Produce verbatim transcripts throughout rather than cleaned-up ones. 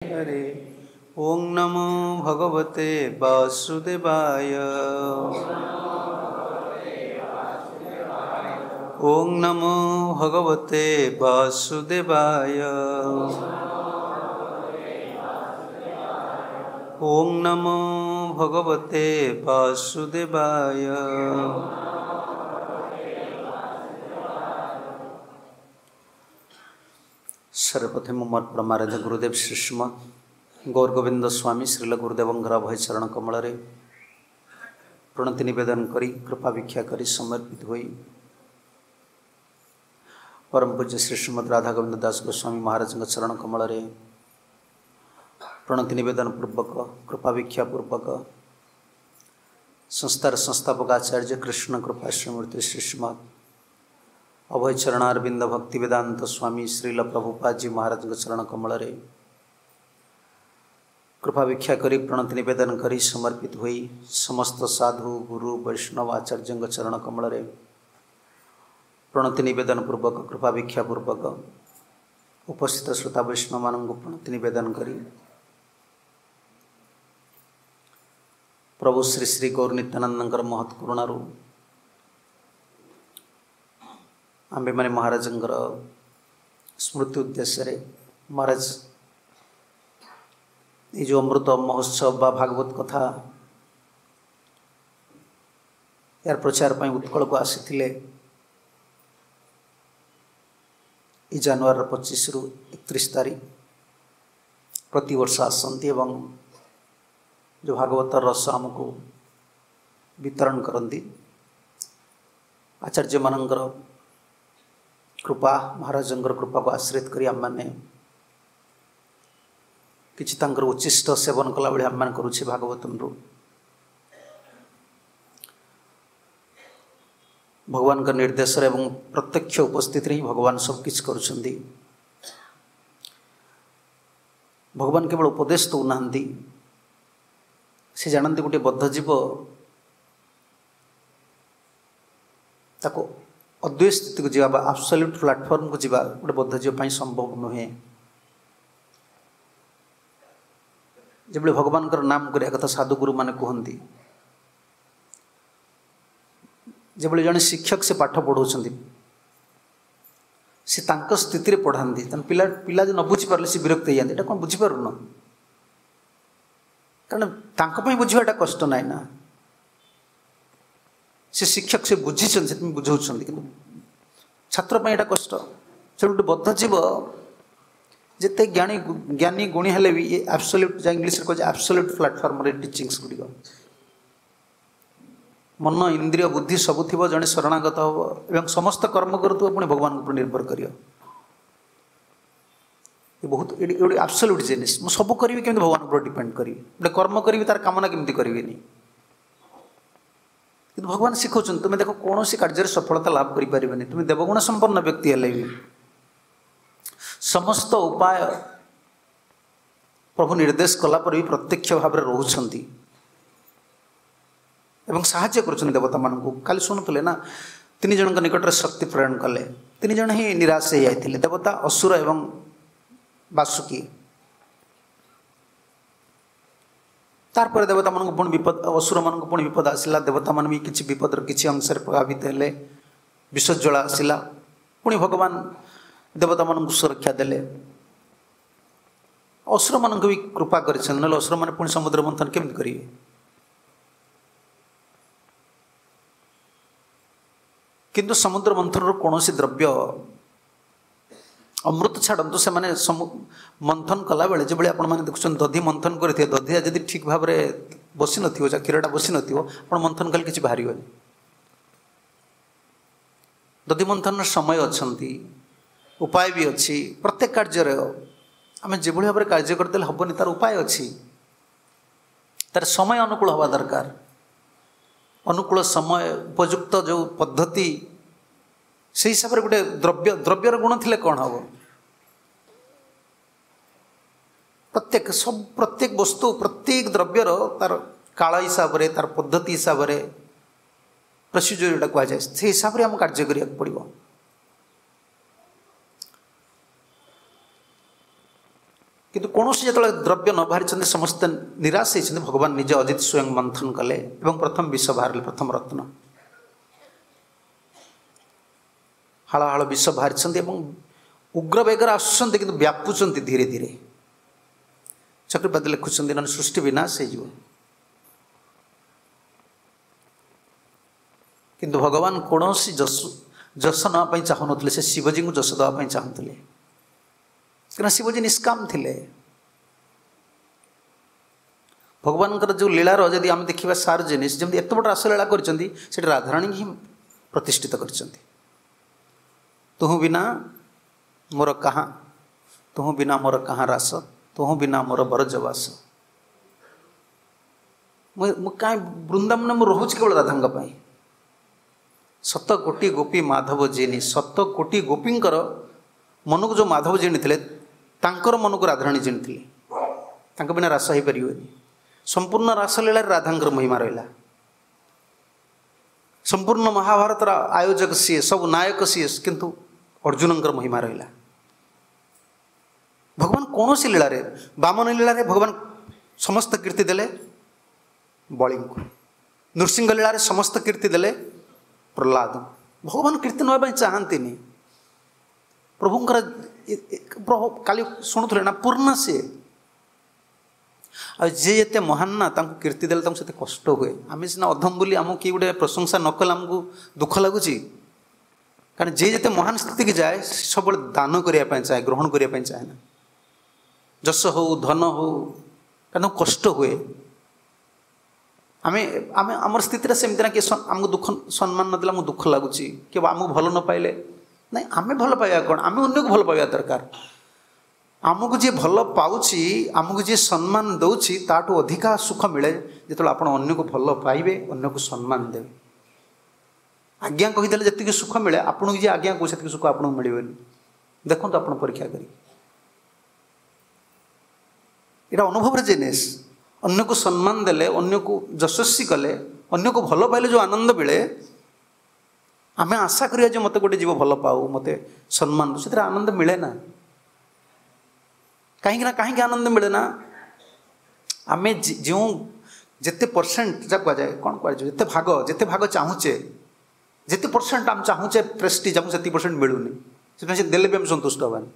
Hare Om Namo Bhagavate Vasudevaya. Om Namo Bhagavate Vasudevaya. Om Namo Bhagavate Vasudevaya. ସର୍ବପ୍ରଥମେ ମୋର ପରମାରାଧ୍ୟ ଗୁରୁଦେବ ଶ୍ରୀଶ୍ରୀମଦ୍ ଗୌର ଗୋବିନ୍ଦ ସ୍ୱାମୀ ଶ୍ରୀଲ ଗୁରୁଦେବଙ୍କର ଅଭୟ ଚରଣ କମଳରେ ପ୍ରଣତି ନିବେଦନ କରି କୃପା ଭିକ୍ଷା କରି ସମର୍ପିତ ହୋଇ ପରମ ପୂଜ୍ୟ ଶ୍ରୀ ଶ୍ରୀମଦ୍ ରାଧା ଗୋବିନ୍ଦ ଦାସ ଗୋସ୍ୱାମୀ ମହାରାଜଙ୍କ ଚରଣ କମଳରେ ପ୍ରଣତି ନିବେଦନ ପୂର୍ବକ କୃପା ଭିକ୍ଷା ପୂର୍ବକ ସଂସ୍ଥାର ସଂସ୍ଥାପକ ଆଚାର୍ଯ୍ୟ କୃଷ୍ଣ କୃପା ଶ୍ରୀମୂର୍ତ୍ତି ଶ୍ରୀ ଶ୍ରୀମଦ୍ ଅଭୟ ଚରଣାରବିନ୍ଦ ଭକ୍ତି ବେଦାନ୍ତ ସ୍ୱାମୀ ଶ୍ରୀଲ ପ୍ରଭୁପାଦଜୀ ମହାରାଜଙ୍କ ଚରଣ କମଳରେ କୃପା ଭିକ୍ଷା କରି ପ୍ରଣତି ନିବେଦନ କରି ସମର୍ପିତ ହୋଇ ସମସ୍ତ ସାଧୁ ଗୁରୁ ବୈଷ୍ଣବ ଆଚାର୍ଯ୍ୟଙ୍କ ଚରଣ କମଳରେ ପ୍ରଣତି ନିବେଦନ ପୂର୍ବକ କୃପା ଭିକ୍ଷା ପୂର୍ବକ ଉପସ୍ଥିତ ଶ୍ରୋତା ବୈଷ୍ଣବମାନଙ୍କୁ ପ୍ରଣତି ନିବେଦନ କରି ପ୍ରଭୁ ଶ୍ରୀ ଶ୍ରୀ ଗୌର ନିତ୍ୟାନନ୍ଦଙ୍କର ମହତ୍ କରୁଣାରୁ ଆମ୍ଭେମାନେ ମହାରାଜଙ୍କର ସ୍ମୃତି ଉଦ୍ଦେଶ୍ୟରେ ମହାରାଜ ଏ ଯେଉଁ ଅମୃତ ମହୋତ୍ସବ ବା ଭାଗବତ କଥା ଏହାର ପ୍ରଚାର ପାଇଁ ଉତ୍କଳକୁ ଆସିଥିଲେ ଏଇ ଜାନୁଆରୀର ପଚିଶରୁ ଏକତିରିଶ ତାରିଖ ପ୍ରତିବର୍ଷ ଆସନ୍ତି ଏବଂ ଯେଉଁ ଭାଗବତର ରସ ଆମକୁ ବିତରଣ କରନ୍ତି। ଆଚାର୍ଯ୍ୟମାନଙ୍କର କୃପା, ମହାରାଜଙ୍କର କୃପାକୁ ଆଶ୍ରିତ କରି ଆମେମାନେ କିଛି ତାଙ୍କର ଉଚ୍ଚିଷ୍ଟ ସେବନ କଲାଭଳି ଆମେମାନେ କରୁଛେ ଭାଗବତରୁ। ଭଗବାନଙ୍କ ନିର୍ଦ୍ଦେଶରେ ଏବଂ ପ୍ରତ୍ୟକ୍ଷ ଉପସ୍ଥିତିରେ ହିଁ ଭଗବାନ ସବୁକିଛି କରୁଛନ୍ତି। ଭଗବାନ କେବଳ ଉପଦେଶ ଦେଉନାହାନ୍ତି, ସେ ଜାଣନ୍ତି ଗୋଟିଏ ବଦ୍ଧ ଜୀବ ତାକୁ ଅଦ୍ୱୈତ ସ୍ଥିତିକୁ ଯିବା ବା ଆବସଲ୍ୟୁଟ୍ ପ୍ଲାଟଫର୍ମକୁ ଯିବା ଗୋଟେ ବଦ୍ଧ ଜୀବ ପାଇଁ ସମ୍ଭବ ନୁହେଁ। ଯେଭଳି ଭଗବାନଙ୍କର ନାମ କରିବା କଥା ସାଧୁଗୁରୁମାନେ କୁହନ୍ତି, ଯେଭଳି ଜଣେ ଶିକ୍ଷକ ସେ ପାଠ ପଢ଼ାଉଛନ୍ତି, ସେ ତାଙ୍କ ସ୍ଥିତିରେ ପଢ଼ାନ୍ତି। ତେଣୁ ପିଲା ପିଲା ଯଦି ନ ବୁଝିପାରିଲେ ସେ ବିରକ୍ତ ହେଇଯାନ୍ତି, ଏଇଟା କ'ଣ ବୁଝିପାରୁନ? କାରଣ ତାଙ୍କ ପାଇଁ ବୁଝିବାଟା କଷ୍ଟ ନାହିଁ ନା। ସେ ଶିକ୍ଷକ ସେ ବୁଝିଛନ୍ତି, ସେଥିପାଇଁ ବୁଝାଉଛନ୍ତି, କିନ୍ତୁ ଛାତ୍ର ପାଇଁ ଏଇଟା କଷ୍ଟ। ସେ ଗୋଟେ ବଦ୍ଧ ଜୀବ ଯେତେ ଜ୍ଞାନୀ ଜ୍ଞାନୀ ଗୁଣୀ ହେଲେ ବି ଏ ଆବସଲ୍ୟୁଟ୍, ଯାହା ଇଂଲିଶରେ କହୁଛି ଆବସଲ୍ୟୁଟ୍ ପ୍ଲାଟଫର୍ମରେ ଟିଚିଙ୍ଗସ୍ ଗୁଡ଼ିକ, ମନ ଇନ୍ଦ୍ରିୟ ବୁଦ୍ଧି ସବୁ ଥିବ, ଜଣେ ଶରଣାଗତ ହେବ ଏବଂ ସମସ୍ତ କର୍ମ କରୁଥିବ, ପୁଣି ଭଗବାନଙ୍କ ଉପରେ ନିର୍ଭର କରିବ। ଏ ବହୁତ ଏଠି ଗୋଟେ ଆବସଲ୍ୟୁଟ୍ ଜିନିଷ। ମୁଁ ସବୁ କରିବି, କେମିତି ଭଗବାନଙ୍କ ଉପରେ ଡିପେଣ୍ଡ କରିବି? ଗୋଟେ କର୍ମ କରିବି, ତାର କାମନା କେମିତି କରିବିନି? କିନ୍ତୁ ଭଗବାନ ଶିଖାଉଛନ୍ତି, ତୁମେ ଦେଖ କୌଣସି କାର୍ଯ୍ୟରେ ସଫଳତା ଲାଭ କରିପାରିବନି, ତୁମେ ଦେବଗୁଣ ସମ୍ପନ୍ନ ବ୍ୟକ୍ତି ହେଲେ ବି ସମସ୍ତ ଉପାୟ ପ୍ରଭୁ ନିର୍ଦ୍ଦେଶ କଲା ପରେ ବି ପ୍ରତ୍ୟକ୍ଷ ଭାବରେ ରହୁଛନ୍ତି ଏବଂ ସାହାଯ୍ୟ କରୁଛନ୍ତି ଦେବତାମାନଙ୍କୁ। କାଲି ଶୁଣୁଥିଲେ ନା, ତିନି ଜଣଙ୍କ ନିକଟରେ ଶକ୍ତି ପ୍ରେରଣ କଲେ, ତିନି ଜଣ ହିଁ ନିରାଶ ହେଇଯାଇଥିଲେ, ଦେବତା, ଅସୁର ଏବଂ ବାସୁକୀ। ତାରପରେ ଦେବତାମାନଙ୍କୁ ପୁଣି ବିପଦ, ଅସୁରମାନଙ୍କୁ ପୁଣି ବିପଦ ଆସିଲା, ଦେବତାମାନେ ବି କିଛି ବିପଦର କିଛି ଅଂଶରେ ପ୍ରଭାବିତ ହେଲେ, ବିଷଜ୍ୱଳା ଆସିଲା, ପୁଣି ଭଗବାନ ଦେବତାମାନଙ୍କୁ ସୁରକ୍ଷା ଦେଲେ, ଅସୁରମାନଙ୍କୁ ବି କୃପା କରିଛନ୍ତି, ନହେଲେ ଅସୁରମାନେ ପୁଣି ସମୁଦ୍ର ମନ୍ଥନ କେମିତି କରିବେ? କିନ୍ତୁ ସମୁଦ୍ର ମନ୍ଥନରୁ କୌଣସି ଦ୍ରବ୍ୟ ଅମୃତ ଛାଡ଼ନ୍ତୁ, ସେମାନେ ମନ୍ଥନ କଲାବେଳେ ଯେଭଳି ଆପଣମାନେ ଦେଖୁଛନ୍ତି ଦଧି ମନ୍ଥନ କରିଥିବେ, ଦଧିଆ ଯଦି ଠିକ୍ ଭାବରେ ବସିନଥିବ, କ୍ଷୀରଟା ବସିନଥିବ, ଆପଣ ମନ୍ଥନ କଲେ କିଛି ବାହାରିବନି। ଦଧି ମନ୍ଥନର ସମୟ ଅଛନ୍ତି, ଉପାୟ ବି ଅଛି। ପ୍ରତ୍ୟେକ କାର୍ଯ୍ୟରେ ଆମେ ଯେଭଳି ଭାବରେ କାର୍ଯ୍ୟ କରିଦେଲେ ହେବନି, ତାର ଉପାୟ ଅଛି, ତାର ସମୟ ଅନୁକୂଳ ହେବା ଦରକାର। ଅନୁକୂଳ ସମୟ, ଉପଯୁକ୍ତ ଯେଉଁ ପଦ୍ଧତି, ସେଇ ହିସାବରେ ଗୋଟେ ଦ୍ରବ୍ୟ, ଦ୍ରବ୍ୟର ଗୁଣ ଥିଲେ କ'ଣ ହେବ? ପ୍ରତ୍ୟେକ ସବୁ ପ୍ରତ୍ୟେକ ବସ୍ତୁ, ପ୍ରତ୍ୟେକ ଦ୍ରବ୍ୟର ତାର କାଳ ହିସାବରେ, ତାର ପଦ୍ଧତି ହିସାବରେ, ପ୍ରୋସିଜର ଯେଉଁଟା କୁହାଯାଏ, ସେଇ ହିସାବରେ ଆମକୁ କାର୍ଯ୍ୟ କରିବାକୁ ପଡ଼ିବ। କିନ୍ତୁ କୌଣସି ଯେତେବେଳେ ଦ୍ରବ୍ୟ ନ ବାହାରିଛନ୍ତି, ସମସ୍ତେ ନିରାଶ ହେଇଛନ୍ତି। ଭଗବାନ ନିଜେ ଅଜିତ ସ୍ୱୟଂ ମନ୍ଥନ କଲେ ଏବଂ ପ୍ରଥମ ବିଷ ବାହାରିଲେ, ପ୍ରଥମ ରତ୍ନ। ହାଳ ହାଳ ବିଷ ବାହାରିଛନ୍ତି ଏବଂ ଉଗ୍ର ବେଗରେ ଆସୁଛନ୍ତି, କିନ୍ତୁ ବ୍ୟାପୁଛନ୍ତି ଧୀରେ ଧୀରେ। ଚକ୍ରପାତ ଲେଖୁଛନ୍ତି, ନହେଲେ ସୃଷ୍ଟି ବିନାଶ ହେଇଯିବ। କିନ୍ତୁ ଭଗବାନ କୌଣସି ଯଶ ଯଶ ନେବା ପାଇଁ ଚାହୁଁନଥିଲେ, ସେ ଶିବଜୀଙ୍କୁ ଯଶ ଦେବା ପାଇଁ ଚାହୁଁଥିଲେ, କାରଣ ଶିବଜୀ ନିଷ୍କାମ ଥିଲେ। ଭଗବାନଙ୍କର ଯେଉଁ ଲୀଳାର ଯଦି ଆମେ ଦେଖିବା ସାର ଜିନିଷ, ଯେମିତି ଏତେ ବଡ଼ ରାସଲୀଳା କରିଛନ୍ତି, ସେଠି ରାଧାରାଣୀ ହିଁ ପ୍ରତିଷ୍ଠିତ କରିଛନ୍ତି। ତୁହୁ ବିନା ମୋର କାହା, ତୁହୁ ବିନା ମୋର କାହା ରାସ, ତୁହୁ ବିନା ମୋର ବରଜବାସ। ମୁଁ ମୁଁ କାହିଁ ବୃନ୍ଦାବନ ମୁଁ ରହୁଛି କେବଳ ରାଧାଙ୍କ ପାଇଁ। ଶତ କୋଟି ଗୋପୀ ମାଧବ ଜିନି, ଶତ କୋଟି ଗୋପୀଙ୍କର ମନକୁ ଯେଉଁ ମାଧବ ଜିଣିଥିଲେ, ତାଙ୍କର ମନକୁ ରାଧାରାଣୀ ଜିଣିଥିଲେ। ତାଙ୍କ ବିନା ରାସ ହେଇପାରିବନି। ସମ୍ପୂର୍ଣ୍ଣ ରାସଲୀଳାରେ ରାଧାଙ୍କର ମହିମା ରହିଲା। ସମ୍ପୂର୍ଣ୍ଣ ମହାଭାରତର ଆୟୋଜକ ସିଏ, ସବୁ ନାୟକ ସିଏ, କିନ୍ତୁ ଅର୍ଜୁନଙ୍କର ମହିମା ରହିଲା। ଭଗବାନ କୌଣସି ଲୀଳାରେ, ବାମନ ଲୀଳାରେ ଭଗବାନ ସମସ୍ତ କୀର୍ତ୍ତି ଦେଲେ ବଳିଙ୍କୁ, ନୃସିଂହ ଲୀଳାରେ ସମସ୍ତ କୀର୍ତ୍ତି ଦେଲେ ପ୍ରହ୍ଲାଦ। ଭଗବାନ କୀର୍ତ୍ତି ନେବା ପାଇଁ ଚାହାନ୍ତିନି। ପ୍ରଭୁଙ୍କର ପ୍ରଭୁ କାଲି ଶୁଣୁଥିଲେ ନା, ପୂର୍ଣ୍ଣ ସିଏ। ଆଉ ଯିଏ ଯେତେ ମହାନ ନା, ତାଙ୍କୁ କୀର୍ତ୍ତି ଦେଲେ ତାଙ୍କୁ ସେତେ କଷ୍ଟ ହୁଏ। ଆମେ ସିନା ଅଧମ ବୋଲି ଆମକୁ କିଏ ଗୋଟେ ପ୍ରଶଂସା ନ କଲେ ଆମକୁ ଦୁଃଖ ଲାଗୁଛି। କାରଣ ଯିଏ ଯେତେ ମହାନ ସ୍ଥିତିକି ଯାଏ, ସବୁବେଳେ ଦାନ କରିବା ପାଇଁ ଚାହେଁ, ଗ୍ରହଣ କରିବା ପାଇଁ ଚାହେଁ ନା। ଯଶ ହଉ, ଧନ ହଉ, କାରଣ ତାଙ୍କୁ କଷ୍ଟ ହୁଏ। ଆମେ ଆମେ ଆମର ସ୍ଥିତିଟା ସେମିତି ନା, କିଏ ଆମକୁ ଦୁଃଖ ସମ୍ମାନ ନଦେଲେ ଆମକୁ ଦୁଃଖ ଲାଗୁଛି, କିଏ ଆମକୁ ଭଲ ନ ପାଇଲେ ନାଇଁ। ଆମେ ଭଲ ପାଇବା କ'ଣ, ଆମେ ଅନ୍ୟକୁ ଭଲ ପାଇବା ଦରକାର। ଆମକୁ ଯିଏ ଭଲ ପାଉଛି, ଆମକୁ ଯିଏ ସମ୍ମାନ ଦେଉଛି, ତାଠୁ ଅଧିକା ସୁଖ ମିଳେ ଯେତେବେଳେ ଆପଣ ଅନ୍ୟକୁ ଭଲ ପାଇବେ, ଅନ୍ୟକୁ ସମ୍ମାନ ଦେବେ। ଆଜ୍ଞା କହିଦେଲେ ଯେତିକି ସୁଖ ମିଳେ, ଆପଣଙ୍କୁ ଯିଏ ଆଜ୍ଞା କହୁଛି ସେତିକି ସୁଖ ଆପଣଙ୍କୁ ମିଳିବନି। ଦେଖନ୍ତୁ ଆପଣ ପରୀକ୍ଷା କରି, ଏଇଟା ଅନୁଭବର ଜିନିଷ। ଅନ୍ୟକୁ ସମ୍ମାନ ଦେଲେ, ଅନ୍ୟକୁ ଯଶସ୍ୱୀ କଲେ, ଅନ୍ୟକୁ ଭଲ ପାଇଲେ ଯେଉଁ ଆନନ୍ଦ ମିଳେ, ଆମେ ଆଶା କରିବା ଯେ ମୋତେ ଗୋଟେ ଜୀବ ଭଲ ପାଉ, ମୋତେ ସମ୍ମାନ ଦେଉ, ସେଥିରେ ଆନନ୍ଦ ମିଳେ ନା। କାହିଁକି ନା କାହିଁକି ଆନନ୍ଦ ମିଳେ ନା? ଆମେ ଯେଉଁ ଯେତେ ପରସେଣ୍ଟ ଯାହା କୁହାଯାଏ, କ'ଣ କୁହାଯିବ, ଯେତେ ଭାଗ ଯେତେ ଭାଗ ଚାହୁଁଛେ, ଯେତେ ପରସେଣ୍ଟ ଆମେ ଚାହୁଁଛେ ପ୍ରେଷ୍ଟିଜ୍, ଆମକୁ ସେତିକି ପରସେଣ୍ଟ ମିଳୁନି। ସେଥିପାଇଁ ସେ ଦେଲେ ବି ଆମେ ସନ୍ତୁଷ୍ଟ ହେବାନି।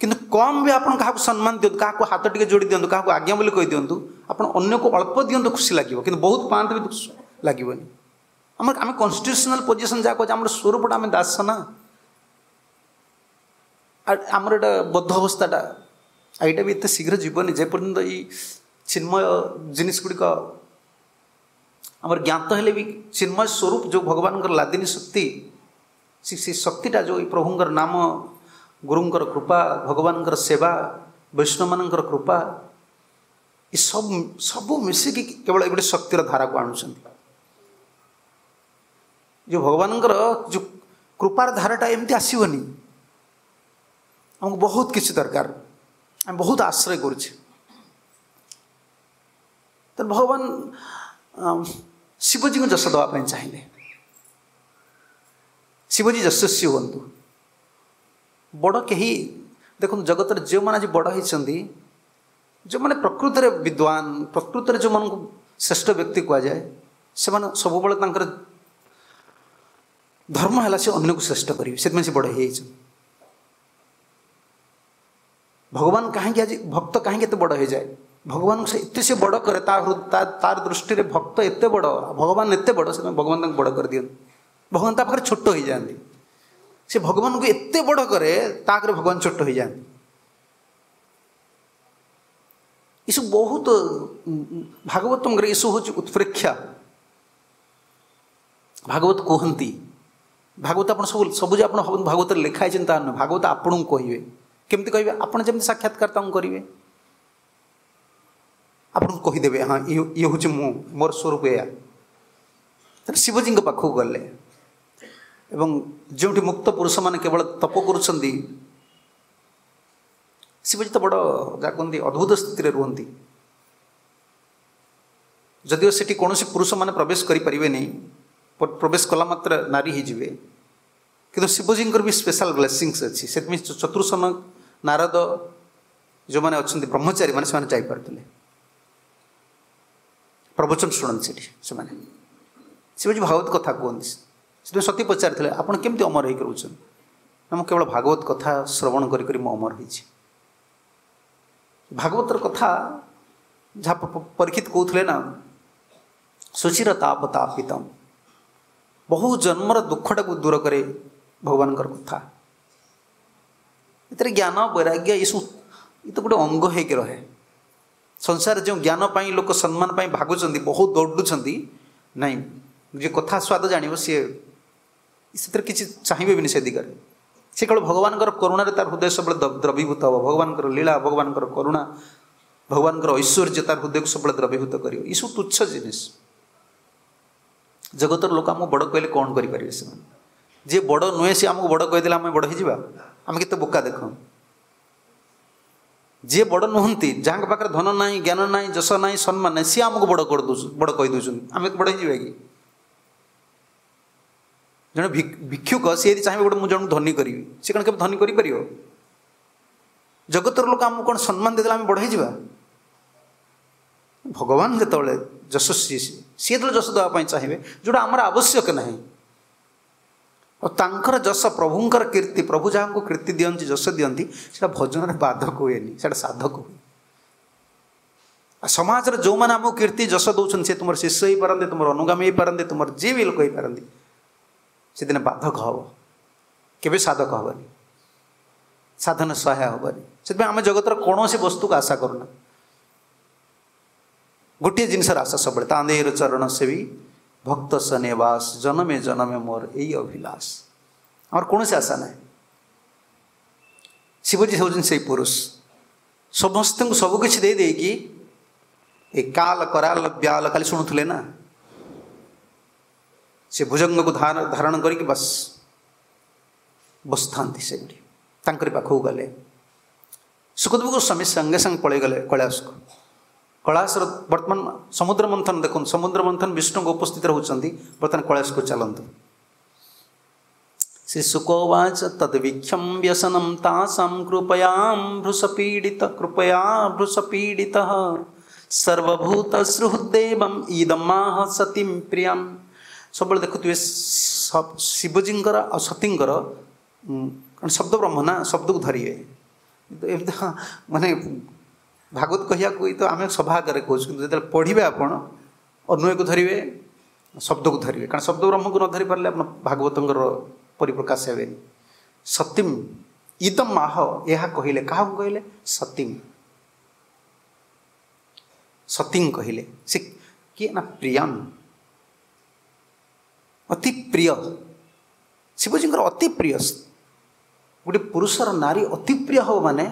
କିନ୍ତୁ କମ୍ ବି ଆପଣ କାହାକୁ ସମ୍ମାନ ଦିଅନ୍ତୁ, କାହାକୁ ହାତ ଟିକେ ଯୋଡ଼ି ଦିଅନ୍ତୁ, କାହାକୁ ଆଜ୍ଞା ବୋଲି କହିଦିଅନ୍ତୁ, ଆପଣ ଅନ୍ୟକୁ ଅଳ୍ପ ଦିଅନ୍ତୁ ଖୁସି ଲାଗିବ, କିନ୍ତୁ ବହୁତ ପାଆନ୍ତୁ ବି ଲାଗିବନି। ଆମର ଆମେ କନଷ୍ଟିଟ୍ୟୁସନାଲ ପୋଜିସନ୍ ଯାହା କହୁଛେ, ଆମର ସ୍ୱରୂପଟା ଆମେ ଦାସ ନା, ଆମର ଏଇଟା ବଦ୍ଧ ଅବସ୍ଥାଟା, ଏଇଟା ବି ଏତେ ଶୀଘ୍ର ଯିବନି ଯେପର୍ଯ୍ୟନ୍ତ ଏଇ ଚିନ୍ମୟ ଜିନିଷ ଗୁଡ଼ିକ ଆମର ଜ୍ଞାତ ହେଲେ ବି। ଚିନ୍ମୟ ସ୍ୱରୂପ ଯେଉଁ ଭଗବାନଙ୍କର ଲାଦିନୀ ଶକ୍ତି, ସେ ଶକ୍ତିଟା ଯେଉଁ ଏଇ ପ୍ରଭୁଙ୍କର ନାମ, ଗୁରୁଙ୍କର କୃପା, ଭଗବାନଙ୍କର ସେବା, ବୈଷ୍ଣବମାନଙ୍କର କୃପା, ଏ ସବୁ ସବୁ ମିଶିକି କେବଳ ଏ ଗୋଟେ ଶକ୍ତିର ଧାରାକୁ ଆଣୁଛନ୍ତି। ଯେଉଁ ଭଗବାନଙ୍କର ଯେଉଁ କୃପାର ଧାରାଟା ଏମିତି ଆସିବନି। ଆମକୁ ବହୁତ କିଛି ଦରକାର, ଆମେ ବହୁତ ଆଶ୍ରୟ କରୁଛେ। ତେଣୁ ଭଗବାନ ଶିବଜୀଙ୍କୁ ଯଶ ଦେବା ପାଇଁ ଚାହିଁଲେ, ଶିବଜୀ ଯଶସ୍ୱୀ ହୁଅନ୍ତୁ। ବଡ଼ କେହି ଦେଖନ୍ତୁ, ଜଗତରେ ଯେଉଁମାନେ ଆଜି ବଡ଼ ହେଇଛନ୍ତି, ଯେଉଁମାନେ ପ୍ରକୃତରେ ବିଦ୍ୱାନ, ପ୍ରକୃତରେ ଯେଉଁମାନଙ୍କୁ ଶ୍ରେଷ୍ଠ ବ୍ୟକ୍ତି କୁହାଯାଏ, ସେମାନେ ସବୁବେଳେ ତାଙ୍କର ଧର୍ମ ହେଲା ସେ ଅନ୍ୟକୁ ଶ୍ରେଷ୍ଠ କରିବେ, ସେଥିପାଇଁ ସେ ବଡ଼ ହେଇଯାଇଛନ୍ତି। ଭଗବାନ କାହିଁକି ଆଜି ଭକ୍ତ କାହିଁକି ଏତେ ବଡ଼ ହେଇଯାଏ? ଭଗବାନଙ୍କୁ ସେ ଏତେ ସେ ବଡ଼ କରେ, ତା ତାର ଦୃଷ୍ଟିରେ ଭକ୍ତ ଏତେ ବଡ଼, ଭଗବାନ ଏତେ ବଡ଼, ସେଥିପାଇଁ ଭଗବାନ ତାଙ୍କୁ ବଡ଼ କରିଦିଅନ୍ତି। ଭଗବାନ ତା ପାଖରେ ଛୋଟ ହେଇଯାଆନ୍ତି। ସେ ଭଗବାନଙ୍କୁ ଏତେ ବଡ଼ କରେ, ତା ଆଗରେ ଭଗବାନ ଛୋଟ ହେଇଯାଆନ୍ତି। ଏସବୁ ବହୁତ ଭାଗବତଙ୍କର ଏସବୁ ହେଉଛି ଉତ୍ପ୍ରେକ୍ଷା। ଭାଗବତ କୁହନ୍ତି, ଭାଗବତ ଆପଣ ସବୁ ସବୁ ଯେ ଆପଣ ଭାଗବତରେ ଲେଖା ହେଇଛନ୍ତି ତାହା ନୁହେଁ। ଭାଗବତ ଆପଣଙ୍କୁ କହିବେ। କେମିତି କହିବେ? ଆପଣ ଯେମିତି ସାକ୍ଷାତକାର ତାଙ୍କୁ କରିବେ, ଆପଣଙ୍କୁ କହିଦେବେ, ହଁ ଇଏ ଇଏ ହେଉଛି ମୁଁ, ମୋର ସ୍ୱରୂପ ଏଇଆ। ତେଣୁ ଶିବଜୀଙ୍କ ପାଖକୁ ଗଲେ ଏବଂ ଯେଉଁଠି ମୁକ୍ତ ପୁରୁଷମାନେ କେବଳ ତପ କରୁଛନ୍ତି, ଶିବଜୀ ତ ବଡ଼ ଯାହା କୁହନ୍ତି ଅଦ୍ଭୁତ ସ୍ଥିତିରେ ରୁହନ୍ତି। ଯଦିଓ ସେଠି କୌଣସି ପୁରୁଷମାନେ ପ୍ରବେଶ କରିପାରିବେନି, ପ୍ରବେଶ କଲା ମାତ୍ର ନାରୀ ହେଇଯିବେ, କିନ୍ତୁ ଶିବଜୀଙ୍କର ବି ସ୍ପେଶାଲ ବ୍ଲେସିଂସ୍ ଅଛି। ସେଥିପାଇଁ ଚତୁର୍ସନ, ନାରଦ, ଯେଉଁମାନେ ଅଛନ୍ତି ବ୍ରହ୍ମଚାରୀ ମାନେ ସେମାନେ ଯାଇପାରୁଥିଲେ। ପ୍ରବଚନ ଶୁଣନ୍ତି ସେଠି ସେମାନେ। ଶିବଜୀ ଭାଗବତ କଥା କୁହନ୍ତି। ସେଥିପାଇଁ ସତୀ ପଚାରିଥିଲେ, ଆପଣ କେମିତି ଅମର ହେଇକି ରହୁଛନ୍ତି? ନା, ମୁଁ କେବଳ ଭାଗବତ କଥା ଶ୍ରବଣ କରି କରି ମୁଁ ଅମର ହେଇଛି। ଭାଗବତର କଥା ଯାହା ପରୀକ୍ଷିତ କହୁଥିଲେ ନା, ସୁଚିର ତାପ ତାପିତମ, ବହୁ ଜନ୍ମର ଦୁଃଖଟାକୁ ଦୂର କରେ ଭଗବାନଙ୍କର କଥା। ଏଥିରେ ଜ୍ଞାନ ବୈରାଗ୍ୟ ଏସବୁ ଏ ତ ଗୋଟେ ଅଙ୍ଗ ହେଇକି ରହେ। ସଂସାରରେ ଯେଉଁ ଜ୍ଞାନ ପାଇଁ ଲୋକ ସମ୍ମାନ ପାଇଁ ଭାଗୁଛନ୍ତି, ବହୁତ ଦୌଡ଼ୁଛନ୍ତି, ନାଇଁ ଯିଏ କଥା ସ୍ୱାଦ ଜାଣିବ ସିଏ ସେଥିରେ କିଛି ଚାହିଁବେ ବି ନି ସେ ଦିଗରେ। ସେ କେବଳ ଭଗବାନଙ୍କର କରୁଣାରେ ତାର ହୃଦୟ ସବୁବେଳେ ଦ୍ରବୀଭୂତ ହେବ। ଭଗବାନଙ୍କର ଲୀଳା, ଭଗବାନଙ୍କର କରୁଣା, ଭଗବାନଙ୍କର ଐଶ୍ୱର୍ଯ୍ୟ ତାର ହୃଦୟକୁ ସବୁବେଳେ ଦ୍ରବୀଭୂତ କରିବ। ଏସବୁ ତୁଚ୍ଛ ଜିନିଷ। ଜଗତର ଲୋକ ଆମକୁ ବଡ଼ କହିଲେ କ'ଣ କରିପାରିବେ ସେମାନେ? ଯିଏ ବଡ଼ ନୁହେଁ ସିଏ ଆମକୁ ବଡ଼ କହିଦେଲେ ଆମେ ବଡ଼ ହେଇଯିବା? ଆମେ କେତେ ବୋକା ଦେଖ। ଯିଏ ବଡ଼ ନୁହନ୍ତି, ଯାହାଙ୍କ ପାଖରେ ଧନ ନାହିଁ, ଜ୍ଞାନ ନାହିଁ, ଯଶ ନାହିଁ, ସମ୍ମାନ ନାହିଁ, ସିଏ ଆମକୁ ବଡ଼ କରିଦେଉଛୁ, ବଡ଼ କହିଦେଉଛନ୍ତି, ଆମେ ବଡ଼ ହେଇଯିବା କି? ଜଣେ ଭିକ୍ଷୁକ ସିଏ ଯଦି ଚାହିଁବେ ଗୋଟେ ମୁଁ ଜଣକୁ ଧନୀ କରିବି, ସେ କ'ଣ କେବେ ଧନୀ କରିପାରିବ? ଜଗତର ଲୋକ ଆମକୁ କ'ଣ ସମ୍ମାନ ଦେଇଦେଲେ ଆମେ ବଡ଼ ହେଇଯିବା? ଭଗବାନ ଯେତେବେଳେ ଯଶସ୍ୱୀ, ସିଏ ଯେତେବେଳେ ଯଶ ଦେବା ପାଇଁ ଚାହିଁବେ, ଯେଉଁଟା ଆମର ଆବଶ୍ୟକ ନାହିଁ, ଆଉ ତାଙ୍କର ଯଶ, ପ୍ରଭୁଙ୍କର କୀର୍ତ୍ତି, ପ୍ରଭୁ ଯାହାଙ୍କୁ କୀର୍ତ୍ତି ଦିଅନ୍ତି, ଯଶ ଦିଅନ୍ତି, ସେଇଟା ଭଜନରେ ବାଧକ ହୁଏନି, ସେଇଟା ସାଧକ ହୁଏ। ଆଉ ସମାଜରେ ଯେଉଁମାନେ ଆମକୁ କୀର୍ତ୍ତି ଯଶ ଦେଉଛନ୍ତି, ସେ ତୁମର ଶିଷ୍ୟ ହେଇପାରନ୍ତି, ତୁମର ଅନୁଗାମୀ ହେଇପାରନ୍ତି, ତୁମର ଯିଏ ବି ଲୋକ ହେଇପାରନ୍ତି, ସେଦିନ ବାଧକ ହେବ, କେବେ ସାଧକ ହେବନି, ସାଧନ ସହାୟ ହେବନି। ସେଥିପାଇଁ ଆମେ ଜଗତର କୌଣସି ବସ୍ତୁକୁ ଆଶା କରୁନା। ଗୋଟିଏ ଜିନିଷର ଆଶା ସବୁବେଳେ, ତାନ୍ଦେର ଚରଣ ସେବୀ ଭକ୍ତ ସନେବାସ, ଜନମେ ଜନମେ ମୋର ଏଇ ଅଭିଲାଷ। ଆମର କୌଣସି ଆଶା ନାହିଁ। ଶିବଜୀ ହେଉଛନ୍ତି ସେଇ ପୁରୁଷ, ସମସ୍ତଙ୍କୁ ସବୁକିଛି ଦେଇ ଦେଇକି ଏ କାଲ କରାଲ ବ୍ୟାଲ ଖାଲି ଶୁଣୁଥିଲେ ନା, ସେ ଭୁଜଙ୍ଗକୁ ଧାରଣ କରିକି ବାସ୍ ବସିଥାନ୍ତି ସେଇଠି। ତାଙ୍କରି ପାଖକୁ ଗଲେ ସୁଖଦେବ ଗୋସ୍ୱାମୀ, ସାଙ୍ଗେ ସାଙ୍ଗେ ପଳେଇଗଲେ କୈଳାସକୁ। କୈଳାସର ବର୍ତ୍ତମାନ ସମୁଦ୍ର ମନ୍ଥନ ଦେଖନ୍ତୁ, ସମୁଦ୍ର ମନ୍ଥନ ବିଷ୍ଣୁଙ୍କ ଉପସ୍ଥିତ ରହୁଛନ୍ତି। ବର୍ତ୍ତମାନ କୈଳାସକୁ ଚାଲନ୍ତୁ। ଶ୍ରୀ ଶୁକୋବାଚ ତଦ୍ଭିକ୍ଷಂ ବ୍ୟସନಂ ତାସାಂ କୃପୟାಂ ଭୃଷପୀଡ଼ିତ କୃପୟା ଭୃଷପୀଡ଼ିତ ସର୍ବଭୂତ ସୁହୃଦେବಂ ଇଦମାହ ସତୀಂ ପ୍ରିୟಂ। ସବୁବେଳେ ଦେଖୁଥିବେ ଶିବଜୀଙ୍କର ଆଉ ସତୀଙ୍କର, କାରଣ ଶବ୍ଦ ବ୍ରହ୍ମ ନା, ଶବ୍ଦକୁ ଧରିବେ। ଏମିତି ମାନେ ଭାଗବତ କହିବାକୁ ତ ଆମେ ସଭା ଆଗରେ କହୁଛୁ, କିନ୍ତୁ ଯେତେବେଳେ ପଢ଼ିବେ ଆପଣ ଅନ୍ୱୟକୁ ଧରିବେ, ଶବ୍ଦକୁ ଧରିବେ। କାରଣ ଶବ୍ଦ ବ୍ରହ୍ମକୁ ନ ଧରି ପାରିଲେ ଆପଣ ଭାଗବତଙ୍କର ପରିପ୍ରକାଶ ହେବେନି। ସତୀମ୍ ଇଦମ୍ ଆହ, ଏହା କହିଲେ, କାହାକୁ କହିଲେ? ସତୀମ୍, ସତୀଂ କହିଲେ। ସେ କିଏ ନା ପ୍ରିୟମ୍, ଅତି ପ୍ରିୟ, ଶିବଜୀଙ୍କର ଅତି ପ୍ରିୟ। ଗୋଟେ ପୁରୁଷର ନାରୀ ଅତି ପ୍ରିୟ ହେବ ମାନେ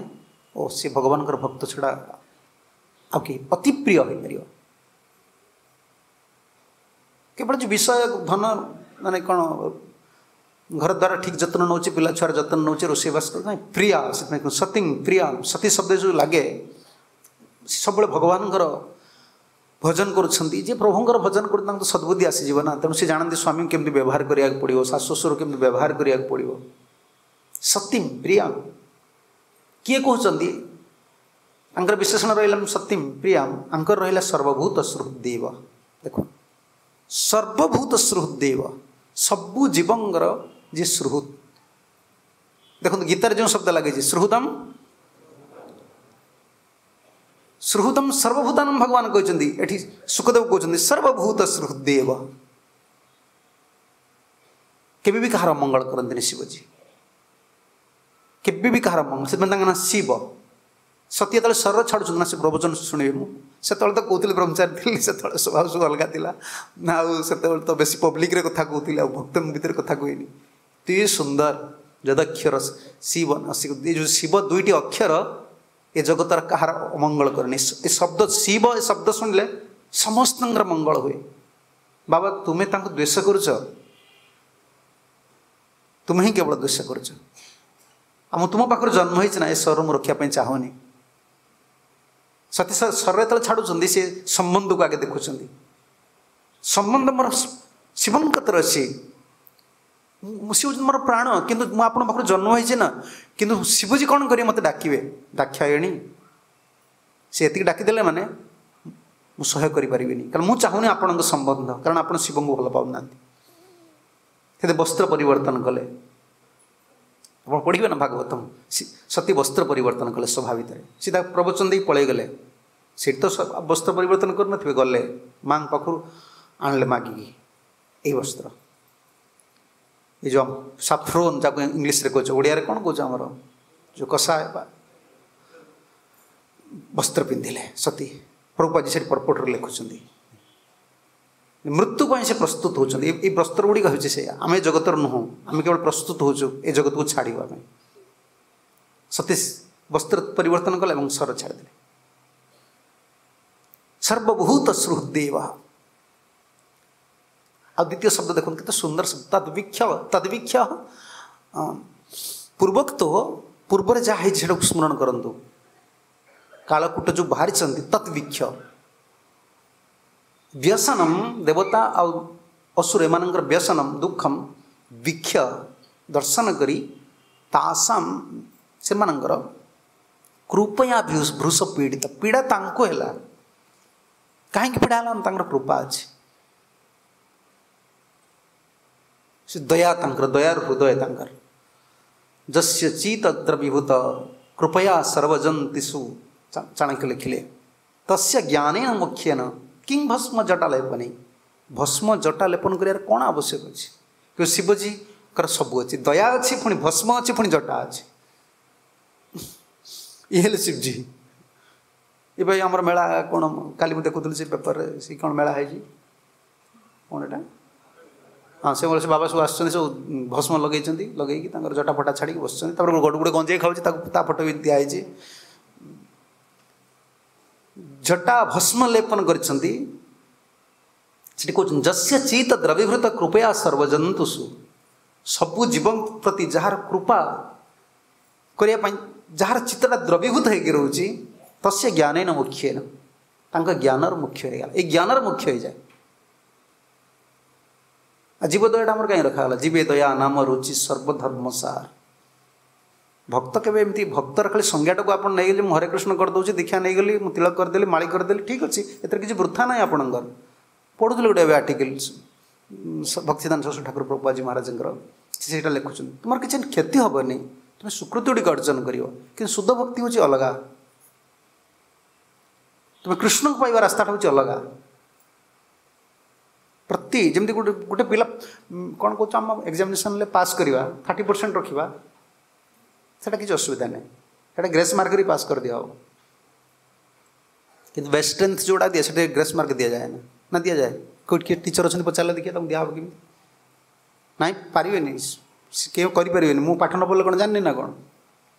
ଓ ସେ ଭଗବାନଙ୍କର ଭକ୍ତ ଛଡ଼ା ଆଉ କେହି ଅତି ପ୍ରିୟ ହୋଇପାରିବ? କେବଳ ଯେଉଁ ବିଷୟ ଧନ ମାନେ କ'ଣ ଘର ଦ୍ୱାରା ଠିକ୍ ଯତ୍ନ ନେଉଛି, ପିଲା ଛୁଆର ଯତ୍ନ ନେଉଛି, ରୋଷେଇବାସ କରୁଛି, ନାଇଁ ପ୍ରିୟା। ସେଥିପାଇଁ ସତୀ ପ୍ରିୟା, ସତୀ ଶବ୍ଦ ଯେଉଁ ଲାଗେ, ସବୁବେଳେ ଭଗବାନଙ୍କର ଭଜନ କରୁଛନ୍ତି। ଯିଏ ପ୍ରଭୁଙ୍କର ଭଜନ କରୁଛନ୍ତି ତାଙ୍କୁ ସଦ୍ବୁଦ୍ଧି ଆସିଯିବ ନା। ତେଣୁ ସେ ଜାଣନ୍ତି ସ୍ୱାମୀଙ୍କୁ କେମିତି ବ୍ୟବହାର କରିବାକୁ ପଡ଼ିବ, ଶାଶୁ ଶ୍ୱଶୁର କେମିତି ବ୍ୟବହାର କରିବାକୁ ପଡ଼ିବ। ସତୀମ୍ ପ୍ରିୟାମ୍ କିଏ କହୁଛନ୍ତି? ତାଙ୍କର ବିଶେଷଣ ରହିଲା ସତୀମ୍ ପ୍ରିୟାମ୍, ଆଙ୍କର ରହିଲା ସର୍ବଭୂତ ସୁହୃଦେବ। ଦେଖ, ସର୍ବଭୂତ ସୁହୃଦେବ, ସବୁ ଜୀବଙ୍କର ଯିଏ ସୁହୃଦ୍। ଦେଖନ୍ତୁ ଗୀତାରେ ଯେଉଁ ଶବ୍ଦ ଲାଗିଛି, ସୁହୃଦମ୍ ସୁହୃଦମ୍ ସର୍ବଭୂତାନମ୍ ଭଗବାନ କହିଛନ୍ତି। ଏଠି ଶୁକଦେବ କହୁଛନ୍ତି ସର୍ବଭୂତ ସୁହୃଦେବ। କେବେ ବି କାହାର ଅମଙ୍ଗଳ କରନ୍ତିନି ଶିବଜୀ, କେବେ ବି କାହାର ମଙ୍ଗଳ। ସେଥିପାଇଁ ତାଙ୍କ ନାଁ ଶିବ। ସତୀ ଯେତେବେଳେ ଶରୀର ଛାଡ଼ୁଛନ୍ତି ନା, ସେ ପ୍ରବଚନ ଶୁଣିବେ। ମୁଁ ସେତେବେଳେ ତ କହୁଥିଲି ବ୍ରହ୍ମଚାରୀ ଥିଲି, ସେତେବେଳେ ସ୍ୱଭାବ ସବୁ ଅଲଗା ଥିଲା ନା, ଆଉ ସେତେବେଳେ ତ ବେଶୀ ପବ୍ଲିକରେ କଥା କହୁଥିଲି, ଆଉ ଭକ୍ତଙ୍କ ଭିତରେ କଥା କୁହେନି। ଅତି ସୁନ୍ଦର ଯଦକ୍ଷର ଶିବ, ଏ ଯେଉଁ ଶିବ ଦୁଇଟି ଅକ୍ଷର ଏ ଜଗତର କାହାର ଅମଙ୍ଗଳ କରେନି। ଏ ଶବ୍ଦ ଶିବ, ଏ ଶବ୍ଦ ଶୁଣିଲେ ସମସ୍ତଙ୍କର ମଙ୍ଗଳ ହୁଏ। ବାବା ତୁମେ ତାଙ୍କୁ ଦ୍ୱେଷ କରୁଛ, ତୁମେ ହିଁ କେବଳ ଦ୍ୱେଷ କରୁଛ। ଆଉ ମୁଁ ତୁମ ପାଖରୁ ଜନ୍ମ ହେଇଛି ନା, ଏ ଶରୀର ମୁଁ ରଖିବା ପାଇଁ ଚାହୁଁନି। ସତୀ ଶରୀର ଯେତେବେଳେ ଛାଡ଼ୁଛନ୍ତି, ସେ ସମ୍ବନ୍ଧକୁ ଆଗେ ଦେଖୁଛନ୍ତି। ସମ୍ବନ୍ଧ ମୋର ଶିବଙ୍କ କତିରେ ଅଛି, ମୁଁ ସେ ହେଉଛନ୍ତି ମୋର ପ୍ରାଣ, କିନ୍ତୁ ମୁଁ ଆପଣଙ୍କ ପାଖରୁ ଜନ୍ମ ହେଇଛି ନା। କିନ୍ତୁ ଶିବଜୀ କ'ଣ କରିବେ? ମୋତେ ଡାକିବେ, ଦାକ୍ଷାୟଣୀ ସେ ଏତିକି ଡାକିଦେଲେ ମାନେ ମୁଁ ସହ୍ୟ କରିପାରିବିନି, କାରଣ ମୁଁ ଚାହୁଁନି ଆପଣଙ୍କ ସମ୍ବନ୍ଧ, କାରଣ ଆପଣ ଶିବଙ୍କୁ ଭଲ ପାଉନାହାନ୍ତି। ସେଥିରେ ବସ୍ତ୍ର ପରିବର୍ତ୍ତନ କଲେ। ଆପଣ ପଢ଼ିବେ ନା ଭାଗବତମ, ସତୀ ବସ୍ତ୍ର ପରିବର୍ତ୍ତନ କଲେ ସଭା ଭିତରେ, ସିଧା ପ୍ରବଚନ ଦେଇ ପଳେଇଗଲେ। ସେଠି ତ ବସ୍ତ୍ର ପରିବର୍ତ୍ତନ କରୁନଥିବେ, ଗଲେ ମାଙ୍କ ପାଖରୁ ଆଣିଲେ ମାଗିକି ଏଇ ବସ୍ତ୍ର, ଏ ଯେଉଁ ସାଫ୍ରୋନ୍ ଯାକୁ ଇଂଲିଶରେ କହୁଛ, ଓଡ଼ିଆରେ କ'ଣ କହୁଛ ଆମର ଯେଉଁ କଷା ବସ୍ତ୍ର ପିନ୍ଧିଲେ ସତୀ। ପ୍ରଭୁପାଦ ସେଠି ପର୍ପଟରେ ଲେଖୁଛନ୍ତି ମୃତ୍ୟୁ ପାଇଁ ସେ ପ୍ରସ୍ତୁତ ହେଉଛନ୍ତି। ଏଇ ବସ୍ତ୍ର ଗୁଡ଼ିକ ହେଉଛି ସେଇଆ, ଆମେ ଜଗତର ନୁହଁ, ଆମେ କେବଳ ପ୍ରସ୍ତୁତ ହେଉଛୁ ଏ ଜଗତକୁ ଛାଡ଼ିବା ପାଇଁ। ସତୀ ବସ୍ତ୍ର ପରିବର୍ତ୍ତନ କଲେ ଏବଂ ସର ଛାଡ଼ିଦେଲେ। ସର୍ବଭୂତ ସୁହୃଦେବ। ଆଉ ଦ୍ୱିତୀୟ ଶବ୍ଦ ଦେଖନ୍ତୁ କେତେ ସୁନ୍ଦର ଶବ୍ଦ, ତଦ୍ବିକ୍ଷ। ତଦ୍ବିକ୍ଷ ପୂର୍ବୋକ୍ତ, ପୂର୍ବରେ ଯାହା ହେଇଛି ସେଟାକୁ ସ୍ମରଣ କରନ୍ତୁ। କାଳକୂଟ ଯେଉଁ ବାହାରିଛନ୍ତି ତଦ୍ବିକ୍ଷ ବ୍ୟସନମ, ଦେବତା ଆଉ ଅସୁର ଏମାନଙ୍କର ବ୍ୟସନମ ଦୁଃଖମ ବିକ୍ଷ ଦର୍ଶନ କରି ତାସାମ ସେମାନଙ୍କର କୃପୟା ଭୃଷ ପୀଡ଼ିତ, ପୀଡ଼ା ତାଙ୍କୁ ହେଲା। କାହିଁକି ପୀଡ଼ା ହେଲା? ତାଙ୍କର କୃପା ଅଛି, ସେ ଦୟା ତାଙ୍କର, ଦୟାର ହୃଦୟ ତାଙ୍କର। ଯସ୍ୟ ଚିତ ଦ୍ରବୀଭୂତ କୃପୟା ସର୍ବଜନ୍ତିଷୁ, ଚାଣକ୍ୟ ଲେଖିଲେ, ତସ୍ୟ ଜ୍ଞାନେନ ମୁଖ୍ୟେନ କିଂ ଭସ୍ମ ଜଟା ଲେପନେ। ଭସ୍ମ ଜଟା ଲେପନ କରିବାର କ'ଣ ଆବଶ୍ୟକ ଅଛି? କିନ୍ତୁ ଶିବଜୀଙ୍କର ସବୁ ଅଛି, ଦୟା ଅଛି, ପୁଣି ଭସ୍ମ ଅଛି, ପୁଣି ଜଟା ଅଛି। ଇଏ ହେଲେ ଶିବଜୀ। ଏବେ ଆମର ମେଳା କ'ଣ, କାଲି ମୁଁ ଦେଖୁଥିଲି ସେ ପେପରରେ, ସେ କ'ଣ ମେଳା ହେଇଛି କ'ଣ ଏଇଟା? ହଁ, ସେ ସେ ବାବା ସବୁ ଆସୁଛନ୍ତି, ସବୁ ଭସ୍ମ ଲଗେଇଛନ୍ତି, ଲଗେଇକି ତାଙ୍କର ଜଟା ଫଟା ଛାଡ଼ିକି ବସିଛନ୍ତି। ତାପରେ ଗୋଟେ ଗୋଟେ ଗଞ୍ଜେଇ ଖାଉଛି, ତାକୁ ତା ଫଟୋ ବି ଦିଆହେଇଛି। ଜଟା ଭସ୍ମ ଲେପନ କରିଛନ୍ତି। ସେଠି କହୁଛନ୍ତି ଯସ୍ୟ ଚିତ ଦ୍ରବୀଭୂତ କୃପୟା ସର୍ବଜନ୍ତୁଷୁ, ସବୁ ଜୀବଙ୍କ ପ୍ରତି ଯାହାର କୃପା କରିବା ପାଇଁ ଯାହାର ଚିତ୍ତଟା ଦ୍ରବୀଭୂତ ହେଇକି ରହୁଛି, ତସ୍ୟ ଜ୍ଞାନେନ ମୁଖ୍ୟେନ, ତାଙ୍କ ଜ୍ଞାନର ମୁଖ୍ୟ ହେଇଗଲା। ଏଇ ଜ୍ଞାନର ମୁଖ୍ୟ ହେଇଯାଏ। ଆଉ ଜୀବ ଦୟାଟା ଆମର କାହିଁ ରଖାଗଲା? ଜୀବେ ଦୟା ନାମ ରୁଚି ସର୍ବଧର୍ମ ସାର। ଭକ୍ତ କେବେ ଏମିତି ଭକ୍ତର ଖାଲି ସଂଜ୍ଞାଟାକୁ ଆପଣ ନେଇଗଲେ, ମୁଁ ହରେ କୃଷ୍ଣ କରିଦେଉଛି, ଦୀକ୍ଷା ନେଇଗଲି, ମୁଁ ତିଳକ କରିଦେଲି, ମାଳି କରିଦେଲି, ଠିକ୍ ଅଛି, ଏଥିରେ କିଛି ବୃଥା ନାହିଁ ଆପଣଙ୍କର। ପଢ଼ୁଥିଲି ଗୋଟେ ଏବେ ଆର୍ଟିକଲ ଭକ୍ତିଦାନ ସରସ୍ୱତୀ ଠାକୁର ପ୍ରଭୁପାଦ ମହାରାଜଙ୍କର, ସେ ସେଇଟା ଲେଖୁଛନ୍ତି, ତୁମର କିଛି କ୍ଷତି ହେବନି, ତୁମେ ସୁକୃତି ଗୁଡ଼ିକ ଅର୍ଜନ କରିବ, କିନ୍ତୁ ଶୁଦ୍ଧ ଭକ୍ତି ହେଉଛି ଅଲଗା, ତୁମେ କୃଷ୍ଣଙ୍କୁ ପାଇବା ରାସ୍ତାଟା ହେଉଛି ଅଲଗା। ପ୍ରତି ଯେମିତି ଗୋଟେ ଗୋଟେ ପିଲା କ'ଣ କହୁଛ ଆମ ଏକ୍ଜାମିନେସନ୍ରେ ପାସ୍ କରିବା, ଥାର୍ଟି ପରସେଣ୍ଟ ରଖିବା, ସେଇଟା କିଛି ଅସୁବିଧା ନାହିଁ, ସେଇଟା ଗ୍ରେସ୍ ମାର୍କରେ ପାସ୍ କରିଦିଆହେବ। କିନ୍ତୁ ବେଷ୍ଟ ଷ୍ଟ୍ରେନ୍ଥ ଯେଉଁଟା ଦିଏ ସେଠି ଗ୍ରେସ୍ ମାର୍କ ଦିଆଯାଏ ନା ନା ଦିଆଯାଏ? କେଉଁଠି କିଏ ଟିଚର୍ ଅଛନ୍ତି ପଚାରିଲେ ଦେଖିବା ତାଙ୍କୁ ଦିଆହେବ କେମିତି? ନାଇଁ ପାରିବେନି, କେହି କରିପାରିବେନି। ମୁଁ ପାଠ ନ ପଢ଼ିଲେ କ'ଣ ଜାଣିନି ନା କ'ଣ?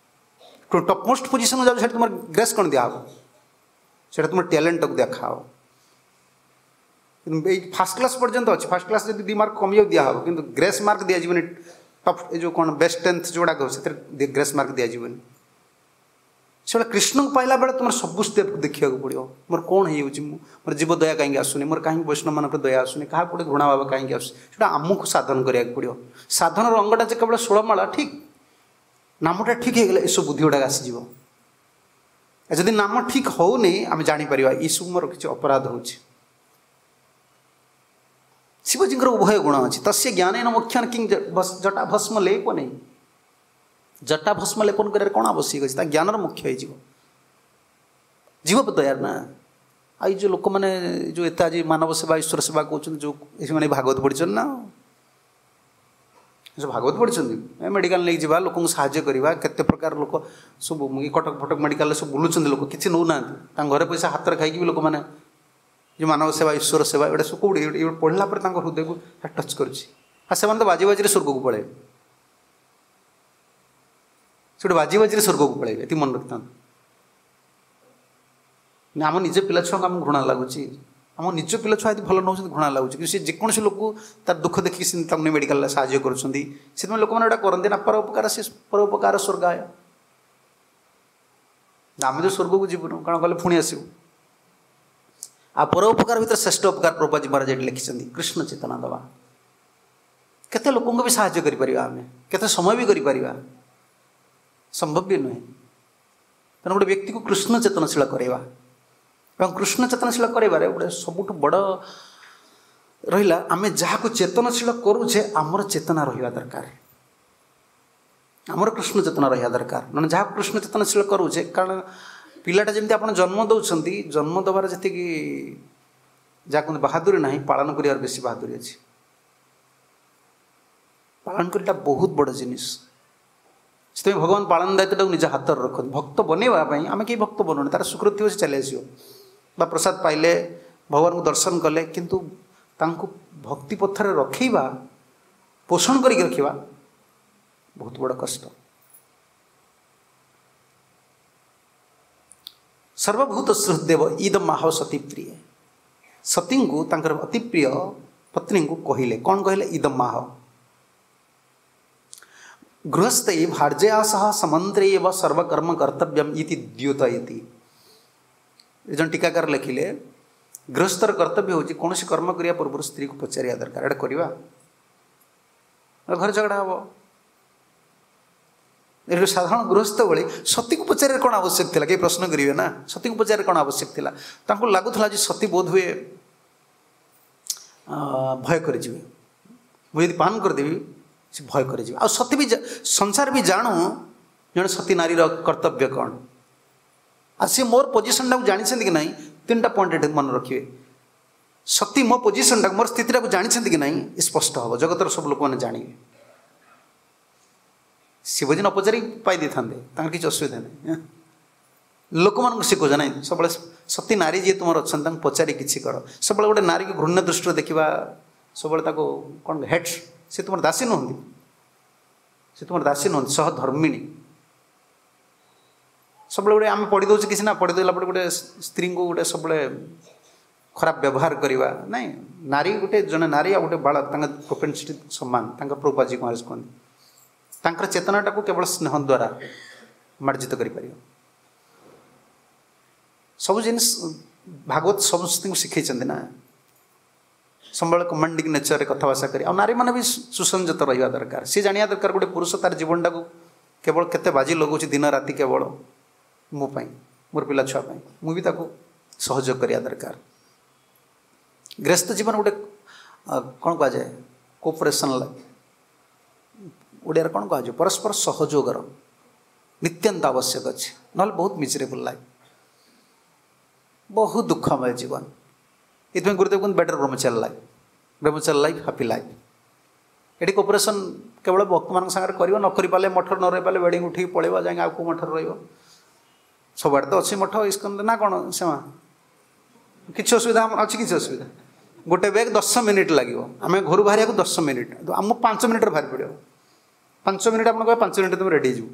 ଟପ୍ ମୋଷ୍ଟ ପୋଜିସନ୍ ଯାଉଛି ସେଠି ତୁମର ଗ୍ରେସ୍ କ'ଣ ଦିଆହେବ? ସେଇଟା ତୁମର ଟ୍ୟାଲେଣ୍ଟଟାକୁ ଦେଖାହେବ। କିନ୍ତୁ ଏଇ ଫାର୍ଷ୍ଟ କ୍ଲାସ୍ ପର୍ଯ୍ୟନ୍ତ ଅଛି, ଫାର୍ଷ୍ଟ କ୍ଲାସ୍ ଯଦି ଦୁଇ ମାର୍କ କମିଯାଉ ଦିଆହେବ, କିନ୍ତୁ ଗ୍ରେସ୍ ମାର୍କ ଦିଆଯିବନି। ଟପ୍ ଏ ଯେଉଁ କ'ଣ ବେଷ୍ଟ ଟେନ୍ଥ ଯେଉଁଗୁଡ଼ାକ ସେଥିରେ ଗ୍ରେସ୍ ମାର୍କ ଦିଆଯିବନି। ସେଗୁଡ଼ା କୃଷ୍ଣଙ୍କୁ ପାଇଲା ବେଳେ ତୁମର ସବୁ ଷ୍ଟେପ୍କୁ ଦେଖିବାକୁ ପଡ଼ିବ। ମୋର କ'ଣ ହେଇଯାଉଛି, ମୁଁ ମୋର ଜୀବ ଦୟା କାହିଁକି ଆସୁନି, ମୋର କାହିଁକି ବୈଷ୍ଣବମାନଙ୍କର ଦୟା ଆସୁନି, କାହାକୁ ଗୋଟେ ଘୃଣା ଭାବ କାହିଁକି ଆସୁଛି, ସେଇଟା ଆମକୁ ସାଧନ କରିବାକୁ ପଡ଼ିବ। ସାଧନର ଅଙ୍ଗଟା ଯେ କେବଳ ଷୋଳମାଳା ଠିକ୍, ନାମଟା ଠିକ୍ ହେଇଗଲେ ଏସବୁ ବୁଦ୍ଧି ଗୁଡ଼ାକ ଆସିଯିବ। ଯଦି ନାମ ଠିକ୍ ହେଉନି ଆମେ ଜାଣିପାରିବା ଏସବୁ ମୋର କିଛି ଅପରାଧ ହେଉଛି। ଶିବଜୀଙ୍କର ଉଭୟ ଗୁଣ ଅଛି। ତସ୍ୟ ଜ୍ଞାନେନ ମୁଖ୍ୟନ କିଂ ଜଟା ଭସ୍ମ ଲେପ ନେଇ, ଜଟା ଭସ୍ମ ଲେପନ କରିବାର କ'ଣ ଆବଶ୍ୟକ ଅଛି? ତା ଜ୍ଞାନର ମୁଖ୍ୟ ହେଇଯିବ। ଜୀବ ଦୟାର ନା। ଆଉ ଏଇ ଯେଉଁ ଲୋକମାନେ ଯେଉଁ ଏତେ ଆଜି ମାନବ ସେବା ଈଶ୍ୱର ସେବା କହୁଛନ୍ତି, ଯେଉଁ ସେମାନେ ଭାଗବତ ପଢ଼ିଛନ୍ତି ନା ସବୁ ଭାଗବତ ପଢ଼ିଛନ୍ତି, ଏ ମେଡ଼ିକାଲ ନେଇକି ଯିବା, ଲୋକଙ୍କୁ ସାହାଯ୍ୟ କରିବା, କେତେ ପ୍ରକାର ଲୋକ ସବୁ କଟକ ଫଟକ ମେଡ଼ିକାଲରେ ସବୁ ବୁଲୁଛନ୍ତି, ଲୋକ କିଛି ନେଉନାହାନ୍ତି, ତାଙ୍କ ଘରେ ପଇସା ହାତରେ ଖାଇକି ବି ଲୋକମାନେ ଯେଉଁ ମାନବ ସେବା ଈଶ୍ୱର ସେବା ଏଗୁଡ଼ା ସବୁ କେଉଁଠି ଏଗୁଡ଼ା ପଢ଼ିଲା ପରେ ତାଙ୍କ ହୃଦୟକୁ ଟଚ୍ କରୁଛି। ଆଉ ସେମାନେ ତ ବାଜି ବାଜିରେ ସ୍ୱର୍ଗକୁ ପଳେଇବେ, ସେଠି ବାଜି ବାଜିରେ ସ୍ୱର୍ଗକୁ ପଳେଇବେ, ଏତିକି ମନେ ରଖିଥାନ୍ତୁ। ଆମ ନିଜ ପିଲା ଛୁଆଙ୍କୁ ଆମକୁ ଘୃଣା ଲାଗୁଛି, ଆମ ନିଜ ପିଲା ଛୁଆ ଯଦି ଭଲ ନେଉଛନ୍ତି ଘୃଣା ଲାଗୁଛି, କିନ୍ତୁ ସେ ଯେକୌଣସି ଲୋକକୁ ତାର ଦୁଃଖ ଦେଖିକି ସେ ତାଙ୍କୁ ନେଇ ମେଡ଼ିକାଲରେ ସାହାଯ୍ୟ କରୁଛନ୍ତି। ସେଥିପାଇଁ ଲୋକମାନେ ଏଇଟା କରନ୍ତି ନା, ପରୋପକାର ସେ ପରୋପକାର ସ୍ୱର୍ଗାୟ। ଆମେ ତ ସ୍ୱର୍ଗକୁ ଯିବୁନୁ, କାରଣ ଗଲେ ପୁଣି ଆସିବୁ। ଆଉ ପରୋପକାର ଭିତରେ ଶ୍ରେଷ୍ଠ ଉପକାର ପ୍ରଭୁପାଦ ମହାରାଜ ଏଠି ଲେଖିଛନ୍ତି କୃଷ୍ଣ ଚେତନା ଦେବା। କେତେ ଲୋକଙ୍କୁ ବି ସାହାଯ୍ୟ କରିପାରିବା ଆମେ, କେତେ ସମୟ ବି କରିପାରିବା, ସମ୍ଭବ ବି ନୁହେଁ। ତେଣୁ ଗୋଟେ ବ୍ୟକ୍ତିକୁ କୃଷ୍ଣ ଚେତନଶୀଳ କରାଇବା, ଏବଂ କୃଷ୍ଣ ଚେତନଶୀଳ କରିବାରେ ଗୋଟେ ସବୁଠୁ ବଡ଼ ରହିଲା, ଆମେ ଯାହାକୁ ଚେତନଶୀଳ କରୁଛେ ଆମର ଚେତନା ରହିବା ଦରକାର, ଆମର କୃଷ୍ଣ ଚେତନା ରହିବା ଦରକାର। ମାନେ ଯାହାକୁ କୃଷ୍ଣ ଚେତନଶୀଳ କରୁଛେ, କାରଣ ପିଲାଟା ଯେମିତି ଆପଣ ଜନ୍ମ ଦେଉଛନ୍ତି, ଜନ୍ମ ଦେବାର ଯେତିକି ଯାହା କୁହନ୍ତି ବାହାଦୁରୀ ନାହିଁ, ପାଳନ କରିବାର ବେଶୀ ବାହାଦୁରୀ ଅଛି। ପାଳନ କରିବାଟା ବହୁତ ବଡ଼ ଜିନିଷ। ସେଥିପାଇଁ ଭଗବାନ ପାଳନ ଦାୟିତ୍ୱଟାକୁ ନିଜ ହାତରେ ରଖନ୍ତି। ଭକ୍ତ ବନେଇବା ପାଇଁ ଆମେ କେହି ଭକ୍ତ ବନୁନି, ତାର ସୁକୃତି ଥିବ ସେ ଚାଲି ଆସିବ ବା ପ୍ରସାଦ ପାଇଲେ ଭଗବାନଙ୍କୁ ଦର୍ଶନ କଲେ, କିନ୍ତୁ ତାଙ୍କୁ ଭକ୍ତି ପଥରେ ରଖେଇବା, ପୋଷଣ କରିକି ରଖିବା ବହୁତ ବଡ଼ କଷ୍ଟ। ସର୍ବଭୂତ ସୁହୃଦେବ ଇଦ ମାହ ସତୀ ପ୍ରିୟ, ସତୀଙ୍କୁ ତାଙ୍କର ଅତି ପ୍ରିୟ ପତ୍ନୀଙ୍କୁ କହିଲେ, କ'ଣ କହିଲେ? ଇଦ ମାହ ଗୃହସ୍ଥୈ ଭାର୍ଯ୍ୟା ସହ ସମନ୍ତ୍ରେ ଏବ ସର୍ବକର୍ମ କର୍ତ୍ତବ୍ୟମ୍ ଇତି ଦ୍ୟୋତୟତି। ଜଣେ ଟୀକାକାର ଲେଖିଲେ, ଗୃହସ୍ଥର କର୍ତ୍ତବ୍ୟ ହେଉଛି କୌଣସି କର୍ମ କରିବା ପୂର୍ବରୁ ସ୍ତ୍ରୀକୁ ପଚାରିବା ଦରକାର, ଏଇଟା କରିବା ଘରେ ଝଗଡ଼ା ହେବ। ଏଠୁ ସାଧାରଣ ଗୃହସ୍ଥ ଭଳି ସତୀକୁ ପଚାରିବାର କ'ଣ ଆବଶ୍ୟକ ଥିଲା? କେହି ପ୍ରଶ୍ନ କରିବେ ନା, ସତୀକୁ ପଚାରିବାର କ'ଣ ଆବଶ୍ୟକ ଥିଲା? ତାଙ୍କୁ ଲାଗୁଥିଲା ଯେ ସତୀ ବୋଧ ହୁଏ ଭୟ କରିଯିବେ, ମୁଁ ଯଦି ପାନ କରିଦେବି ସେ ଭୟ କରିଯିବେ। ଆଉ ସତୀ ବି ସଂସାର ବି ଜାଣୁ ଜଣେ ସତୀ ନାରୀର କର୍ତ୍ତବ୍ୟ କ'ଣ, ଆଉ ସିଏ ମୋର ପୋଜିସନ୍ଟାକୁ ଜାଣିଛନ୍ତି କି ନାହିଁ। ତିନିଟା ପଏଣ୍ଟ ଏଠି ମନେ ରଖିବେ। ସତୀ ମୋ ପୋଜିସନ୍ଟାକୁ, ମୋର ସ୍ଥିତିଟାକୁ ଜାଣିଛନ୍ତି କି ନାହିଁ ସ୍ପଷ୍ଟ ହେବ, ଜଗତର ସବୁ ଲୋକମାନେ ଜାଣିବେ। ଶିବଜୀ ନ ପଚାରି ପାଇ ଦେଇଥାନ୍ତେ, ତାଙ୍କର କିଛି ଅସୁବିଧା ନାହିଁ। ଲୋକମାନଙ୍କୁ ଶିଖୁଛ ନାହିଁ, ସବୁବେଳେ ସତୀ ନାରୀ ଯିଏ ତୁମର ଅଛନ୍ତି ତାଙ୍କୁ ପଚାରି କିଛି କର। ସବୁବେଳେ ଗୋଟେ ନାରୀକୁ ଘୃଣ୍ୟ ଦୃଷ୍ଟିରେ ଦେଖିବା, ସବୁବେଳେ ତାକୁ କ'ଣ ହେଟ୍, ସେ ତୁମର ଦାସୀ ନୁହନ୍ତି, ସେ ତୁମର ଦାସୀ ନୁହନ୍ତି, ସହଧର୍ମିଣୀ। ସବୁବେଳେ ଗୋଟେ ଆମେ ପଢ଼ି ଦେଉଛୁ କିଛି ନା, ପଢ଼ି ଦେଲା ପରେ ଗୋଟେ ସ୍ତ୍ରୀଙ୍କୁ ଗୋଟେ ସବୁବେଳେ ଖରାପ ବ୍ୟବହାର କରିବା ନାଇଁ। ନାରୀ ଗୋଟେ ଜଣେ ନାରୀ ଆଉ ଗୋଟେ ବାଳକ, ତାଙ୍କ ପ୍ରୋପେନ୍ସିଟି ସମାନ। ତାଙ୍କ ପ୍ରଭୁପାଦ ମହାରାଜ କୁହନ୍ତି ତାଙ୍କର ଚେତନାଟାକୁ କେବଳ ସ୍ନେହ ଦ୍ୱାରା ମାର୍ଜିତ କରିପାରିବ। ସବୁ ଜିନିଷ ଭାଗବତ ସମସ୍ତଙ୍କୁ ଶିଖେଇଛନ୍ତି ନା, ସବୁବେଳେ କମାଣ୍ଡିଂ ନେଚରରେ କଥାବାର୍ତ୍ତା କରି। ଆଉ ନାରୀମାନେ ବି ସୁସଂଯତ ରହିବା ଦରକାର। ସିଏ ଜାଣିବା ଦରକାର ଗୋଟେ ପୁରୁଷ ତାର ଜୀବନଟାକୁ କେବଳ କେତେ ବାଜି ଲଗାଉଛି ଦିନ ରାତି କେବଳ ମୋ ପାଇଁ, ମୋର ପିଲା ଛୁଆ ପାଇଁ, ମୁଁ ବି ତାକୁ ସହଯୋଗ କରିବା ଦରକାର। ଗୃହସ୍ଥ ଜୀବନ ଗୋଟେ କ'ଣ କୁହାଯାଏ, କୋଅପରେସନ୍, ଓଡ଼ିଆରେ କ'ଣ କୁହାଯିବ, ପରସ୍ପର ସହଯୋଗର ନିତ୍ୟାନ୍ତ ଆବଶ୍ୟକ ଅଛି, ନହେଲେ ବହୁତ ମିଜରେବୁଲ୍ ଲାଇଫ୍, ବହୁତ ଦୁଃଖମୟ ଜୀବନ। ଏଥିପାଇଁ ଗୁରୁଦେବ କୁହନ୍ତି ବେଟର୍ ବ୍ରହ୍ମଚାରୀ ଲାଇଫ୍, ବ୍ରହ୍ମଚାରୀ ଲାଇଫ୍ ହାପି ଲାଇଫ୍। ଏଠି କୋଅପରେସନ୍ କେବଳ ଭକ୍ତମାନଙ୍କ ସାଙ୍ଗରେ କରିବ, ନ କରିପାରିଲେ ମଠରେ ନ ରହିପାରିଲେ ବେଡ଼ିଂ ଉଠିକି ପଳେଇବ, ଯାଇକି ଆଉ କେଉଁ ମଠରେ ରହିବ। ସବୁଆଡ଼େ ତ ଅଛି ମଠ ଇସ୍କନରେ ନା କ'ଣ ସେମା, କିଛି ଅସୁବିଧା ଆମର ଅଛି? କିଛି ଅସୁବିଧା? ଗୋଟେ ବ୍ୟାଗ୍ ଦଶ ମିନିଟ୍ ଲାଗିବ, ଆମେ ଘରୁ ବାହାରିବାକୁ ଦଶ ମିନିଟ୍, ଆମ ପାଞ୍ଚ ମିନିଟ୍ରେ ବାହାରି ପଡ଼ିବ। ପାଞ୍ଚ ମିନିଟ୍ ଆପଣ କହିବେ, ପାଞ୍ଚ ମିନିଟ୍ ତୁମେ ରେଡ଼ି ହେଇଯିବ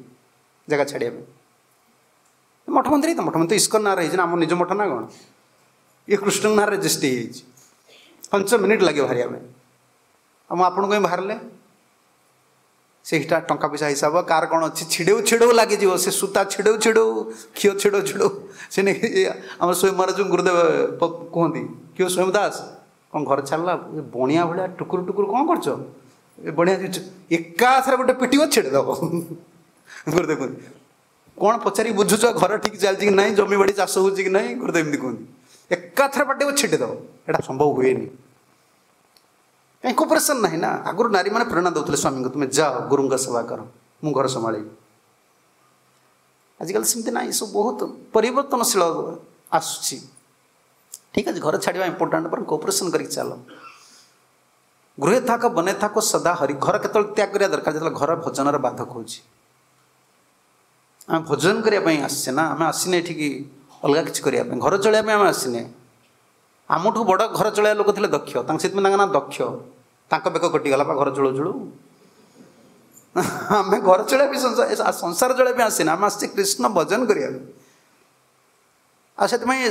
ଜାଗା ଛାଡ଼ିବା ପାଇଁ। ମଠ ମନ୍ଦିର ତ ମଠ ମନ୍ଦିର ଇସ୍କନ ନାଁରେ ହେଇଛି ନା, ଆମ ନିଜ ମଠ ନା କ'ଣ, ଇଏ କୃଷ୍ଣଙ୍କ ନାଁରେ ରେଜିଷ୍ଟ୍ରି ହେଇଯାଇଛି। ପାଞ୍ଚ ମିନିଟ୍ ଲାଗିବ ବାହାରିବା ପାଇଁ। ଆଉ ମୁଁ ଆପଣଙ୍କ ପାଇଁ ବାହାରିଲେ ସେଇଟା ଟଙ୍କା ପଇସା ହିସାବ କାହାର କ'ଣ ଅଛି, ଛିଡ଼େଉ ଛିଡ଼େଉ ଲାଗିଯିବ, ସେ ସୂତା ଛିଡ଼େଉ ଛିଡ଼େଉ, ଖିଅ ଛିଡ଼ଉ ଛିଡ଼ଉ। ସେ ନେଇକି ଆମର ସ୍ୱୟଂ ମହାରାଜଙ୍କୁ ଗୁରୁଦେବ କୁହନ୍ତି, କିଏ ସ୍ୱୟଂ ଦାସ କ'ଣ ଘର ଛାଡ଼ିଲା ବଣିଆ ଭଳିଆ ଟୁକୁରୁ ଟୁକୁରୁ କ'ଣ କରୁଛ, ଏ ବଣିଆ ଏକାଥରେ ଗୋଟେ ପିଟିବ ଛିଡ଼େଇଦେବ। ଗୁରୁଦେବ କୁହନ୍ତି କ'ଣ ପଚାରିକି ବୁଝୁଛ ଘର ଠିକ୍ ଚାଲିଛି କି ନାହିଁ, ଜମି ବାଡ଼ି ଚାଷ ହେଉଛି କି ନାହିଁ? ଗୁରୁଦେବ ଏମିତି କୁହନ୍ତି, ଏକାଥରେ ପାଟିବ ଛିଟେଇଦେବ। ଏଇଟା ସମ୍ଭବ ହୁଏନି, କାହିଁ କୋଅପରେସନ୍ ନାହିଁ ନା। ଆଗରୁ ନାରୀମାନେ ପ୍ରେରଣା ଦେଉଥିଲେ ସ୍ୱାମୀଙ୍କୁ, ତୁମେ ଯାଅ ଗୁରୁଙ୍କ ସେବା କର, ମୁଁ ଘର ସମ୍ଭାଳିବି। ଆଜିକାଲି ସେମିତି ନାହିଁ, ସବୁ ବହୁତ ପରିବର୍ତ୍ତନଶୀଳ ଆସୁଛି। ଠିକ୍ ଅଛି, ଘର ଛାଡ଼ିବା ଇମ୍ପୋର୍ଟାଣ୍ଟ, ବରଂ କୋଅପରେସନ୍ କରିକି ଚାଲ। ଗୃହେ ଥାକ ବନେ ଥାକ ସଦା ହରି। ଘର କେତେବେଳେ ତ୍ୟାଗ କରିବା ଦରକାର? ଯେତେବେଳେ ଘର ଭଜନର ବାଧକ ହେଉଛି। ଆମେ ଭୋଜନ କରିବା ପାଇଁ ଆସିଛେ ନା, ଆମେ ଆସିନେ ଏଠିକି ଅଲଗା କିଛି କରିବା ପାଇଁ, ଘର ଚଳେଇବା ପାଇଁ ଆମେ ଆସିନେ। ଆମଠୁ ବଡ଼ ଘର ଚଳେଇବା ଲୋକ ଥିଲେ ଦକ୍ଷ, ତାଙ୍କ ସେଥିପାଇଁ ତାଙ୍କ ନାଁ ଦକ୍ଷ। ତାଙ୍କ ବେକ କଟିଗଲା ବା ଘର ଚଳୁ ଚଳୁ। ଆମେ ଘର ଚଳେଇବା ପାଇଁ, ସଂସାର ଚଳେଇବା ପାଇଁ ଆସିନେ, ଆମେ ଆସିଛେ କୃଷ୍ଣ ଭଜନ କରିବା ପାଇଁ। ଆଉ ସେଥିପାଇଁ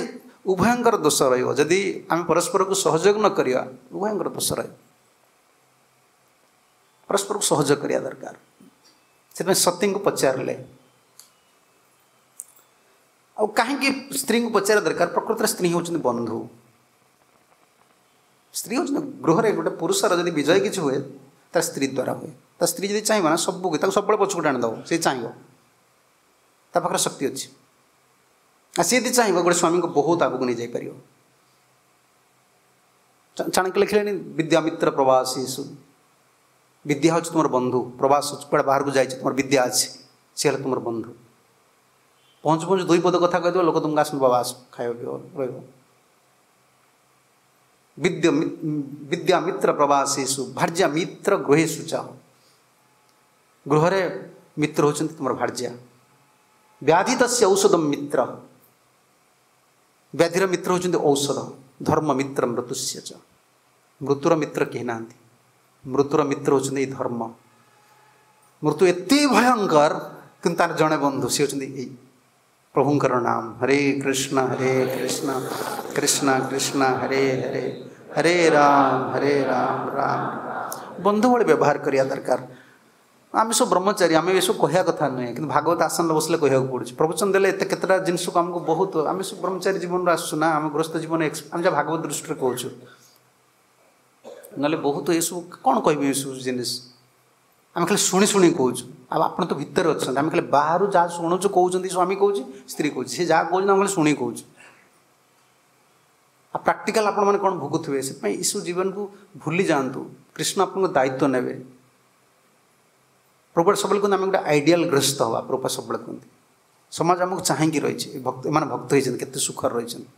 ଉଭୟଙ୍କର ଦୋଷ ରହିବ ଯଦି ଆମେ ପରସ୍ପରକୁ ସହଯୋଗ ନ କରିବା, ଉଭୟଙ୍କର ଦୋଷ ରହିବ। ପରସ୍ପରକୁ ସହଯୋଗ କରିବା ଦରକାର। ସେଥିପାଇଁ ସତୀଙ୍କୁ ପଚାରିଲେ। ଆଉ କାହିଁକି ସ୍ତ୍ରୀଙ୍କୁ ପଚାରିବା ଦରକାର? ପ୍ରକୃତରେ ସ୍ତ୍ରୀ ହେଉଛନ୍ତି ବନ୍ଧୁ। ସ୍ତ୍ରୀ ହେଉଛନ୍ତି ଗୃହରେ ଗୋଟେ ପୁରୁଷର ଯଦି ବିଜୟ କିଛି ହୁଏ ତା ସ୍ତ୍ରୀ ଦ୍ୱାରା ହୁଏ। ତା ସ୍ତ୍ରୀ ଯଦି ଚାହିଁବ ନା ସବୁ ତାକୁ ସବୁବେଳେ ପଛକୁ ଟାଣିଦେବ, ସେ ଚାହିଁବ, ତା ପାଖରେ ଶକ୍ତି ଅଛି। ଆଉ ସିଏ ଯଦି ଚାହିଁବ ଗୋଟେ ସ୍ୱାମୀଙ୍କୁ ବହୁତ ଆଗକୁ ନେଇଯାଇପାରିବ। ଚାଣକ୍ୟ ଲେଖିଲେଣି ବିଦ୍ୟା ମିତ୍ର ପ୍ରବାସୀଷୁ, ବିଦ୍ୟା ହେଉଛି ତୁମର ବନ୍ଧୁ, ପ୍ରବାସ କୁଆଡ଼େ ବାହାରକୁ ଯାଇଛି ତୁମର ବିଦ୍ୟା ଅଛି, ସେ ହେଲା ତୁମର ବନ୍ଧୁ। ପହଞ୍ଚୁ ପହଞ୍ଚୁ ଦୁଇ ପଦ କଥା କହିଦେବ, ଲୋକ ତୁମକୁ ଆସନ୍ତୁ ବାବା ଆସ ଖାଇବ ପିଇବ ରହିବ। ବିଦ୍ୟ ବିଦ୍ୟା ମିତ୍ର ପ୍ରବାସୀଷୁ ଭାର୍ଯ୍ୟା ମିତ୍ର ଗୃହେଷୁ ଚାହ, ଗୃହରେ ମିତ୍ର ହେଉଛନ୍ତି ତୁମର ଭାର୍ଯ୍ୟା। ବ୍ୟାଧି ତସ୍ୟ ଔଷଧ ମିତ୍ର, ବ୍ୟାଧିର ମିତ୍ର ହେଉଛନ୍ତି ଔଷଧ। ଧର୍ମ ମିତ୍ର ମୃତ୍ୟୁସ୍ୟ ଚ, ମୃତ୍ୟୁର ମିତ୍ର କେହି ନାହାନ୍ତି, ମୃତ୍ୟୁର ମିତ୍ର ହେଉଛନ୍ତି ଏଇ ଧର୍ମ। ମୃତ୍ୟୁ ଏତେ ଭୟଙ୍କର, କିନ୍ତୁ ତାର ଜଣେ ବନ୍ଧୁ, ସେ ହେଉଛନ୍ତି ଏଇ ପ୍ରଭୁଙ୍କର ନାମ। ହରେ କୃଷ୍ଣ ହରେ କୃଷ୍ଣ କୃଷ୍ଣ କୃଷ୍ଣ ହରେ ହରେ, ହରେ ରାମ ହରେ ରାମ ରାମ। ବନ୍ଧୁ ଭଳି ବ୍ୟବହାର କରିବା ଦରକାର। ଆମେ ସବୁ ବ୍ରହ୍ମଚାରୀ, ଆମେ ଏସବୁ କହିବା କଥା ନୁହେଁ, କିନ୍ତୁ ଭାଗବତ ଆସନରେ ବସିଲେ କହିବାକୁ ପଡ଼ୁଛି। ପ୍ରବଚନ ଦେଲେ ଏତେ କେତେଟା ଜିନିଷକୁ ଆମକୁ ବହୁତ, ଆମେ ସବୁ ବ୍ରହ୍ମଚାରୀ ଜୀବନରୁ ଆସୁଛୁ ନା, ଆମେ ଗୃହସ୍ଥ ଜୀବନ, ଆମେ ଯାହା ଭାଗବତ ଦୃଷ୍ଟିରେ କହୁଛୁ, ନହେଲେ ବହୁତ ଏସବୁ କ'ଣ କହିବି ଏସବୁ ଜିନିଷ ଆମେ ଖାଲି ଶୁଣି ଶୁଣି କହୁଛୁ। ଆଉ ଆପଣ ତ ଭିତରେ ଅଛନ୍ତି, ଆମେ ଖାଲି ବାହାରୁ ଯାହା ଶୁଣୁଛୁ କହୁଛନ୍ତି, ସ୍ୱାମୀ କହୁଛି ସ୍ତ୍ରୀ କହୁଛି, ସେ ଯାହା କହୁଛନ୍ତି ଆମେ ଖାଲି ଶୁଣି କହୁଛୁ। ଆଉ ପ୍ରାକ୍ଟିକାଲ ଆପଣମାନେ କ'ଣ ଭୋଗୁଥିବେ। ସେଥିପାଇଁ ଏସବୁ ଜୀବନକୁ ଭୁଲି ଯାଆନ୍ତୁ, କୃଷ୍ଣ ଆପଣଙ୍କ ଦାୟିତ୍ୱ ନେବେ। ପ୍ରଭୁପାଦ ସବୁବେଳେ କୁହନ୍ତି ଆମେ ଗୋଟେ ଆଇଡ଼ିଆଲ ଗୃହସ୍ଥ ହେବା। ପ୍ରଭୁପାଦ ସବୁବେଳେ କୁହନ୍ତି ସମାଜ ଆମକୁ ଚାହିଁକି ରହିଛି, ଭକ୍ତ ଏମାନେ ଭକ୍ତ ହେଇଛନ୍ତି କେତେ ସୁଖରେ ରହିଛନ୍ତି।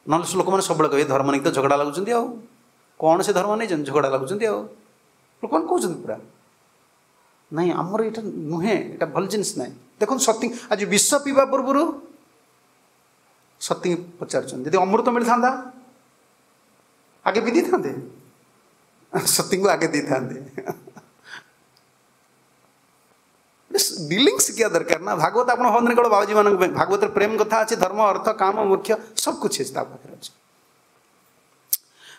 ନହେଲେ ସେ ଲୋକମାନେ ସବୁବେଳେ କହିବେ ଧର୍ମ ନେଇକି ତ ଝଗଡ଼ା ଲାଗୁଛନ୍ତି, ଆଉ କ'ଣ ସେ ଧର୍ମ ନେଇଛନ୍ତି ଝଗଡ଼ା ଲାଗୁଛନ୍ତି, ଆଉ ଲୋକମାନେ କହୁଛନ୍ତି ପୁରା ନାଇଁ ଆମର ଏଇଟା ନୁହେଁ, ଏଇଟା ଭଲ ଜିନିଷ ନାହିଁ। ଦେଖନ୍ତୁ ସତୀ ଆଜି ବିଷ ପିଇବା ପୂର୍ବରୁ ସତୀ ପଚାରୁଛନ୍ତି, ଯଦି ଅମୃତ ମିଳିଥାନ୍ତା ଆଗେ ପିଇ ଦେଇଥାନ୍ତେ, ସତୀଙ୍କୁ ଆଗେ ଦେଇଥାନ୍ତେ। ଡିଲିଂ ଶିଖିବା ଦରକାର ନା। ଭାଗବତ ଆପଣ ଭାବନ୍ତନି କେବଳ ବାବାଜୀମାନଙ୍କ ପାଇଁ, ଭାଗବତରେ ପ୍ରେମ କଥା ଅଛି, ଧର୍ମ ଅର୍ଥ କାମ ମୋକ୍ଷ ସବୁ କିଛି ଅଛି ତା ପାଖରେ ଅଛି।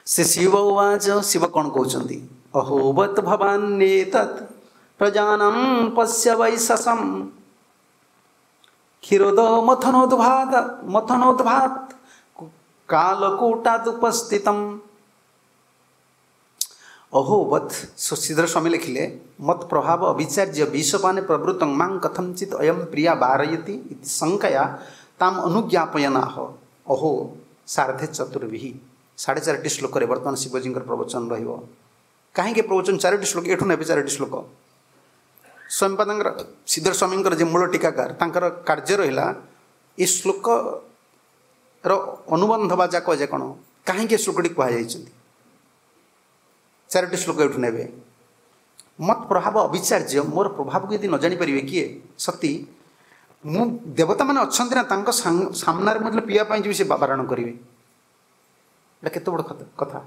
ସେ ଶିବ ଉବାଚ, ଶିବ କ'ଣ କହୁଛନ୍ତି? ଅହୋବତ ଭବାନ୍ୟେତତ୍ ପ୍ରଜାନାಂ ପଶ୍ୟ ବୈଶସಂ କ୍ଷୀରୋଦ ମଥନୋଦ୍ଭାତ ମଥନୋଦ୍ଭାତ କାଲକୂଟାଦ୍ ଉପସ୍ଥିତମ୍। ଅହୋବତ ଶ୍ରୀଧର ସ୍ୱାମୀ ଲେଖିଲେ ମତ ପ୍ରଭାବ ଅବିଚାର୍ଯ୍ୟ ବିଷପାନେ ପ୍ରବୃତ୍ତଂ ମାଂ କଥଞ୍ଚିତ ଅୟಂ ପ୍ରିୟା ବାରୟତି ଇତି ଶଙ୍କୟା ତାମ ଅନୁଜ୍ଞାପୟନାହ ଅହୋ ସାର୍ଧେ ଚତୁର୍ଭିः। ସାଢ଼େ ଚାରିଟି ଶ୍ଲୋକରେ ବର୍ତ୍ତମାନ ଶିବଜୀଙ୍କର ପ୍ରବଚନ ରହିବ। କାହିଁକି ପ୍ରବଚନ ଚାରୋଟି ଶ୍ଲୋକ? ଏଠୁ ନେବେ ଚାରୋଟି ଶ୍ଲୋକ। ସ୍ୱାମୀପାଦଙ୍କର ଶ୍ରୀଧର ସ୍ୱାମୀଙ୍କର ଯେ ମୂଳ ଟୀକାକାର, ତାଙ୍କର କାର୍ଯ୍ୟ ରହିଲା ଏ ଶ୍ଲୋକର ଅନୁବନ୍ଧ ବା ଯାକ ଯେ କ'ଣ, କାହିଁକି ଏ ଶ୍ଲୋକଟି କୁହାଯାଇଛନ୍ତି। ଚାରୋଟି ଶ୍ଲୋକ ଏଠୁ ନେବେ। ମତ ପ୍ରଭାବ ଅବିଚାର୍ଯ୍ୟ, ମୋର ପ୍ରଭାବକୁ ଯଦି ନ ଜାଣିପାରିବେ କିଏ ସତୀ, ମୁଁ ଦେବତାମାନେ ଅଛନ୍ତି ନା, ତାଙ୍କ ସାମ୍ନାରେ ମୁଁ ଯେତେବେଳେ ପିଇବା ପାଇଁ ଯିବି ସେ ବାରଣ କରିବେ। ଏଇଟା କେତେ ବଡ଼ କଥା।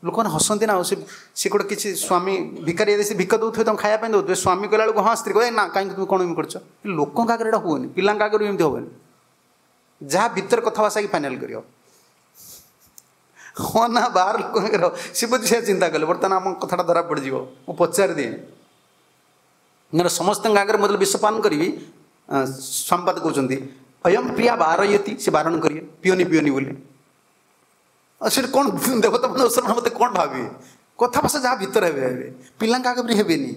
ଲୋକମାନେ ହସନ୍ତି ନା। ଆଉ ସେ ସେ ଗୋଟେ କିଛି ସ୍ୱାମୀ ଭିକାରୀ ଯଦି ସେ ଭିକ ଦେଉଥିବେ, ତାଙ୍କୁ ଖାଇବା ପାଇଁ ଦେଉଥିବେ, ସ୍ୱାମୀ କହିଲା ବେଳକୁ ହଁ ସ୍ତ୍ରୀ କହିବେ ନା କାହିଁକି ତୁମେ କ'ଣ ଏମିତି କରୁଛ। ଲୋକଙ୍କ ଆଗରେ ଏଇଟା ହୁଏନି, ପିଲାଙ୍କ ଆଗରେ ବି ଏମିତି ହେବନି। ଯାହା ଭିତରେ କଥା ଭାଷା କି ଫାଇନାଲ୍ କରିବ ହଁ ନା ବାହାର ଲୋକଙ୍କ ଆଗରେ। ସେ ବୁଝି ସେୟା ଚିନ୍ତା କଲେ ବର୍ତ୍ତମାନ ଆମ କଥାଟା ଧରା ପଡ଼ିଯିବ, ମୁଁ ପଚାରିଦିଏ। ନହେଲେ ସମସ୍ତଙ୍କ ଆଗରେ ମୁଁ ଯେତେବେଳେ ବିଷପାନ କରିବି, ସମ୍ପାଦ କହୁଛନ୍ତି ଅୟಂ ପ୍ରିୟା ବାରୟତି, ସେ ବାରଣ କରିବେ ପିଅନି ପିଅନି ବୋଲି। ଆଉ ସେଠି କ'ଣ ଦେବତା ମାନେ ଅସୁର ମୋତେ କ'ଣ ଭାବିବେ? କଥା ଭାଷା ଯାହା ଭିତରେ ହେବେ ହେବେ, ପିଲାଙ୍କ ଆଗରେ ହେବେନି।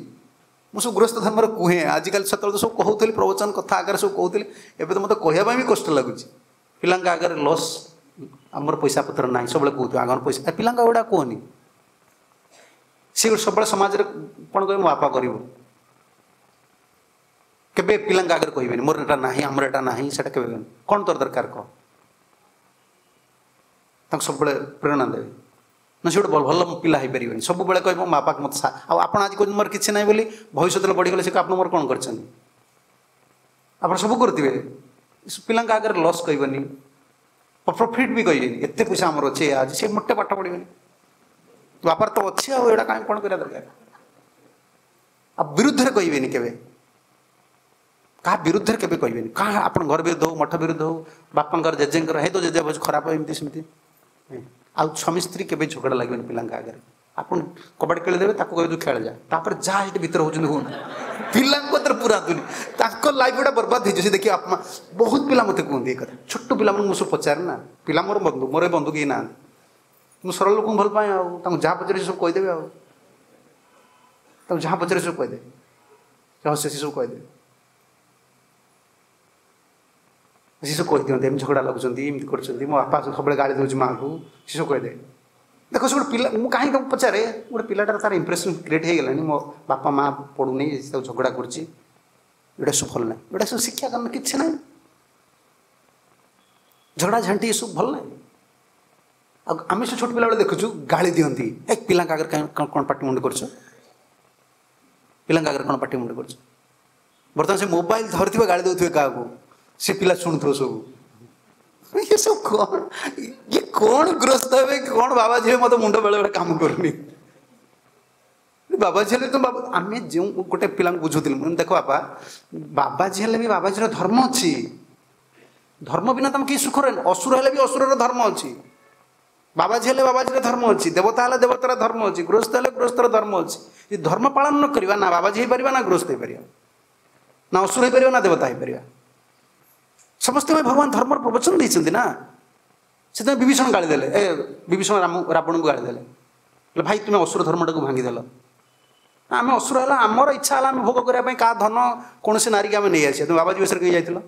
ମୁଁ ସବୁ ଗୃହସ୍ଥ ଧର୍ମର କୁହେ, ଆଜିକାଲି ସେତେବେଳେ ତ ସବୁ କହୁଥିଲି ପ୍ରବଚନ କଥା ଆଗରେ ସବୁ କହୁଥିଲି, ଏବେ ତ ମୋତେ କହିବା ପାଇଁ ବି କଷ୍ଟ ଲାଗୁଛି। ପିଲାଙ୍କ ଆଗରେ ଲସ୍, ଆମର ପଇସା ପତ୍ର ନାହିଁ ସବୁବେଳେ କହୁଥିବ, ଆଗର ପଇସା ପିଲାଙ୍କ ଏଗୁଡ଼ା କୁହନି। ସେ ଗୋଟେ ସବୁବେଳେ ସମାଜରେ କ'ଣ କହିବେ, ମୋ ବାପା କରିବ। କେବେ ପିଲାଙ୍କ ଆଗରେ କହିବେନି ମୋର ଏଇଟା ନାହିଁ, ଆମର ଏଇଟା ନାହିଁ, ସେଇଟା କେବେ କହିବେନି। କ'ଣ ତୋର ଦରକାର କହ, ତାଙ୍କୁ ସବୁବେଳେ ପ୍ରେରଣା ଦେବେ। ନା ସେ ଗୋଟେ ଭଲ ପିଲା ହେଇପାରିବେନି, ସବୁବେଳେ କହିବ ମୋ ବାପାକୁ ମୋତେ ଆଉ ଆପଣ ଆଜି କହୁଛନ୍ତି ମୋର କିଛି ନାହିଁ ବୋଲି, ଭବିଷ୍ୟତରେ ବଢ଼ିଗଲେ ସେ ଆପଣ ମୋର କ'ଣ କରିଛନ୍ତି? ଆପଣ ସବୁ କରୁଥିବେ। ପିଲାଙ୍କ ଆଗରେ ଲସ୍ କହିବନି, ପ୍ରଫିଟ୍ ବି କହିବେନି, ଏତେ ପଇସା ଆମର ଅଛି ଆଜି, ସେ ମୋଟେ ପାଠ ପଢ଼ିବେନି, ବାପାର ତ ଅଛି ଆଉ ଏଇଟା କାହିଁ କ'ଣ କରିବା ଦରକାର। ଆଉ ବିରୁଦ୍ଧରେ କହିବେନି କେବେ, କାହା ବିରୁଦ୍ଧରେ କେବେ କହିବେନି। କାହା ଆପଣ ଘର ବିରୁଦ୍ଧ ହଉ, ମଠ ବିରୁଦ୍ଧ ହଉ, ବାପାଙ୍କର ଜେଜେଙ୍କର ହେଇ ତ ଜେଜେ ଖରାପ ଏମିତି ସେମିତି। ଆଉ ସ୍ୱାମୀ ସ୍ତ୍ରୀ କେବେ ଝଗଡ଼ା ଲାଗିବେନି ପିଲାଙ୍କ ଆଗରେ। ଆପଣ କବାଡ଼ି ଖେଳିଦେବେ, ତାକୁ କହିବେ ତୁ ଖେଳ ଯା, ତାପରେ ଯାହା ସେଠି ଭିତରେ ହେଉଛନ୍ତି ହୁଅନ୍ତୁ, ପିଲାଙ୍କ କତିରେ ପୁରାନ୍ତୁନି, ତାଙ୍କ ଲାଇଫ୍ ଗୁଡ଼ା ବର୍ବାଦ ହେଇଯିବ। ସେ ଦେଖିବେ ଆପମା। ବହୁତ ପିଲା ମୋତେ କୁହନ୍ତି ଏ କଥା, ଛୋଟ ପିଲାମାନଙ୍କୁ ମୁଁ ସବୁ ପଚାରେ ନା, ପିଲା ମୋର ବନ୍ଧୁ, ମୋର ଏ ବନ୍ଧୁ କେହି ନାହାନ୍ତି, ମୁଁ ସରଳ ଲୋକଙ୍କୁ ଭଲ ପାଏ, ଆଉ ତାଙ୍କୁ ଯାହା ପଚାରେ ସବୁ କହିଦେବେ, ଆଉ ତାଙ୍କୁ ଯାହା ପଚାରେ ସବୁ କହିଦେବେ, ରହସ୍ୟ ସେ ସବୁ କହିଦେବେ। ସେ ସବୁ କହିଦିଅନ୍ତି, ଏମିତି ଝଗଡ଼ା ଲାଗୁଛନ୍ତି, ଏମିତି କରୁଛନ୍ତି, ମୋ ବାପା ସବୁବେଳେ ଗାଳି ଦେଉଛି ମାଆକୁ, ସେ ସବୁ କହିଦେବେ। ଦେଖ ସେ ଗୋଟେ ପିଲା, ମୁଁ କାହିଁକି ତାକୁ ପଚାରେ, ଗୋଟେ ପିଲାଟାର ତାର ଇମ୍ପ୍ରେସନ୍ କ୍ରିଏଟ୍ ହେଇଗଲାଣି, ମୋ ବାପା ମା ପଡ଼ୁନି, ତାକୁ ଝଗଡ଼ା କରୁଛି, ଏଇଟା ସବୁ ଭଲ ନାହିଁ, ଏଇଟା ସବୁ ଶିକ୍ଷା କାରଣ କିଛି ନାହିଁ, ଝଗଡ଼ା ଝାଣ୍ଟି ଏସବୁ ଭଲ ନାହିଁ। ଆଉ ଆମେ ସେ ଛୋଟ ପିଲାବେଳେ ଦେଖୁଛୁ ଗାଳି ଦିଅନ୍ତି, ଏ ପିଲାଙ୍କ ଆଗରେ କାଇଁ କ'ଣ ପାଟି ମୁଣ୍ଡ କରୁଛ, ପିଲାଙ୍କ ଆଗରେ କ'ଣ ପାଟି ମୁଣ୍ଡ କରୁଛ। ବର୍ତ୍ତମାନ ସେ ମୋବାଇଲ ଧରିଥିବେ ଗାଳି ଦେଉଥିବେ କାହାକୁ, ସେ ପିଲା ଶୁଣୁଥିବ ସବୁ, ଇଏ ସବୁ କ'ଣ, ଇଏ କ'ଣ ଗ୍ରସ୍ତ ହେବେ, କ'ଣ ବାବାଜୀ ହେବେ, ମୋତେ ମୁଣ୍ଡ ବେଳେବେଳେ କାମ କରୁନି। ବାବାଜୀ ହେଲେ ତ ବାବା, ଆମେ ଯେଉଁ ଗୋଟେ ପିଲାଙ୍କୁ ବୁଝୁଥିଲୁ, ମୁଁ ଦେଖ ବାପା, ବାବାଜୀ ହେଲେ ବି ବାବାଜୀର ଧର୍ମ ଅଛି, ଧର୍ମ ବିନା ତମେ କେହି ସୁଖ ରହେନି। ଅସୁର ହେଲେ ବି ଅସୁରର ଧର୍ମ ଅଛି, ବାବାଜୀ ହେଲେ ବାବାଜୀର ଧର୍ମ ଅଛି, ଦେବତା ହେଲେ ଦେବତାର ଧର୍ମ ଅଛି, ଗୃହସ୍ଥ ହେଲେ ଗୃହସ୍ଥର ଧର୍ମ ଅଛି। ଯଦି ଧର୍ମ ପାଳନ ନ କରିବା, ନା ବାବାଜୀ ହେଇପାରିବା, ନା ଗୃହସ୍ଥ ହେଇପାରିବା, ନା ଅସୁର ହେଇପାରିବା, ନା ଦେବତା ହେଇପାରିବା। ସମସ୍ତେ ପାଇଁ ଭଗବାନ ଧର୍ମର ପ୍ରବଚନ ଦେଇଛନ୍ତି ନା। ସେଥିପାଇଁ ବିଭୀଷଣ ଗାଳି ଦେଲେ, ଏ ବିଭୀଷଣ ରାମ ରାବଣଙ୍କୁ ଗାଳି ଦେଲେ, ହେଲେ ଭାଇ ତୁମେ ଅସୁର ଧର୍ମଟାକୁ ଭାଙ୍ଗିଦେଲ। ଆମେ ଅସୁର ହେଲା, ଆମର ଇଚ୍ଛା ହେଲା ଆମେ ଭୋଗ କରିବା ପାଇଁ କାହା ଧନ କୌଣସି ନାରୀକି ଆମେ ନେଇ ଆସିବା, ତୁମେ ବାବାଜୀ ବିଷୟରେ କାହିଁ ଯାଇଥିଲ,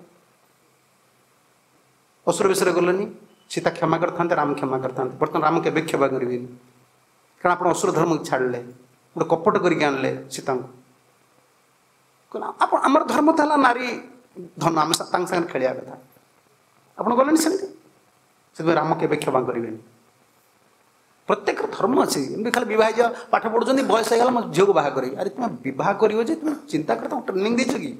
ଅସୁର ବିଷୟରେ ଗଲନି। ସୀତା କ୍ଷମା କରିଥାନ୍ତେ, ରାମ କ୍ଷମା କରିଥାନ୍ତେ, ବର୍ତ୍ତମାନ ରାମ କେବେ କ୍ଷମା କରିବେନି, କାରଣ ଆପଣ ଅସୁର ଧର୍ମକୁ ଛାଡ଼ିଲେ, ଗୋଟେ କପଟ କରିକି ଆଣିଲେ ସୀତାଙ୍କୁ। ଆପଣ ଆମର ଧର୍ମ ତ ହେଲା ନାରୀ ଧନ, ଆମେ ତାଙ୍କ ସାଙ୍ଗରେ ଖେଳିବା କଥା, ଆପଣ ଗଲେନି ସେମିତି, ସେଥିପାଇଁ ରାମ କେବେ କ୍ଷମା କରିବେନି। ପ୍ରତ୍ୟେକର ଧର୍ମ ଅଛି, ଏମିତି ଖାଲି ବିବାହ ହେଇଯିବ, ପାଠ ପଢ଼ୁଛନ୍ତି, ବୟସ ହେଇଗଲା ମୋ ଝିଅକୁ ବାହା କରିବି। ଆରେ ତୁମେ ବିବାହ କରିବ ଯେ ତୁମେ ଚିନ୍ତା କର, ତାକୁ ଟ୍ରେନିଂ ଦେଇଛ କି?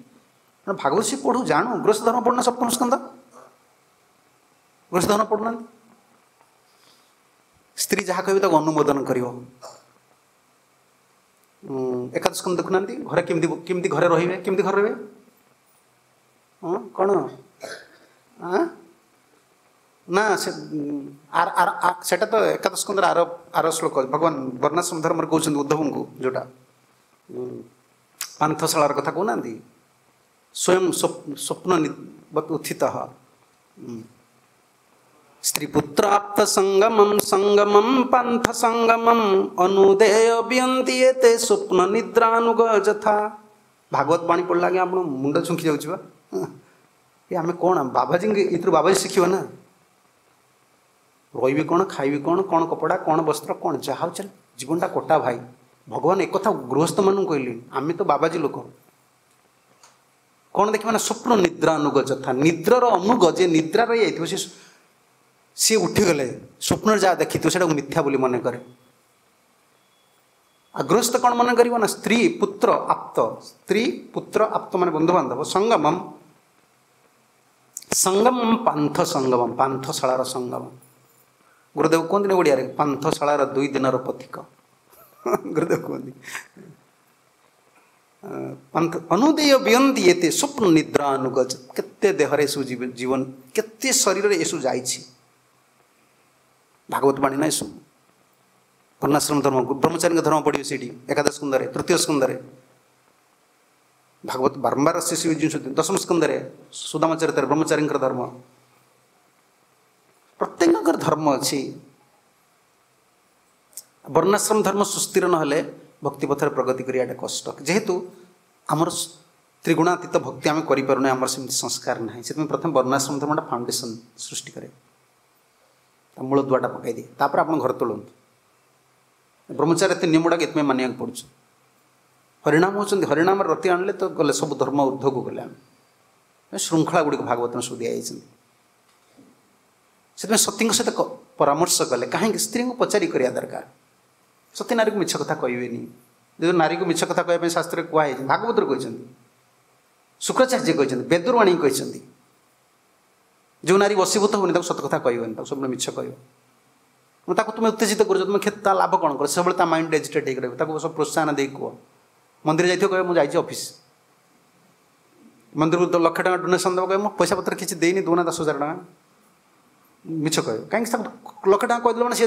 ଭାଗବତ ସେ ପଢ଼ୁ ଜାଣୁ, ଗୃହସ୍ଥ ଧର୍ମ ପଢ଼ୁନା, ସପ୍ତମ ସ୍କନ୍ଧ ଗୃହସ୍ଥ ଧର୍ମ ପଢ଼ୁନାହାନ୍ତି। ସ୍ତ୍ରୀ ଯାହା କହିବେ ତାକୁ ଅନୁମୋଦନ କରିବ। ଏକାଦଶ ସ୍କନ୍ଧ ଦେଖୁନାହାନ୍ତି, ଘରେ କେମିତି କେମିତି ଘରେ ରହିବେ, କେମିତି ଘରେ ରହିବେ, ହଁ କ'ଣ ନା ସେ ଆର ଆର ସେଟା ତ ଏକାଦଶ ସ୍କନ୍ଧର ଆର ଆର ଶ୍ଲୋକ, ଭଗବାନ ବର୍ଣ୍ଣାଶ୍ରମ ଧର୍ମରେ କହୁଛନ୍ତି ଉଦ୍ଧବଙ୍କୁ, ଯେଉଁଟା ପାନ୍ଥଶାଳାର କଥା କହୁନାହାନ୍ତି, ସ୍ୱୟଂ ସ୍ୱପ୍ନ ଉତ୍ଥିତ ସ୍ତ୍ରୀ ପୁତ୍ରାପ୍ତ ସଙ୍ଗମಂ ସଙ୍ଗମಂ ପାନ୍ଥ ସଙ୍ଗମಂ ଅନୁଦେୟ ବିୟନ୍ତି ଏତେ ସ୍ୱପ୍ନ ନିଦ୍ରାନୁଗ ଯଥା। ଭାଗବତ ବାଣୀ ପଢ଼ିଲା ଆଜ୍ଞା ଆପଣ ମୁଣ୍ଡ ଛୁଙ୍କି ଯାଉଛି ବା। ଏ ଆମେ କ'ଣ ବାବାଜୀଙ୍କ ଏଥିରୁ ବାବାଜୀ ଶିଖିବ ନା, ରହିବି କ'ଣ, ଖାଇବି କ'ଣ, କ'ଣ କପଡ଼ା, କ'ଣ ବସ୍ତ୍ର, କ'ଣ ଯାହା ହଉଛି ଜୀବନଟା କଟା ଭାଇ। ଭଗବାନ ଏକଥା ଗୃହସ୍ଥମାନଙ୍କୁ କହିଲେଣି, ଆମେ ତ ବାବାଜୀ ଲୋକ। କ'ଣ ଦେଖିବା ନା ସ୍ୱପ୍ନ ନିଦ୍ରାନୁଗ ଯଥା, ନିଦ୍ରାର ଅନୁଗ, ଯେ ନିଦ୍ରା ରହିଯାଇଥିବ ସେ ସିଏ ଉଠିଗଲେ ସ୍ୱପ୍ନରେ ଯାହା ଦେଖିଥିବ ସେଇଟାକୁ ମିଥ୍ୟା ବୋଲି ମନେ କରେ। ଆଉ ଗୃହସ୍ଥ କ'ଣ ମନେ କରିବ ନା ସ୍ତ୍ରୀ ପୁତ୍ର ଆପ୍ତ, ସ୍ତ୍ରୀ ପୁତ୍ର ଆପ୍ତ ମାନେ ବନ୍ଧୁବାନ୍ଧବ, ସଙ୍ଗମମ୍ ସଙ୍ଗମମ୍ ପାନ୍ଥ ସଙ୍ଗମମ୍, ପାନ୍ଥଶାଳାର ସଙ୍ଗମ। ଗୁରୁଦେବ କୁହନ୍ତିନି ଓଡ଼ିଆରେ ପାନ୍ଥଶାଳାର ଦୁଇ ଦିନର ପଥିକ, ଗୁରୁଦେବ କୁହନ୍ତି ପାନ୍ଥ ଅନୁଦେୟ ବିୟନ୍ତି ଏତେ ସ୍ୱପ୍ନ ନିଦ୍ରା ଅନୁଗଜ। କେତେ ଦେହରେ ଏସବୁ ଜୀବନ, କେତେ ଶରୀରରେ ଏସବୁ ଯାଇଛି। ଭାଗବତ ବାଣୀ ନା ଏସବୁ, ବର୍ଣ୍ଣାଶ୍ରମ ଧର୍ମ, ବ୍ରହ୍ମଚାରୀଙ୍କ ଧର୍ମ ପଢ଼ିବେ ସେଇଠି ଏକାଦଶ ସ୍କନ୍ଧରେ, ତୃତୀୟ ସ୍କନ୍ଧରେ ଭାଗବତ ବାରମ୍ବାର ସେ ସବୁ ଜିନିଷ, ଦଶମ ସ୍କନ୍ଧରେ ସୁଦାମ ଚରିତ୍ରରେ ବ୍ରହ୍ମଚାରୀଙ୍କର ଧର୍ମ। ପ୍ରତ୍ୟେକଙ୍କର ଧର୍ମ ଅଛି। ବର୍ଣ୍ଣାଶ୍ରମ ଧର୍ମ ସୁସ୍ଥିର ନହେଲେ ଭକ୍ତି ପଥରେ ପ୍ରଗତି କରିବାଟା କଷ୍ଟ। ଯେହେତୁ ଆମର ତ୍ରିଗୁଣାତୀତ ଭକ୍ତି ଆମେ କରିପାରୁନେ, ଆମର ସେମିତି ସଂସ୍କାର ନାହିଁ, ସେଥିପାଇଁ ପ୍ରଥମେ ବର୍ଣ୍ଣାଶ୍ରମ ଧର୍ମଟା ଫାଉଣ୍ଡେସନ୍ ସୃଷ୍ଟି କରେ, ତା ମୂଳ ଦୁଆଟା ପକାଇଦିଏ, ତାପରେ ଆପଣ ଘର ତୋଳନ୍ତୁ। ବ୍ରହ୍ମଚାରୀ ଏତେ ନିୟମ ଗୁଡ଼ାକ ଏଥିପାଇଁ ମାନିବାକୁ ପଡ଼ୁଛି। ହରିଣାମ ହେଉଛନ୍ତି, ହରିଣାମରେ ରତି ଆଣିଲେ ତ ଗଲେ ସବୁ ଧର୍ମ ଉର୍ଦ୍ଧ୍ୱକୁ ଗଲେ। ଆମେ ଶୃଙ୍ଖଳା ଗୁଡ଼ିକ ଭାଗବତନ ସବୁ ଦିଆଯାଇଛନ୍ତି। ସେଥିପାଇଁ ସତୀଙ୍କ ସହିତ ପରାମର୍ଶ କଲେ, କାହିଁକି ସ୍ତ୍ରୀଙ୍କୁ ପଚାରି କରିବା ଦରକାର। ସତୀ ନାରୀକୁ ମିଛ କଥା କହିବେନି, ଯେହେତୁ ନାରୀକୁ ମିଛ କଥା କହିବା ପାଇଁ ଶାସ୍ତ୍ରରେ କୁହାହେଇଛି, ଭାଗବତରେ କହିଛନ୍ତି, ଶୁକ୍ରାଚାର୍ଯ୍ୟ କହିଛନ୍ତି, ବେଦରୁ ଆଣିକି କହିଛନ୍ତି, ଯେଉଁ ନାରୀ ବଶୀଭୂତ ହେବନି ତାକୁ ସତ କଥା କହିବନି, ତାକୁ ସବୁବେଳେ ମିଛ କହିବ। ତାକୁ ତୁମେ ଉତ୍ତେଜିତ କରୁଛ, ତୁମେ ତା ଲାଭ କ'ଣ କର? ସବୁବେଳେ ତା ମାଇଣ୍ଡ ଏଜିଟେଟ୍ ହେଇକି ରହିବ, ତାକୁ ସବୁ ପ୍ରୋତ୍ସାହନ ଦେଇକି କୁହ। ମନ୍ଦିର ଯାଇଥିବ କହିବ ମୁଁ ଯାଇଛି ଅଫିସ୍, ମନ୍ଦିରକୁ ଲକ୍ଷେ ଟଙ୍କା ଡୋନେସନ୍ ଦେବ, କହିବ ମୁଁ ପଇସା ପତ୍ର କିଛି ଦେଇନି, ଦେଉନା ଦଶ ହଜାର ଟଙ୍କା, ମିଛ କହିବ। କାହିଁକି ତାକୁ ଲକ୍ଷେ ଟଙ୍କା କହିଦେଲେ ମାନେ ସେ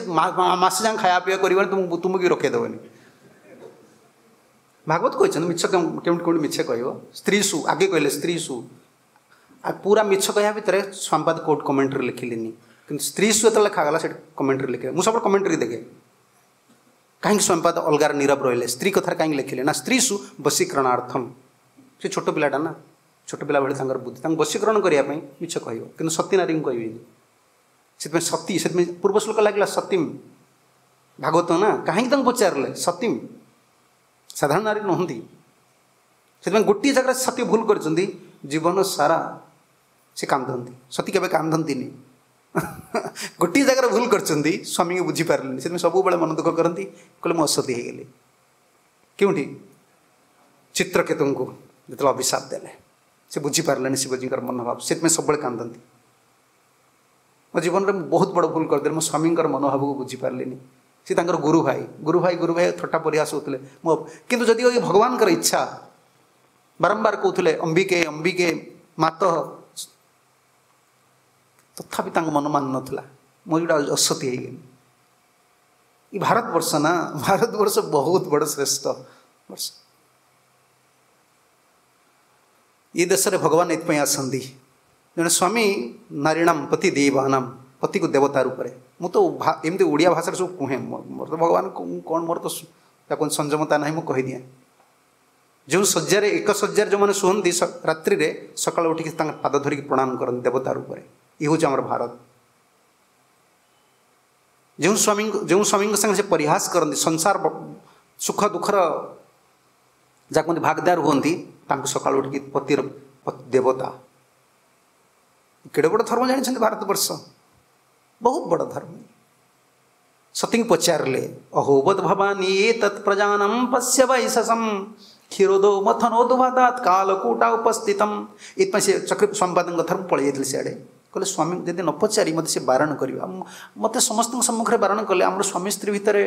ମାସେ ଯାଏଁ ଖାଇବା ପିଇବା କରିବନି, ତୁମକୁ ତୁମକୁ ବି ରଖେଇଦେବନି। ଭାଗବତ କହିଛନ୍ତି ମିଛ କେଉଁଠି କେଉଁଠି ମିଛ କହିବ। ସ୍ତ୍ରୀ ସୁ ଆଗେ କହିଲେ ସ୍ତ୍ରୀ ସୁ, ଆଉ ପୁରା ମିଛ କହିବା ଭିତରେ ସମ୍ପାଦ କୋର୍ଟ କମେଣ୍ଟ୍ରି ଲେଖିଲେନି, କିନ୍ତୁ ସ୍ତ୍ରୀ ସୁ ଯେତେବେଳେ ଲେଖାଗଲା ସେଠି କମେଣ୍ଟ୍ରି ଲେଖିଲେ। ମୁଁ ସବୁବେଳେ କମେଣ୍ଟ୍ରି ଦେଖେ, କାହିଁକି ସମ୍ପାଦ ଅଲଗାର ନୀରବ ରହିଲେ, ସ୍ତ୍ରୀ କଥାରେ କାହିଁକି ଲେଖିଲେ ନା ସ୍ତ୍ରୀ ସୁ ବଶୀକରଣାର୍ଥମ। ସେ ଛୋଟ ପିଲାଟା ନା, ଛୋଟ ପିଲା ଭଳି ତାଙ୍କର ବୁଦ୍ଧି, ତାଙ୍କୁ ବଶୀକରଣ କରିବା ପାଇଁ ମିଛ କହିବ, କିନ୍ତୁ ସତୀ ନାରୀଙ୍କୁ କହିବେନି। ସେଥିପାଇଁ ସତୀ, ସେଥିପାଇଁ ପୂର୍ବ ଶ୍ଲୋକ ଲାଗିଲା ସତୀମ୍, ଭାଗବତ ନା, କାହିଁକି ତାଙ୍କୁ ପଚାରିଲେ ସତୀମ୍, ସାଧାରଣ ନାରୀ ନୁହନ୍ତି। ସେଥିପାଇଁ ଗୋଟିଏ ଜାଗାରେ ସତୀ ଭୁଲ କରିଛନ୍ତି, ଜୀବନ ସାରା ସେ କାନ୍ଦନ୍ତି। ସତୀ କେବେ କାନ୍ଦନ୍ତିନି, ଗୋଟିଏ ଜାଗାରେ ଭୁଲ କରିଛନ୍ତି, ସ୍ୱାମୀଙ୍କୁ ବୁଝିପାରିଲେନି, ସେଥିପାଇଁ ସବୁବେଳେ ମନ ଦୁଃଖ କରନ୍ତି, କହିଲେ ମୁଁ ଅସତୀ ହେଇଗଲି। କେଉଁଠି? ଚିତ୍ରକେତୁଙ୍କୁ ଯେତେବେଳେ ଅଭିଶାପ ଦେଲେ, ସେ ବୁଝିପାରିଲେନି ଶିବଜୀଙ୍କର ମନୋଭାବ, ସେଥିପାଇଁ ସବୁବେଳେ କାନ୍ଦନ୍ତି। ମୋ ଜୀବନରେ ମୁଁ ବହୁତ ବଡ଼ ଭୁଲ କରିଦେଲି, ମୋ ସ୍ୱାମୀଙ୍କର ମନୋଭାବକୁ ବୁଝିପାରିଲିନି। ସେ ତାଙ୍କର ଗୁରୁ ଭାଇ, ଗୁରୁ ଭାଇ ଗୁରୁ ଭାଇ ଥଟ୍ଟା ପରିହାସ ହେଉଥିଲେ ମୋ, କିନ୍ତୁ ଯଦିଓ ଏ ଭଗବାନଙ୍କର ଇଚ୍ଛା, ବାରମ୍ବାର କହୁଥିଲେ ଅମ୍ବିକେ ଅମ୍ବିକେ ମାତ, ତଥାପି ତାଙ୍କ ମନ ମାନୁନଥିଲା, ମୁଁ ଯେଉଁଟା ଅସତୀ ହେଇଗଲି। ଏ ଭାରତବର୍ଷ ନା, ଭାରତବର୍ଷ ବହୁତ ବଡ଼ ଶ୍ରେଷ୍ଠ ବର୍ଷ। ଏ ଦେଶରେ ଭଗବାନ ଏଥିପାଇଁ ଆସନ୍ତି, ଜଣେ ସ୍ୱାମୀ ନାରୀଣାମ ପତି ଦେବାନାମ, ପତିକୁ ଦେବତା ରୂପରେ। ମୁଁ ତ ଏମିତି ଓଡ଼ିଆ ଭାଷାରେ ସବୁ କୁହେ, ମୋର ତ ଭଗବାନ କ'ଣ, ମୋର ତ ତାକୁ ସଂଯମତା ନାହିଁ, ମୁଁ କହିଦିଏ। ଯେଉଁ ଶଯ୍ୟାରେ, ଏକ ଶଯ୍ୟାରେ ଯେଉଁମାନେ ଶୁଅନ୍ତି ରାତ୍ରିରେ, ସକାଳୁ ଉଠିକି ତାଙ୍କ ପାଦ ଧରିକି ପ୍ରଣାମ କରନ୍ତି ଦେବତା ରୂପରେ। ଇଏ ହେଉଛି ଆମର ଭାରତ। ଯେଉଁ ସ୍ୱାମୀଙ୍କୁ, ଯେଉଁ ସ୍ୱାମୀଙ୍କ ସାଙ୍ଗେ ସେ ପରିହାସ କରନ୍ତି, ସଂସାର ସୁଖ ଦୁଃଖର ଯାହା କୁହନ୍ତି ଭାଗଦାର ହୁଅନ୍ତି, ତାଙ୍କୁ ସକାଳୁ ଉଠିକି ପତିର ଦେବତା। କେଡ଼େ ବଡ଼ ଧର୍ମ ଜାଣିଛନ୍ତି ଭାରତବର୍ଷ, ବହୁତ ବଡ଼ ଧର୍ମ। ସତୀଙ୍କୁ ପଚାରିଲେ, ଅହୋବତ ଭବାନୀ ଏ ତତ୍ ପ୍ରଜାନମ୍ ପଶ୍ୟ ବୈଶସମ୍ କ୍ଷୀରୋଦ ମଥନୋଦୁଭାଦାତ କାଲକୂଟା ଉପସ୍ଥିତମ୍। ଏଥିପାଇଁ ସେ ଚକ୍ର ସମ୍ପାଦଙ୍କ ଧର୍ମ ପଳେଇ ଯାଇଥିଲେ ସିଆଡ଼େ। କହିଲେ ସ୍ୱାମୀ ଯଦି ନ ପଚାରି ମୋତେ ସେ ବାରଣ କରିବ, ମୋତେ ସମସ୍ତଙ୍କ ସମ୍ମୁଖରେ ବାରଣ କଲେ ଆମର ସ୍ୱାମୀ ସ୍ତ୍ରୀ ଭିତରେ,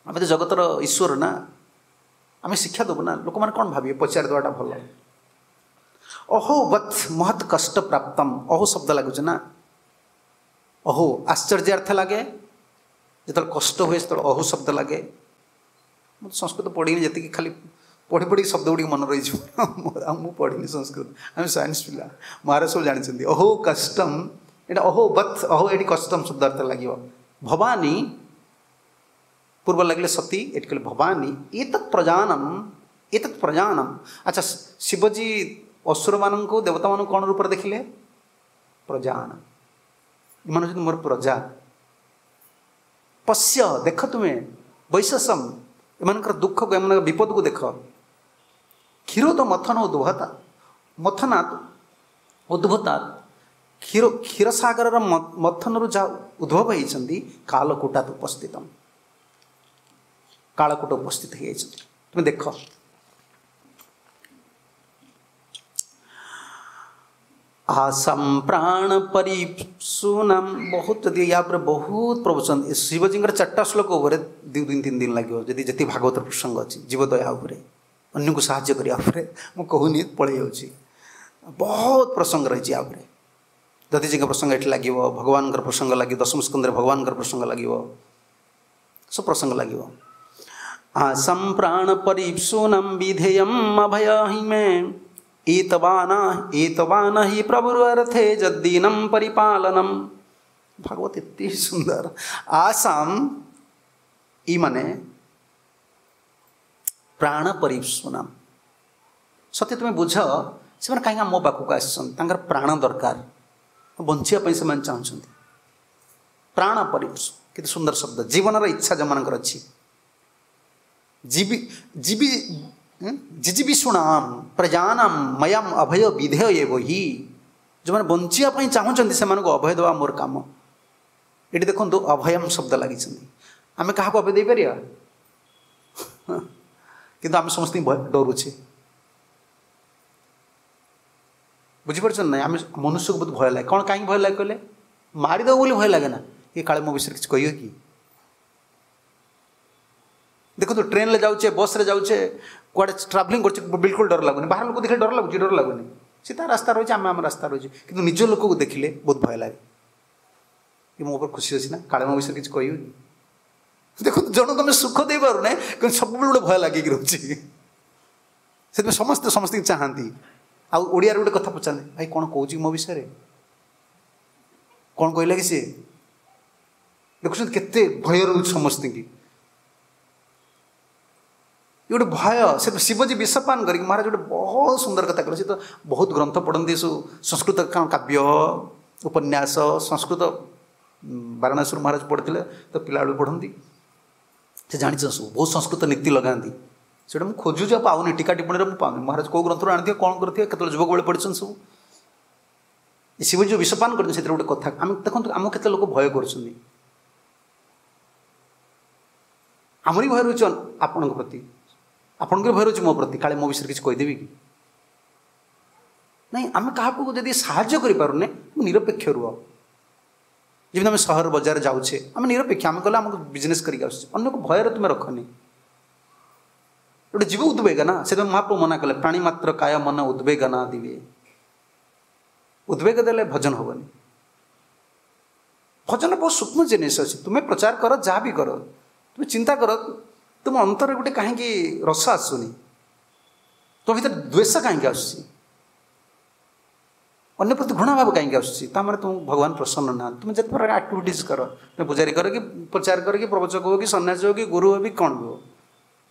ଆମେ ତ ଜଗତର ଈଶ୍ୱର ନା, ଆମେ ଶିକ୍ଷା ଦେବୁ ନା, ଲୋକମାନେ କ'ଣ ଭାବିବେ, ପଚାରି ଦେବାଟା ଭଲ। ଅହୋ ବତ୍ ମହତ୍ କଷ୍ଟ ପ୍ରାପ୍ତମ୍, ଅହୋ ଶବ୍ଦ ଲାଗୁଛି ନା, ଅହୋ ଆଶ୍ଚର୍ଯ୍ୟାର୍ଥ ଲାଗେ, ଯେତେବେଳେ କଷ୍ଟ ହୁଏ ସେତେବେଳେ ଅହୋ ଶବ୍ଦ ଲାଗେ। ମୁଁ ସଂସ୍କୃତ ପଢ଼ିନି ଯେତିକି, ଖାଲି ପଢ଼ି ପଢ଼ିକି ଶବ୍ଦ ଗୁଡ଼ିକ ମନେ ରହିଯିବ, ଆଉ ମୁଁ ପଢ଼ିନି ସଂସ୍କୃତ, ଆମେ ସାଇନ୍ସ ପିଲା, ମହାରାଜ ସବୁ ଜାଣିଛନ୍ତି। ଅହୋ କଷ୍ଟମ୍, ଏଇଟା ଅହୋ ବତ୍, ଅହୋ ଏଠି କଷ୍ଟମ୍ ଶବ୍ଦ ଅର୍ଥ ଲାଗିବ। ଭବାନୀ ପୂର୍ବ ଲାଗିଲେ ସତୀ, ଏଠି କହିଲେ ଭବାନୀ ଏତତ୍ ପ୍ରଜାନମ୍, ଏତତ୍ ପ୍ରଜାନମ୍। ଆଚ୍ଛା, ଶିବଜୀ ଅସୁରମାନଙ୍କୁ ଦେବତାମାନଙ୍କୁ କ'ଣ ରୂପରେ ଦେଖିଲେ? ପ୍ରଜାନ, ଏମାନେ ହେଉଛନ୍ତି ମୋର ପ୍ରଜା। ପଶ୍ୟ ଦେଖ ତୁମେ, ବୈଶସମ୍ ଏମାନଙ୍କର ଦୁଃଖକୁ, ଏମାନଙ୍କର ବିପଦକୁ ଦେଖ। କ୍ଷୀରୋଦ ମଥନ ଉଦ୍ଭତା, ମଥନାତ୍ ଉଦ୍ଭୂତାତ୍, କ୍ଷୀର କ୍ଷୀରସାଗରର ମଥନରୁ ଯାହା ଉଦ୍ଭବ ହେଇଛନ୍ତି, କାଲକୂଟାତ୍ ଉପସ୍ଥିତମ୍, କାଳକୂଟ ଉପସ୍ଥିତ ହେଇଯାଇଛନ୍ତି, ତୁମେ ଦେଖ। ଆସମ୍ ପ୍ରାଣ ପରିସୁନାମ, ବହୁତ ଯଦି ୟା ଉପରେ ବହୁତ ପ୍ରବଚନ, ଶିବଜୀଙ୍କର ଚାରିଟା ଶ୍ଲୋକ ଉପରେ ଦୁଇ ଦିନ ତିନି ଦିନ ଲାଗିବ, ଯଦି ଯେତିକି ଭାଗବତର ପ୍ରସଙ୍ଗ ଅଛି ଜୀବଦୟା ଉପରେ, ଅନ୍ୟକୁ ସାହାଯ୍ୟ କରିବା ଉପରେ, ମୁଁ କହୁନି ପଳେଇ ଯାଉଛି, ବହୁତ ପ୍ରସଙ୍ଗ ରହିଛି ୟା ଉପରେ। ଦଧିଜୀଙ୍କ ପ୍ରସଙ୍ଗ ଏଠି ଲାଗିବ, ଭଗବାନଙ୍କର ପ୍ରସଙ୍ଗ ଲାଗିବ, ଦଶମ ସ୍କନ୍ଧରେ ଭଗବାନଙ୍କର ପ୍ରସଙ୍ଗ ଲାଗିବ, ସବୁ ପ୍ରସଙ୍ଗ ଲାଗିବ। ଆସମ୍ ପ୍ରାଣ ପରିସୁନାମ ବିଧେୟମ୍ ଅଭୟ ହି ମେ ଏତବାନ ଏତବାନ ହି ପ୍ରଭୁରର୍ଥେ ଯଦ୍ଦୀନಂ ପରିପାଳନମ୍। ଭାଗବତ ଏତେ ସୁନ୍ଦର। ଆସାମ ଇ ମାନେ ପ୍ରାଣ ପରିସୁନାମ, ସତ୍ୟ ତୁମେ ବୁଝ, ସେମାନେ କାହିଁକି ମୋ ପାଖକୁ ଆସିଛନ୍ତି, ତାଙ୍କର ପ୍ରାଣ ଦରକାର, ବଞ୍ଚିବା ପାଇଁ ସେମାନେ ଚାହୁଁଛନ୍ତି। ପ୍ରାଣ ପରିସୁ, କେତେ ସୁନ୍ଦର ଶବ୍ଦ, ଜୀବନର ଇଚ୍ଛା ଯେଉଁମାନଙ୍କର ଅଛି। ଜୀବି ଜୀବି ଜିଜୀବିଷୁଣାମ ପ୍ରଜାନାମ ମୟମ ଅଭୟ ବିଧେୟ ଏବ ହି, ଯେଉଁମାନେ ବଞ୍ଚିବା ପାଇଁ ଚାହୁଁଛନ୍ତି ସେମାନଙ୍କୁ ଅଭୟ ଦେବା ମୋର କାମ। ଏଠି ଦେଖନ୍ତୁ ଅଭୟମ ଶବ୍ଦ ଲାଗିଛନ୍ତି, ଆମେ କାହାକୁ ଅଭୟ ଦେଇପାରିବା? କିନ୍ତୁ ଆମେ ସମସ୍ତଙ୍କୁ ଡରୁଛେ, ବୁଝିପାରୁଛନ୍ତି ନାଇଁ? ଆମେ ମନୁଷ୍ୟକୁ ବହୁତ ଭୟ ଲାଗେ। କ'ଣ କାହିଁକି ଭୟ ଲାଗେ କହିଲେ? ମାରିଦେବ ବୋଲି ଭୟ ଲାଗେ ନା, ଏ କାଳେ ମୋ ବିଷୟରେ କିଛି କହିବ କି? ଦେଖନ୍ତୁ ଟ୍ରେନ୍ରେ ଯାଉଛେ, ବସ୍ରେ ଯାଉଛେ, କୁଆଡ଼େ ଟ୍ରାଭେଲିଂ କରୁଛେ, ବିଲକୁଲ ଡର ଲାଗୁନି। ବାହାର ଲୋକ ଦେଖିଲେ ଡର ଲାଗୁଛି? ଡର ଲାଗୁନି, ସେ ତା ରାସ୍ତା ରହିଛି, ଆମେ ଆମ ରାସ୍ତା ରହିଛି। କିନ୍ତୁ ନିଜ ଲୋକକୁ ଦେଖିଲେ ବହୁତ ଭୟ ଲାଗେ, ଏ ମୋ ଉପରେ ଖୁସି ଅଛି ନା, କାଳେ ମୋ ବିଷୟରେ କିଛି କହିବ କି? ଦେଖନ୍ତୁ ଜଣକୁ ଆମେ ସୁଖ ଦେଇପାରୁନେ, କିନ୍ତୁ ସବୁବେଳେ ଗୋଟେ ଭୟ ଲାଗିକି ରହୁଛି। ସେଥିପାଇଁ ସମସ୍ତେ ସମସ୍ତଙ୍କୁ ଚାହାନ୍ତି। ଆଉ ଓଡ଼ିଆରେ ଗୋଟେ କଥା ପଚାରନ୍ତି, ଭାଇ କ'ଣ କହୁଛି ମୋ ବିଷୟରେ, କ'ଣ କହିଲା କି ସିଏ? ଦେଖୁଛନ୍ତି କେତେ ଭୟ ରହୁଛି ସମସ୍ତଙ୍କୁ। ଏ ଗୋଟେ ଭୟ। ସେ ଶିବଜୀ ବିଷପାନ କରିକି ମହାରାଜ ଗୋଟେ ବହୁତ ସୁନ୍ଦର କଥା କହିଲେ। ସେ ତ ବହୁତ ଗ୍ରନ୍ଥ ପଢ଼ନ୍ତି, ସବୁ ସଂସ୍କୃତ କାବ୍ୟ, ଉପନ୍ୟାସ, ସଂସ୍କୃତ ବାରାଣସୀରୁ ମହାରାଜ ପଢ଼ିଥିଲେ ତ ପିଲାବେଳୁ ପଢ଼ନ୍ତି, ସେ ଜାଣିଛନ୍ତି ସବୁ, ବହୁତ ସଂସ୍କୃତ ନୀତି ଲଗାନ୍ତି। ସେଇଟା ମୁଁ ଖୋଜୁଛି ଆଉ ପାଉନି, ଟୀକା ଟିପ୍ପଣୀରେ ମୁଁ ପାଉନି। ମହାରାଜ କେଉଁ ଗ୍ରନ୍ଥରୁ ଆଣିଥିବେ, କ'ଣ କରିଥିବେ, କେତେବେଳେ ଯୁବକ ବେଳେ ପଢ଼ିଛନ୍ତି ସବୁ। ଏ ଶିବଜୀ ଯେଉଁ ବିଷପାନ କରିଛନ୍ତି ସେଥିରେ ଗୋଟେ କଥା ଆମେ ଦେଖନ୍ତୁ, ଆମକୁ କେତେ ଲୋକ ଭୟ କରୁଛନ୍ତି, ଆମର ବି ଭୟ ରହୁଛି ଆପଣଙ୍କ ପ୍ରତି, ଆପଣଙ୍କର ଭୟ ରହୁଛି ମୋ ପ୍ରତି, କାଳେ ମୋ ବିଷୟରେ କିଛି କହିଦେବି କି ନାଇଁ। ଆମେ କାହାକୁ ଯଦି ସାହାଯ୍ୟ କରିପାରୁନେ, ନିରପେକ୍ଷ ରୁହ। ଯେମିତି ଆମେ ସହର ବଜାର ଯାଉଛେ, ଆମେ ନିରପେକ୍ଷ, ଆମେ ଗଲେ ଆମକୁ ବିଜନେସ୍ କରିକି ଆସୁଛେ, ଅନ୍ୟକୁ ଭୟରେ ତୁମେ ରଖନି। ଗୋଟେ ଜୀବ ଉଦ୍ବେଗ ନା, ସେଥିପାଇଁ ମହାପ୍ରଭୁ ମନା କଲେ ପ୍ରାଣୀ ମାତ୍ର କାୟ ମନ ଉଦ୍ବେଗ ନା ଦିବେ। ଉଦ୍ବେଗ ଦେଲେ ଭଜନ ହେବନି। ଭଜନ ବହୁତ ସୂକ୍ଷ୍ମ ଜିନିଷ ଅଛି। ତୁମେ ପ୍ରଚାର କର, ଯାହା ବି କର, ତୁମେ ଚିନ୍ତା କର ତୁମ ଅନ୍ତରରେ ଗୋଟେ କାହିଁକି ରସ ଆସୁନି, ତୁମ ଭିତରେ ଦ୍ୱେଷ କାହିଁକି ଆସୁଛି, ଅନ୍ୟ ପ୍ରତି ଘୃଣା ଭାବ କାହିଁକି ଆସୁଛି, ତା ମାନେ ତୁମକୁ ଭଗବାନ ପ୍ରସନ୍ନ ନାହାନ୍ତି। ତୁମେ ଯେତେ ପ୍ରକାର ଆକ୍ଟିଭିଟିଜ୍ କର, ତୁମେ ପୂଜାରୀ କର କି ପ୍ରଚାର କର କି ପ୍ରବଚକ ହୁଅ କି ସନ୍ନ୍ୟାସୀ ହୁଅ କି ଗୁରୁ ହୁଅ କି କ'ଣ ହୁଅ,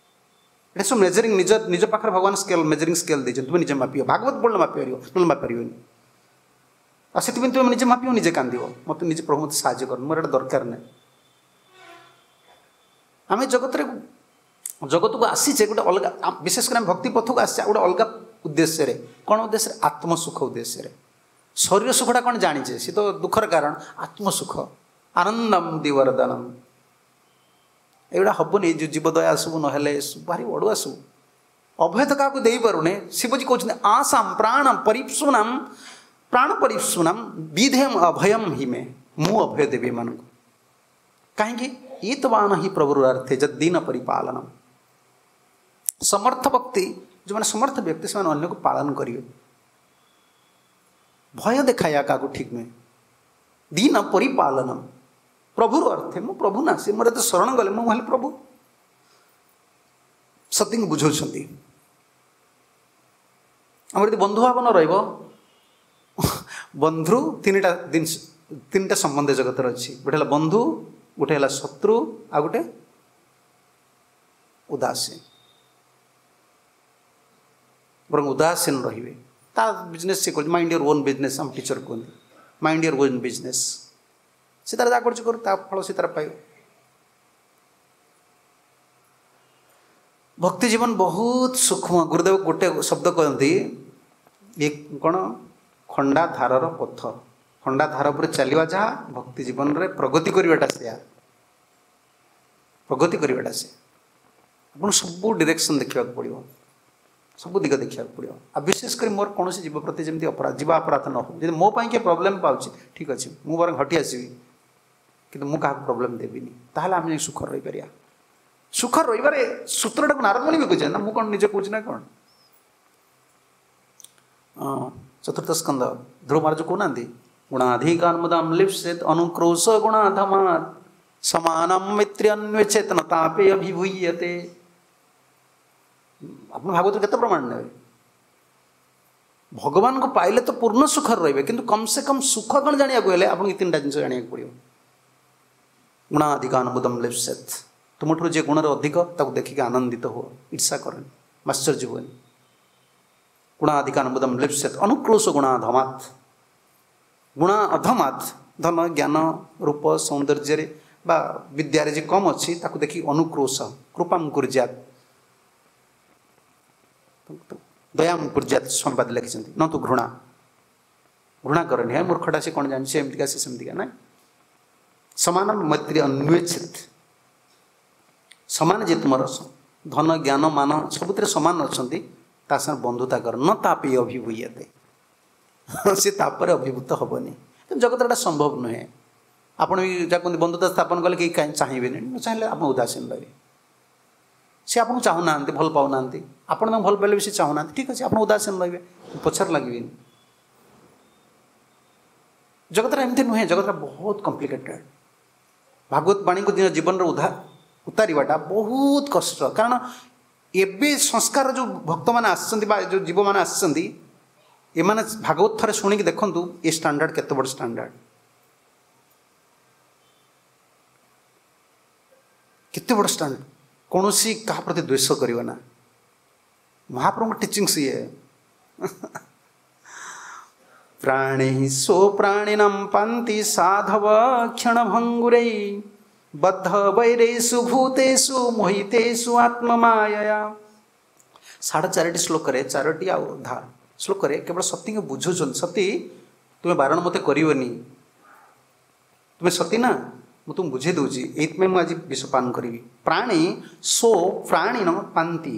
ଏଟା ସବୁ ମେଜରିଂ ନିଜ ନିଜ ପାଖରେ ଭଗବାନ ସ୍କେଲ୍, ମେଜରିଂ ସ୍କେଲ୍ ଦେଇଛନ୍ତି, ତୁମେ ନିଜେ ମାପିବ। ଭାଗବତ ପଢ଼ିଲେ ମାପିପାରିବ, ନହେଲେ ମାପିପାରିବନି। ଆଉ ସେଥିପାଇଁ ତୁମେ ନିଜେ ମାପିବ, ନିଜେ କାନ୍ଦିବ, ମୋତେ ନିଜେ ପ୍ରଭୁ ମୋତେ ସାହାଯ୍ୟ କର, ମୋର ଏଇଟା ଦରକାର ନାହିଁ। ଆମେ ଜଗତରେ ଜଗତକୁ ଆସିଛେ ଗୋଟେ ଅଲଗା, ବିଶେଷ କରି ଆମେ ଭକ୍ତି ପଥକୁ ଆସିଛେ ଗୋଟେ ଅଲଗା ଉଦ୍ଦେଶ୍ୟରେ। କ'ଣ ଉଦ୍ଦେଶ୍ୟରେ? ଆତ୍ମସୁଖ ଉଦ୍ଦେଶ୍ୟରେ। ଶରୀର ସୁଖଟା କ'ଣ ଜାଣିଛେ, ସେ ତ ଦୁଃଖର କାରଣ। ଆତ୍ମସୁଖ, ଆନନ୍ଦମ ଦିବରଦାନମ, ଏଗୁଡ଼ା ହେବନି। ଯେଉଁ ଜୀବଦୟା ସବୁ ନହେଲେ ଭାରି ଅଡ଼ୁଆ ସବୁ। ଅଭୟ ତ କାହାକୁ ଦେଇପାରୁନେ। ଶିବଜୀ କହୁଛନ୍ତି ଆସାମ ପ୍ରାଣ ପରିପ୍ସୁନାମ ପ୍ରାଣ ପରିପ୍ସୁନାମ ବିଧେୟମ ଅଭୟମ ହିମେ, ମୁଁ ଅଭୟ ଦେବି ଏମାନଙ୍କୁ। କାହିଁକି? ଇତବାନ ହିଁ ପ୍ରଭୁର ଅର୍ଥେ ଯଦ୍ଦିନ ପରିପାଳନ। ସମର୍ଥ ଭକ୍ତି, ଯେଉଁମାନେ ସମର୍ଥ ବ୍ୟକ୍ତି ସେମାନେ ଅନ୍ୟକୁ ପାଳନ କରିବେ। ଭୟ ଦେଖାଇବା କାହାକୁ ଠିକ୍ ନୁହେଁ। ଦିନ ପରିପାଳନ ପ୍ରଭୁର ଅର୍ଥେ, ମୁଁ ପ୍ରଭୁ ନା, ସେ ମୋର ଏତେ ଶରଣ ଗଲେ ମୁଁ ହେଲେ ପ୍ରଭୁ। ସତୀଙ୍କୁ ବୁଝାଉଛନ୍ତି। ଆମର ଯଦି ବନ୍ଧୁ ଭାବ ନ ରହିବ, ବନ୍ଧୁ ତିନିଟା ଜିନିଷ, ତିନିଟା ସମ୍ବନ୍ଧ ଜଗତରେ ଅଛି। ଗୋଟେ ହେଲା ବନ୍ଧୁ, ଗୋଟେ ହେଲା ଶତ୍ରୁ, ଆଉ ଗୋଟେ ଉଦାସୀନ। ବରଂ ଉଦାସୀନ ରହିବେ, ତା ବିଜନେସ୍ ସେ କରୁଛି। ମାଇଣ୍ଡ your on business, ଆମ ଟିଚର କୁହନ୍ତି ମାଇଣ୍ଡ your on business. ସେ ତାର ଯାହା କରୁଛି କରୁ, ତା ଫଳ ସେ ତାର ପାଇବ। ଭକ୍ତି ଜୀବନ ବହୁତ ସୂକ୍ଷ୍ମ। ଗୁରୁଦେବ ଗୋଟେ ଶବ୍ଦ କହନ୍ତି, ଇଏ କ'ଣ? ଖଣ୍ଡା ଧାରର ପଥ। ଖଣ୍ଡା ଧାର ଉପରେ ଚାଲିବା ଯାହା, ଭକ୍ତି ଜୀବନରେ ପ୍ରଗତି କରିବାଟା ସେୟା। ପ୍ରଗତି କରିବାଟା ସେୟା। ଆପଣ ସବୁ ଡିରେକ୍ସନ୍ ଦେଖିବାକୁ ପଡ଼ିବ, ସବୁ ଦିଗ ଦେଖିବାକୁ ପଡ଼ିବ। ଆଉ ବିଶେଷ କରି ମୋର କୌଣସି ଜୀବ ପ୍ରତି ଯେମିତି ଅପରାଧ, ଜୀବ ଅପରାଧ ନ ହଉ। ଯଦି ମୋ ପାଇଁ କିଏ ପ୍ରୋବ୍ଲେମ୍ ପାଉଛି, ଠିକ୍ ଅଛି, ମୁଁ ବରଂ ହଟି ଆସିବି, କିନ୍ତୁ ମୁଁ କାହାକୁ ପ୍ରୋବ୍ଲେମ୍ ଦେବିନି। ତାହେଲେ ଆମେ ଯାଇ ସୁଖରେ ରହିପାରିବା। ସୁଖରେ ରହିବାରେ ସୂତ୍ରଟାକୁ ନାରଦ ମୁନି ବି କହୁଛନ୍ତି ନା, ମୁଁ କ'ଣ ନିଜେ କହୁଛି ନା କ'ଣ? ଚତୁର୍ଥ ସ୍କନ୍ଦ ଧ୍ରୁବ ମହାରାଜ କହୁନାହାନ୍ତି, ଗୁଣାଧିକାନ୍ମୁଦାମ ଲିପ୍ସେତ ଅନୁକ୍ରୋଶ ଗୁଣାଧମାତ୍ ସମାନମ ମିତ୍ର୍ୟନ୍ୱେଚେତନ ତାପେ ଅଭିଭୂୟତେ। ଆପଣ ଭାଗବତରେ କେତେ ପ୍ରମାଣ ନେବେ? ଭଗବାନଙ୍କୁ ପାଇଲେ ତ ପୂର୍ଣ୍ଣ ସୁଖରେ ରହିବେ, କିନ୍ତୁ କମ୍ ସେ କମ୍ ସୁଖ କ'ଣ ଜାଣିବାକୁ ହେଲେ ଆପଣଙ୍କୁ ତିନିଟା ଜିନିଷ ଜାଣିବାକୁ ପଡ଼ିବ। ଗୁଣାଧିକାନବୁଦମ ଲିପ୍ସେତ, ତୁମଠାରୁ ଯିଏ ଗୁଣରେ ଅଧିକ ତାକୁ ଦେଖିକି ଆନନ୍ଦିତ ହୁଅ, ଈର୍ଷା କରନି, ଆଶ୍ଚର୍ଯ୍ୟ ହୁଅନି। ଗୁଣାଧିକାନବୁଦମ ଲିପ୍ସେତ ଅନୁକ୍ରୋଶ ଗୁଣାଧମାତ୍, ଗୁଣା ଅଧମାତ୍, ଧନ ଜ୍ଞାନ ରୂପ ସୌନ୍ଦର୍ଯ୍ୟରେ ବା ବିଦ୍ୟାରେ ଯେ କମ୍ ଅଛି ତାକୁ ଦେଖି ଅନୁକ୍ରୋଶ, କୃପାମ କୁର୍ଯାତ, ଦୟାମ କୁର୍ଯାତ ସମ୍ବାଦ ଲେଖିଛନ୍ତି। ନ ତୁ ଘୃଣା, ଘୃଣା କରନି, ହେ ମୂର୍ଖଟା ସେ କ'ଣ ଜାଣିଛି, ଏମିତିକା ସେ ସେମିତିକା, ନାଇଁ। ସମାନ ମୈତ୍ରୀ ଅନ୍ୱେଚ୍ଛିତ, ସମାନ ଯେ ତୁମର ଧନ ଜ୍ଞାନ ମାନ ସବୁଥିରେ ସମାନ ଅଛନ୍ତି, ତା ସାଙ୍ଗେ ବନ୍ଧୁତା କର। ନ ତାପି ଅଭିଭୂୟତେ, ସେ ତାପରେ ଅଭିଭୂତ ହେବନି। କିନ୍ତୁ ଜଗତରେ ଏଇଟା ସମ୍ଭବ ନୁହେଁ। ଆପଣ ବି ଯାହା କୁହନ୍ତି ବନ୍ଧୁତା ସ୍ଥାପନ କଲେ କେହି କାହିଁ ଚାହିଁବେନି, ନ ଚାହିଁଲେ ଆପଣ ଉଦାସୀନ ରହିବେ। ସେ ଆପଣଙ୍କୁ ଚାହୁଁନାହାନ୍ତି, ଭଲ ପାଉନାହାନ୍ତି, ଆପଣ ତାଙ୍କୁ ଭଲ ପାଇଲେ ବି ସେ ଚାହୁଁନାହାନ୍ତି, ଠିକ୍ ଅଛି, ଆପଣ ଉଦାସୀନ ରହିବେ, ପଛରେ ଲାଗିବେନି। ଜଗତରେ ଏମିତି ନୁହେଁ, ଜଗତଟା ବହୁତ କମ୍ପ୍ଲିକେଟେଡ଼। ଭାଗବତ ବାଣୀକୁ ନିଜ ଜୀବନରେ ଉଧା ଉତାରିବାଟା ବହୁତ କଷ୍ଟ। କାରଣ ଏବେ ସଂସ୍କାର ଯେଉଁ ଭକ୍ତମାନେ ଆସିଛନ୍ତି ବା ଯେଉଁ ଜୀବମାନେ ଆସିଛନ୍ତି, ଏମାନେ ଭାଗବତ ଥରେ ଶୁଣିକି ଦେଖନ୍ତୁ ଏ ଷ୍ଟାଣ୍ଡାର୍ଡ଼ କେତେ ବଡ଼ ଷ୍ଟାଣ୍ଡାର୍ଡ଼, କେତେ ବଡ଼ ଷ୍ଟାଣ୍ଡାର୍ଡ଼। କୌଣସି କାହା ପ୍ରତି ଦ୍ୱେଷ କରିବ ନା। ମହାପ୍ରଭୁଙ୍କ ଟିଚିଙ୍ଗସ୍ ଇଏ। ପ୍ରାଣୀ ସୋ ପ୍ରାଣିନାಂ ପାନ୍ତି ସାଧବ କ୍ଷଣଭଙ୍ଗୁରై ବଦ୍ଧ ବୈରେଷୁ ଭୂତେଷୁ ମୋହିତେଷୁ ଆତ୍ମମାୟୟା। ସାଢ଼େ ଚାରିଟି ଶ୍ଲୋକରେ, ଚାରୋଟି ଆଉ ଅଧା ଶ୍ଲୋକରେ କେବଳ ସତୀଙ୍କୁ ବୁଝୁଛନ୍ତି, ସତୀ ତୁମେ ବାରଣ ମୋତେ କରିବନି, ତୁମେ ସତୀ ନା, ମୁଁ ତୁମକୁ ବୁଝେଇ ଦେଉଛି, ଏଇଥିପାଇଁ ମୁଁ ଆଜି ବିଷପାନ କରିବି। ପ୍ରାଣୀ ସୋ ପ୍ରାଣୀନ ପାନ୍ତି,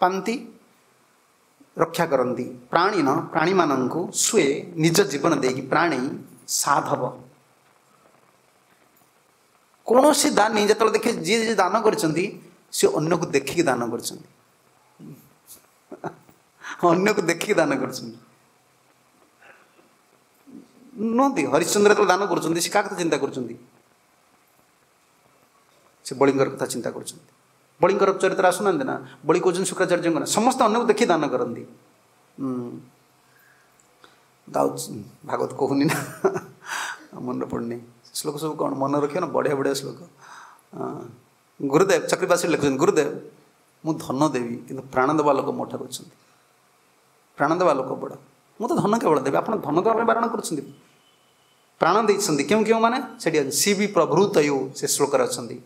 ପାନ୍ତି ରକ୍ଷା କରନ୍ତି, ପ୍ରାଣୀନ ପ୍ରାଣୀମାନଙ୍କୁ, ସ୍ୱେ ନିଜ ଜୀବନ ଦେଇକି, ପ୍ରାଣୀ ସାଧବ। କୌଣସି ଦାନୀ ଯେତେବେଳେ ଦେଖେ, ଯିଏ ଯିଏ ଦାନ କରିଛନ୍ତି ସେ ଅନ୍ୟକୁ ଦେଖିକି ଦାନ କରିଛନ୍ତି, ଅନ୍ୟକୁ ଦେଖିକି ଦାନ କରିଛନ୍ତି ନୁହନ୍ତି। ହରିଶ୍ଚନ୍ଦ୍ର ଯେତେବେଳେ ଦାନ କରୁଛନ୍ତି ସେ କାହା କଥା ଚିନ୍ତା କରୁଛନ୍ତି? ସେ ବଳିଙ୍କର କଥା ଚିନ୍ତା କରୁଛନ୍ତି। ବଳିଙ୍କର ଚରିତ୍ର ଆସୁନାହାନ୍ତି ନା, ବଳି କହୁଛନ୍ତି ଶୁକ୍ରାଚାର୍ଯ୍ୟଙ୍କ ନା, ସମସ୍ତେ ଅନ୍ୟକୁ ଦେଖି ଦାନ କରନ୍ତି। ଆଉ ଭାଗବତ କହୁନି ନା, ମନେ ପଡ଼ୁନି ଶ୍ଲୋକ ସବୁ, କ'ଣ ମନେ ରଖିବ ନା, ବଢ଼ିଆ ବଢ଼ିଆ ଶ୍ଲୋକ। ଗୁରୁଦେବ ଚକ୍ରବାସୀ ଲେଖୁଛନ୍ତି, ଗୁରୁଦେବ ମୁଁ ଧନ ଦେବି କିନ୍ତୁ ପ୍ରାଣ ଦେବା ଲୋକ ମୋ ଠାରୁ ଅଛନ୍ତି, ପ୍ରାଣ ଦେବା ଲୋକ ବଡ଼, ମୁଁ ତ ଧନ କେବଳ ଦେବି, ଆପଣ ଧନ ଦେବା ପାଇଁ ବାରଣ କରୁଛନ୍ତି। ପ୍ରାଣ ଦେଇଛନ୍ତି କେଉଁ କେଉଁମାନେ ସେଠି ଶିବି ପ୍ରଭୃତୟୁ ସେ ଶ୍ଲୋକରେ ଅଛନ୍ତି।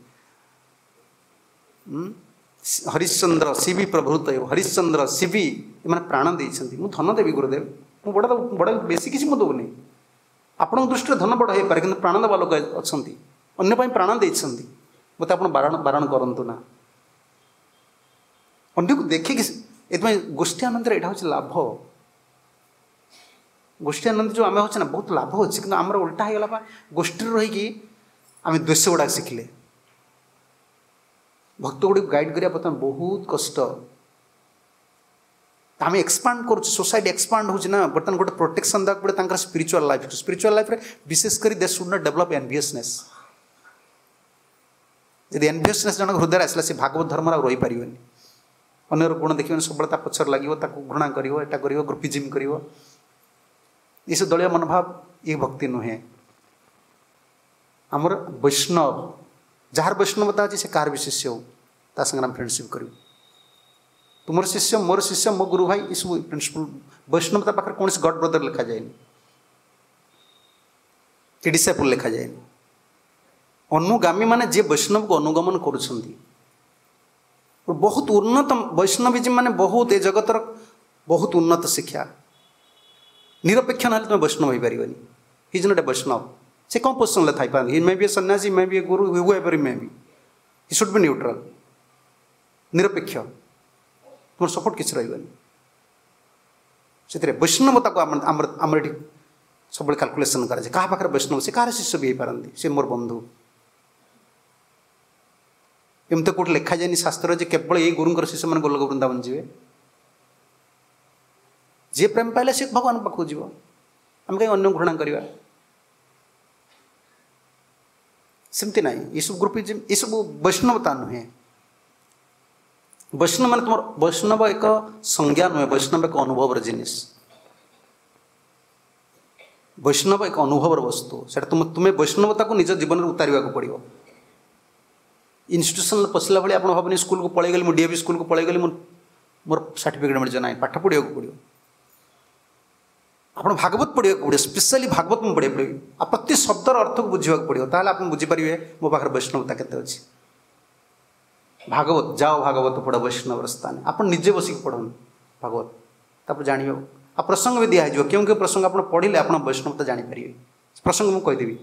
ହରିଶ୍ଚନ୍ଦ୍ର ଶିବି ପ୍ରଭୃତୟୁ, ହରିଶ୍ଚନ୍ଦ୍ର ଶିବି ଏମାନେ ପ୍ରାଣ ଦେଇଛନ୍ତି। ମୁଁ ଧନ ଦେବି ଗୁରୁଦେବ, ମୁଁ ବଡ଼ ବଡ଼ ବେଶୀ କିଛି ମୁଁ ଦେଉନି, ଆପଣଙ୍କ ଦୃଷ୍ଟିରେ ଧନ ବଡ଼ ହେଇପାରେ କିନ୍ତୁ ପ୍ରାଣ ଦେବା ଲୋକ ଅଛନ୍ତି, ଅନ୍ୟ ପାଇଁ ପ୍ରାଣ ଦେଇଛନ୍ତି, ମୋତେ ଆପଣ ବାରଣ ବାରଣ କରନ୍ତୁ ନା। ଅନ୍ୟକୁ ଦେଖିକି ଏଥିପାଇଁ ଗୋଷ୍ଠୀ ଆନନ୍ଦରେ ଏଇଟା ହେଉଛି ଲାଭ। ଗୋଷ୍ଠୀ ଆନନ୍ଦ ଯେଉଁ ଆମେ ହେଉଛେ ନା ବହୁତ ଲାଭ ଅଛି, କିନ୍ତୁ ଆମର ଓଲଟା ହେଇଗଲା ବା ଗୋଷ୍ଠୀରେ ରହିକି ଆମେ ଦ୍ୱେଷ ଗୁଡ଼ାକ ଶିଖିଲେ। ଭକ୍ତ ଗୁଡ଼ିକୁ ଗାଇଡ଼ କରିବା ବର୍ତ୍ତମାନ ବହୁତ କଷ୍ଟ। ଆମେ ଏକ୍ସପାଣ୍ଡ କରୁଛୁ, ସୋସାଇଟି ଏକ୍ସପାଣ୍ଡ ହେଉଛି ନା, ବର୍ତ୍ତମାନ ଗୋଟେ ପ୍ରୋଟେକ୍ସନ୍ ଦେବାକୁ ପଡ଼େ ତାଙ୍କର ସ୍ପିରିଚୁଆଲ୍ ଲାଇଫ୍। ସ୍ପିରିଚୁଆଲ୍ ଲାଇଫ୍ରେ ବିଶେଷ କରି they should not develop enviousness. ଯଦି ଏନଭିୟସନେସ୍ ଜଣଙ୍କ ହୃଦୟରେ ଆସିଲା ସେ ଭାଗବତ ଧର୍ମରେ ଆଉ ରହିପାରିବନି। ଅନ୍ୟର ଗୁଣ ଦେଖିବନି, ସବୁବେଳେ ତା ପଛରେ ଲାଗିବ, ତାକୁ ଘୃଣା କରିବ, ଏଟା କରିବ, ଗ୍ରୁପିଜିମ୍ କରିବ, ଏସବୁ ଦଳୀୟ ମନୋଭାବ ଇଏ ଭକ୍ତି ନୁହେଁ। ଆମର ବୈଷ୍ଣବ, ଯାହାର ବୈଷ୍ଣବତା ଅଛି ସେ କାହାର ବି ଶିଷ୍ୟ ହଉ, ତା ସାଙ୍ଗରେ ଆମେ ଫ୍ରେଣ୍ଡସିପ୍ କରିବୁ। ତୁମର ଶିଷ୍ୟ, ମୋର ଶିଷ୍ୟ, ମୋ ଗୁରୁ ଭାଇ, ଏସବୁ ପ୍ରିନ୍ସିପଲ୍। ବୈଷ୍ଣବତା ପାଖରେ କୌଣସି ଗଡ୍ ବ୍ରଦର ଲେଖାଯାଏନି କି ଡିସାଇପୁଲ୍ ଲେଖାଯାଏନି। ଅନୁଗାମୀ ମାନେ ଯିଏ ବୈଷ୍ଣବକୁ ଅନୁଗମନ କରୁଛନ୍ତି, ବହୁତ ଉନ୍ନତ ବୈଷ୍ଣବିଜିମ୍ ମାନେ ବହୁତ ଏ ଜଗତର ବହୁତ ଉନ୍ନତ ଶିକ୍ଷା। ନିରପେକ୍ଷ ନହେଲେ ତୁମେ ବୈଷ୍ଣବ ହେଇପାରିବନି। He is not a Vaishnava. ସେ କ'ଣ ପୋଜିସନ୍ରେ ଥାଇପାରନ୍ତି? He may be a sannyasi, may be a guru, whoever may be, he should be neutral, ନିରପେକ୍ଷ। ତୁମର ସପୋର୍ଟ କିଛି ରହିବନି ସେଥିରେ। ବୈଷ୍ଣବତାକୁ ଆମର ଆମର ଆମର ଏଠି ସବୁବେଳେ କାଲକୁଲେସନ୍ କରାଯାଏ, କାହା ପାଖରେ ବୈଷ୍ଣବ, ସେ କାହାର ଶିଷ୍ୟ ବି ହେଇପାରନ୍ତି, ସେ ମୋର ବନ୍ଧୁ। ଏମିତି କେଉଁଠି ଲେଖାଯାଏନି ଶାସ୍ତ୍ରରେ ଯେ କେବଳ ଏଇ ଗୁରୁଙ୍କର ଶିଷ୍ୟମାନେ ଗୋଲକ ବୃନ୍ଦାବନ ଯିବେ। ଯିଏ ପ୍ରେମ ପାଇଲେ ସେ ଭଗବାନଙ୍କ ପାଖକୁ ଯିବ, ଆମେ କାହିଁ ଅନ୍ୟ ଘୃଣା କରିବା? ସେମିତି ନାହିଁ। ଏସବୁ ଗ୍ରୁପିଜିମ୍, ଏସବୁ ବୈଷ୍ଣବତା ନୁହେଁ। ବୈଷ୍ଣବ ମାନେ ତୁମର ବୈଷ୍ଣବ ଏକ ସଂଜ୍ଞା ନୁହେଁ, ବୈଷ୍ଣବ ଏକ ଅନୁଭବର ଜିନିଷ। ବୈଷ୍ଣବ ଏକ ଅନୁଭବର ବସ୍ତୁ। ସେଟା ତୁମ ତୁମେ ବୈଷ୍ଣବତାକୁ ନିଜ ଜୀବନରେ ଉତାରିବାକୁ ପଡ଼ିବ। ଇନଷ୍ଟିଟ୍ୟୁସନରେ ପଶିଲା ଭଳି ଆପଣ ଭାବନି ସ୍କୁଲକୁ ପଳେଇଗଲି, ମୁଁ ଡିଏଭି ସ୍କୁଲକୁ ପଳେଇଗଲି, ମୁଁ ମୋର ସାର୍ଟିଫିକେଟ୍ ମିଳିଯିବ। ନାହିଁ, ପାଠ ପଢ଼ିବାକୁ ପଡ଼ିବ। ଆପଣ ଭାଗବତ ପଢ଼ିବାକୁ ପଡ଼ିବ, ସ୍ପେଶାଲି ଭାଗବତ ମୁଁ ପଢ଼ିବାକୁ ପଡ଼ିବ, ଆଉ ପ୍ରତି ଶବ୍ଦର ଅର୍ଥକୁ ବୁଝିବାକୁ ପଡ଼ିବ। ତାହେଲେ ଆପଣ ବୁଝିପାରିବେ ମୋ ପାଖରେ ବୈଷ୍ଣବତା କେତେ ଅଛି। ଭାଗବତ ଯାଅ, ଭାଗବତ ପଢ଼ ବୈଷ୍ଣବର ସ୍ଥାନ। ଆପଣ ନିଜେ ବସିକି ପଢ଼ନ୍ତୁ ଭାଗବତ, ତାପରେ ଜାଣିବେ। ଆଉ ପ୍ରସଙ୍ଗ ବି ଦିଆହେଇଯିବ, କେଉଁ କେଉଁ ପ୍ରସଙ୍ଗ ଆପଣ ପଢ଼ିଲେ ଆପଣ ବୈଷ୍ଣବତା ଜାଣିପାରିବେ। ପ୍ରସଙ୍ଗ ମୁଁ କହିଦେବି।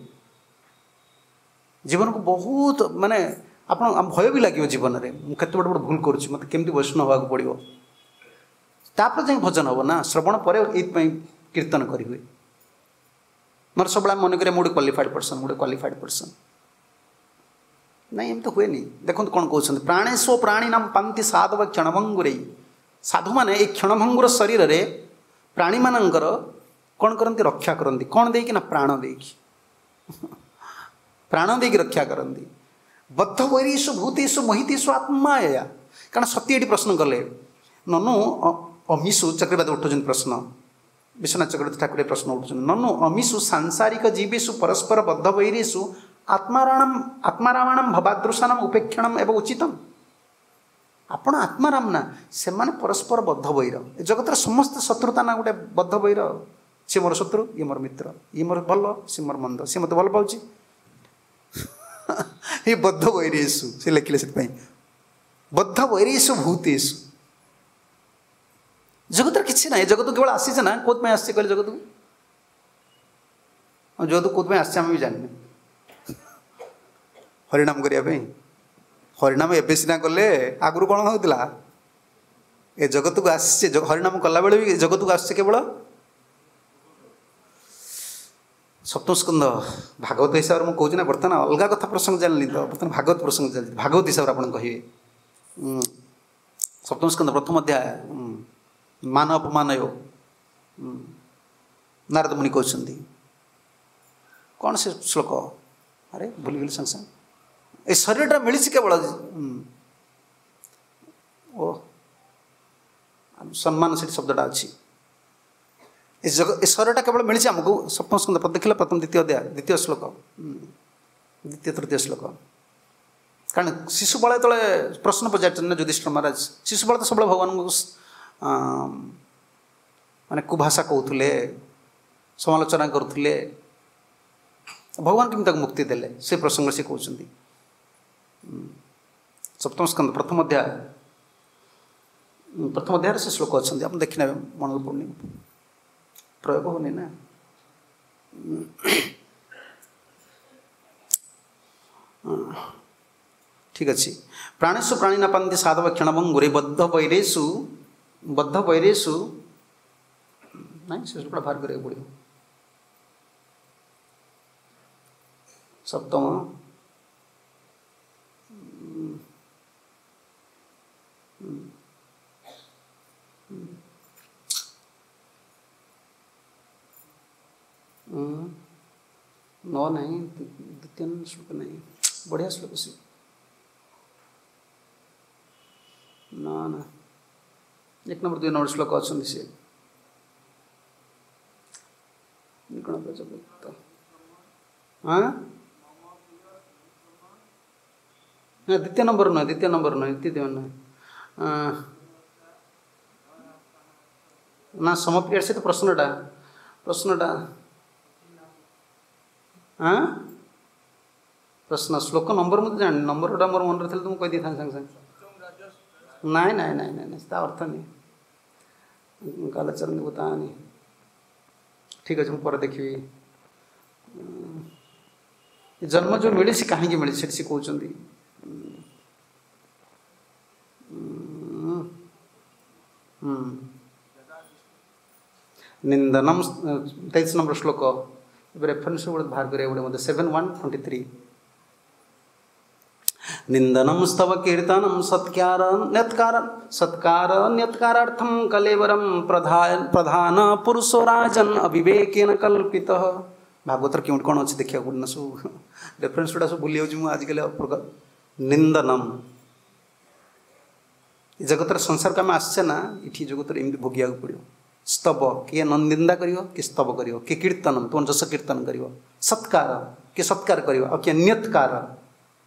ଜୀବନକୁ ବହୁତ ମାନେ ଆପଣ ଭୟ ବି ଲାଗିବ ଜୀବନରେ, ମୁଁ କେତେ ବଡ଼ ବଡ଼ ଭୁଲ କରୁଛି, ମୋତେ କେମିତି ବୈଷ୍ଣବ ହେବାକୁ ପଡ଼ିବ। ତାପରେ ଯାଇ ଭଜନ ହେବ ନା, ଶ୍ରବଣ ପରେ ଏଇଥିପାଇଁ କୀର୍ତ୍ତନ କରିହୁଏ। ନହେଲେ ସବୁବେଳେ ଆମେ ମନେ କରିବା ମୁଁ ଗୋଟେ କ୍ୱାଲିଫାଏଡ଼ ପର୍ସନ୍, ଗୋଟେ କ୍ୱାଲିଫାଏଡ଼ ପର୍ସନ୍। ନାଇଁ, ଏମିତି ହୁଏନି। ଦେଖନ୍ତୁ କ'ଣ କହୁଛନ୍ତି, ପ୍ରାଣେଶୋ ପ୍ରାଣୀ ନାମ ପାନ୍ତି ସାଧବ କ୍ଷଣଭଙ୍ଗୁରେଇ। ସାଧୁମାନେ ଏଇ କ୍ଷଣଭଙ୍ଗୁର ଶରୀରରେ ପ୍ରାଣୀମାନଙ୍କର କ'ଣ କରନ୍ତି? ରକ୍ଷା କରନ୍ତି। କ'ଣ ଦେଇକି? ନା ପ୍ରାଣ ଦେଇକି, ପ୍ରାଣ ଦେଇକି ରକ୍ଷା କରନ୍ତି। ବଦ୍ଧ ବୈରୀଷୁ ଭୂତେଷୁ ମୋହିତେଷୁ ଆତ୍ମାୟା। କାରଣ ସତୀ ଏଠି ପ୍ରଶ୍ନ କଲେ, ନନୁ ଅମିଷୁ, ଚକ୍ରବାଦ ଉଠୁଛନ୍ତି ପ୍ରଶ୍ନ, ବିଶ୍ୱନାଥ ଚକ୍ରବର୍ତ୍ତୀ ଠାକୁର ପ୍ରଶ୍ନ ଉଠୁଛନ୍ତି, ନନୁ ଅମିଷୁ ସାଂସାରିକ ଜୀବେଷୁ ପରସ୍ପର ବଦ୍ଧ ବୈରୀଷୁ ଆତ୍ମାରାଣମ ଆତ୍ମାରାମାଣମ ଭବାଦୃଶାନମ ଉପେକ୍ଷଣମ ଏବଂ ଉଚିତମ। ଆପଣ ଆତ୍ମାରାମ ନା, ସେମାନେ ପରସ୍ପର ବଦ୍ଧ ବୈର। ଏ ଜଗତର ସମସ୍ତ ଶତ୍ରୁତା ନା ଗୋଟେ ବଦ୍ଧ ବୈର। ସେ ମୋର ଶତ୍ରୁ, ଇଏ ମୋର ମିତ୍ର, ଇଏ ମୋର ଭଲ, ସେ ମୋର ମନ୍ଦ, ସେ ମୋତେ ଭଲ ପାଉଛି, ଏ ବଦ୍ଧ ବୈରେଷୁ ସେ ଲେଖିଲେ। ସେଥିପାଇଁ ବଦ୍ଧ ବୈରେଷୁ ଭୂତେଷୁ। ଜଗତରେ କିଛି ନାହିଁ, ଜଗତ କେବଳ ଆସିছে ନା। କୋଉଥିପାଇଁ ଆସିছে କହିଲେ? ଜଗତକୁ ଜଗତ କୋଉଥିପାଇଁ ଆସିছে ଆମେ ବି ଜାଣିନେ। ହରିନାମ କରିବା ପାଇଁ। ହରିନାମ ଏବେ ସିନା କଲେ, ଆଗରୁ କ'ଣ ହେଉଥିଲା? ଏ ଜଗତକୁ ଆସିছে ହରିନାମ କଲାବେଳେ ବି ଜଗତକୁ ଆସିছে କେବଳ। ସପ୍ତମ ସ୍କନ୍ଧ ଭାଗବତ ହିସାବରେ ମୁଁ କହୁଛି ନା, ବର୍ତ୍ତମାନ ଅଲଗା କଥା ପ୍ରସଙ୍ଗ ଚାଲିନି ତ, ବର୍ତ୍ତମାନ ଭାଗବତ ପ୍ରସଙ୍ଗ ଚାଲିଛି। ଭାଗବତ ହିସାବରେ ଆପଣ କହିବେ ସପ୍ତମ ସ୍କନ୍ଧ ପ୍ରଥମ ଅଧ୍ୟାୟ ମାନ ଅପମାନ ନାରଦ ମୁନି କହୁଛନ୍ତି। କ'ଣ ସେ ଶ୍ଲୋକ? ଆରେ ଭୁଲିଗଲି ସାଙ୍ଗେ ସାଙ୍ଗେ। ଏ ଶରୀରଟା ମିଳିଛି କେବଳ ଓ ସମ୍ମାନ, ସେଠି ଶବ୍ଦଟା ଅଛି। ଏ ଜଗ ଏ ଶରୀରଟା କେବଳ ମିଳିଛି ଆମକୁ। ସପ୍ତମ ସ୍କନ୍ଧ ଦେଖିଲା ପ୍ରଥମ ଦ୍ୱିତୀୟ ଅଧ୍ୟାୟ ଦ୍ୱିତୀୟ ଶ୍ଲୋକ, ଦ୍ୱିତୀୟ ତୃତୀୟ ଶ୍ଲୋକ। କାରଣ ଶିଶୁପାଳ ଯେତେବେଳେ ପ୍ରଶ୍ନ ପଚାରିଛନ୍ତି ନା ଯୁଧିଷ୍ଠିର ମହାରାଜ, ଶିଶୁପାଳ ତ ସବୁବେଳେ ଭଗବାନଙ୍କୁ ମାନେ କୁଭାଷା କହୁଥିଲେ, ସମାଲୋଚନା କରୁଥିଲେ, ଭଗବାନ କେମିତି ତାକୁ ମୁକ୍ତି ଦେଲେ ସେ ପ୍ରସଙ୍ଗ ସେ କହୁଛନ୍ତି। ସପ୍ତମ ସ୍କନ୍ଧ ପ୍ରଥମ ଅଧ୍ୟାୟ, ପ୍ରଥମ ଅଧ୍ୟାୟରେ ସେ ଶ୍ଲୋକ ଅଛନ୍ତି, ଆପଣ ଦେଖିନେବେ। ମନରେ ପଡ଼ୁନି, ପ୍ରୟୋଗ ହେଉନି ନା। ଠିକ୍ ଅଛି। ପ୍ରାଣେଷୁ ପ୍ରାଣୀ ନ ପାନ୍ତି ସାଧବ କ୍ଷଣଭଙ୍ଗୁରେ ବଦ୍ଧ ବୈରେଷୁ ବଦ୍ଧ ବୈରେଷୁ ନାଇଁ, ସେ ଶ୍ଲୋକଟା ବାହାର କରିବାକୁ ପଡ଼ିବ। ସପ୍ତମ ନଅ ନାହିଁ, ଦ୍ୱିତୀୟ ଶ୍ଲୋକ ନାହିଁ, ବଢ଼ିଆ ଶ୍ଲୋକ ସେ। ନା ନା, ଏକ ନମ୍ବର ଦୁଇ ନମ୍ବର ଶ୍ଲୋକ ଅଛନ୍ତି ସେ। ହଁ ନା, ଦ୍ୱିତୀୟ ନମ୍ବର ନୁହେଁ, ଦ୍ୱିତୀୟ ନମ୍ବର ନୁହେଁ, ଦ୍ୱିତୀୟ ନୁହେଁ ନା, ସମପ୍ରିୟ ସେ ତ ପ୍ରଶ୍ନଟା ପ୍ରଶ୍ନଟା ହଁ ପ୍ରଶ୍ନ ଶ୍ଲୋକ ନମ୍ବର ମୁଁ ତ ଜାଣିନି। ନମ୍ବରଟା ମୋର ମନରେ ଥିଲେ ତ ମୁଁ କହିଦେଇଥାନ୍ତି ସାଙ୍ଗେ ସାଙ୍ଗେ। ନାଇଁ ନାଇଁ ନାଇଁ ନାଇଁ ନାଇଁ, ତା ଅର୍ଥ ନାହିଁ। କାଲଚରଣ ଭୂତାନି। ଠିକ୍ ଅଛି, ମୁଁ ପରେ ଦେଖିବି। ଜନ୍ମ ଯେଉଁ ମିଳିଛି କାହିଁକି ମିଳିଛି ସେଠି ସେ କହୁଛନ୍ତି। ନିନ୍ଦନମ ତେଇଶ ନମ୍ବର ଶ୍ଲୋକ, ଏବେ ରେଫରେନ୍ସ ଗୋଟେ ବାହାର କରିବାକୁ ପଡ଼ିବ ମୋତେ। Seven one twenty three. ନିନ୍ଦନମ ସ୍ତବ କୀର୍ତ୍ତନମ ସତ୍କାର ନ୍ୟତ୍କାର ସତ୍କାର ନ୍ୟତ୍କାରାର୍ଥମ କଲେବରମ ପ୍ରଧାନ ପ୍ରଧାନ ପୁରୁଷୋ ରାଜନ ଅବିବେକେନ କଳ୍ପିତଃ। ଭାଗବତର କେଉଁଠି କ'ଣ ଅଛି ଦେଖିବାକୁ ପଡ଼ିବ ନା, ସବୁ ରେଫରେନ୍ସ ଗୁଡ଼ା ସବୁ ଭୁଲି ଯାଉଛି ମୁଁ ଆଜିକାଲି। ନିନ୍ଦନମ ଏ ଜଗତର ସଂସାରକୁ ଆମେ ଆସିଛେ ନା, ଏଠି ଜଗତରେ ଏମିତି ଭୋଗିବାକୁ ପଡ଼ିବ। ସ୍ତବ କିଏ ନିନ୍ଦା କରିବ, କିଏ ସ୍ତବ କରିବ, କିଏ କୀର୍ତ୍ତନ ତୁମ ଯଶ କୀର୍ତ୍ତନ କରିବ, ସତ୍କାର କିଏ ସତ୍କାର କରିବ, ଆଉ କିଏ ନିୟତ୍କାର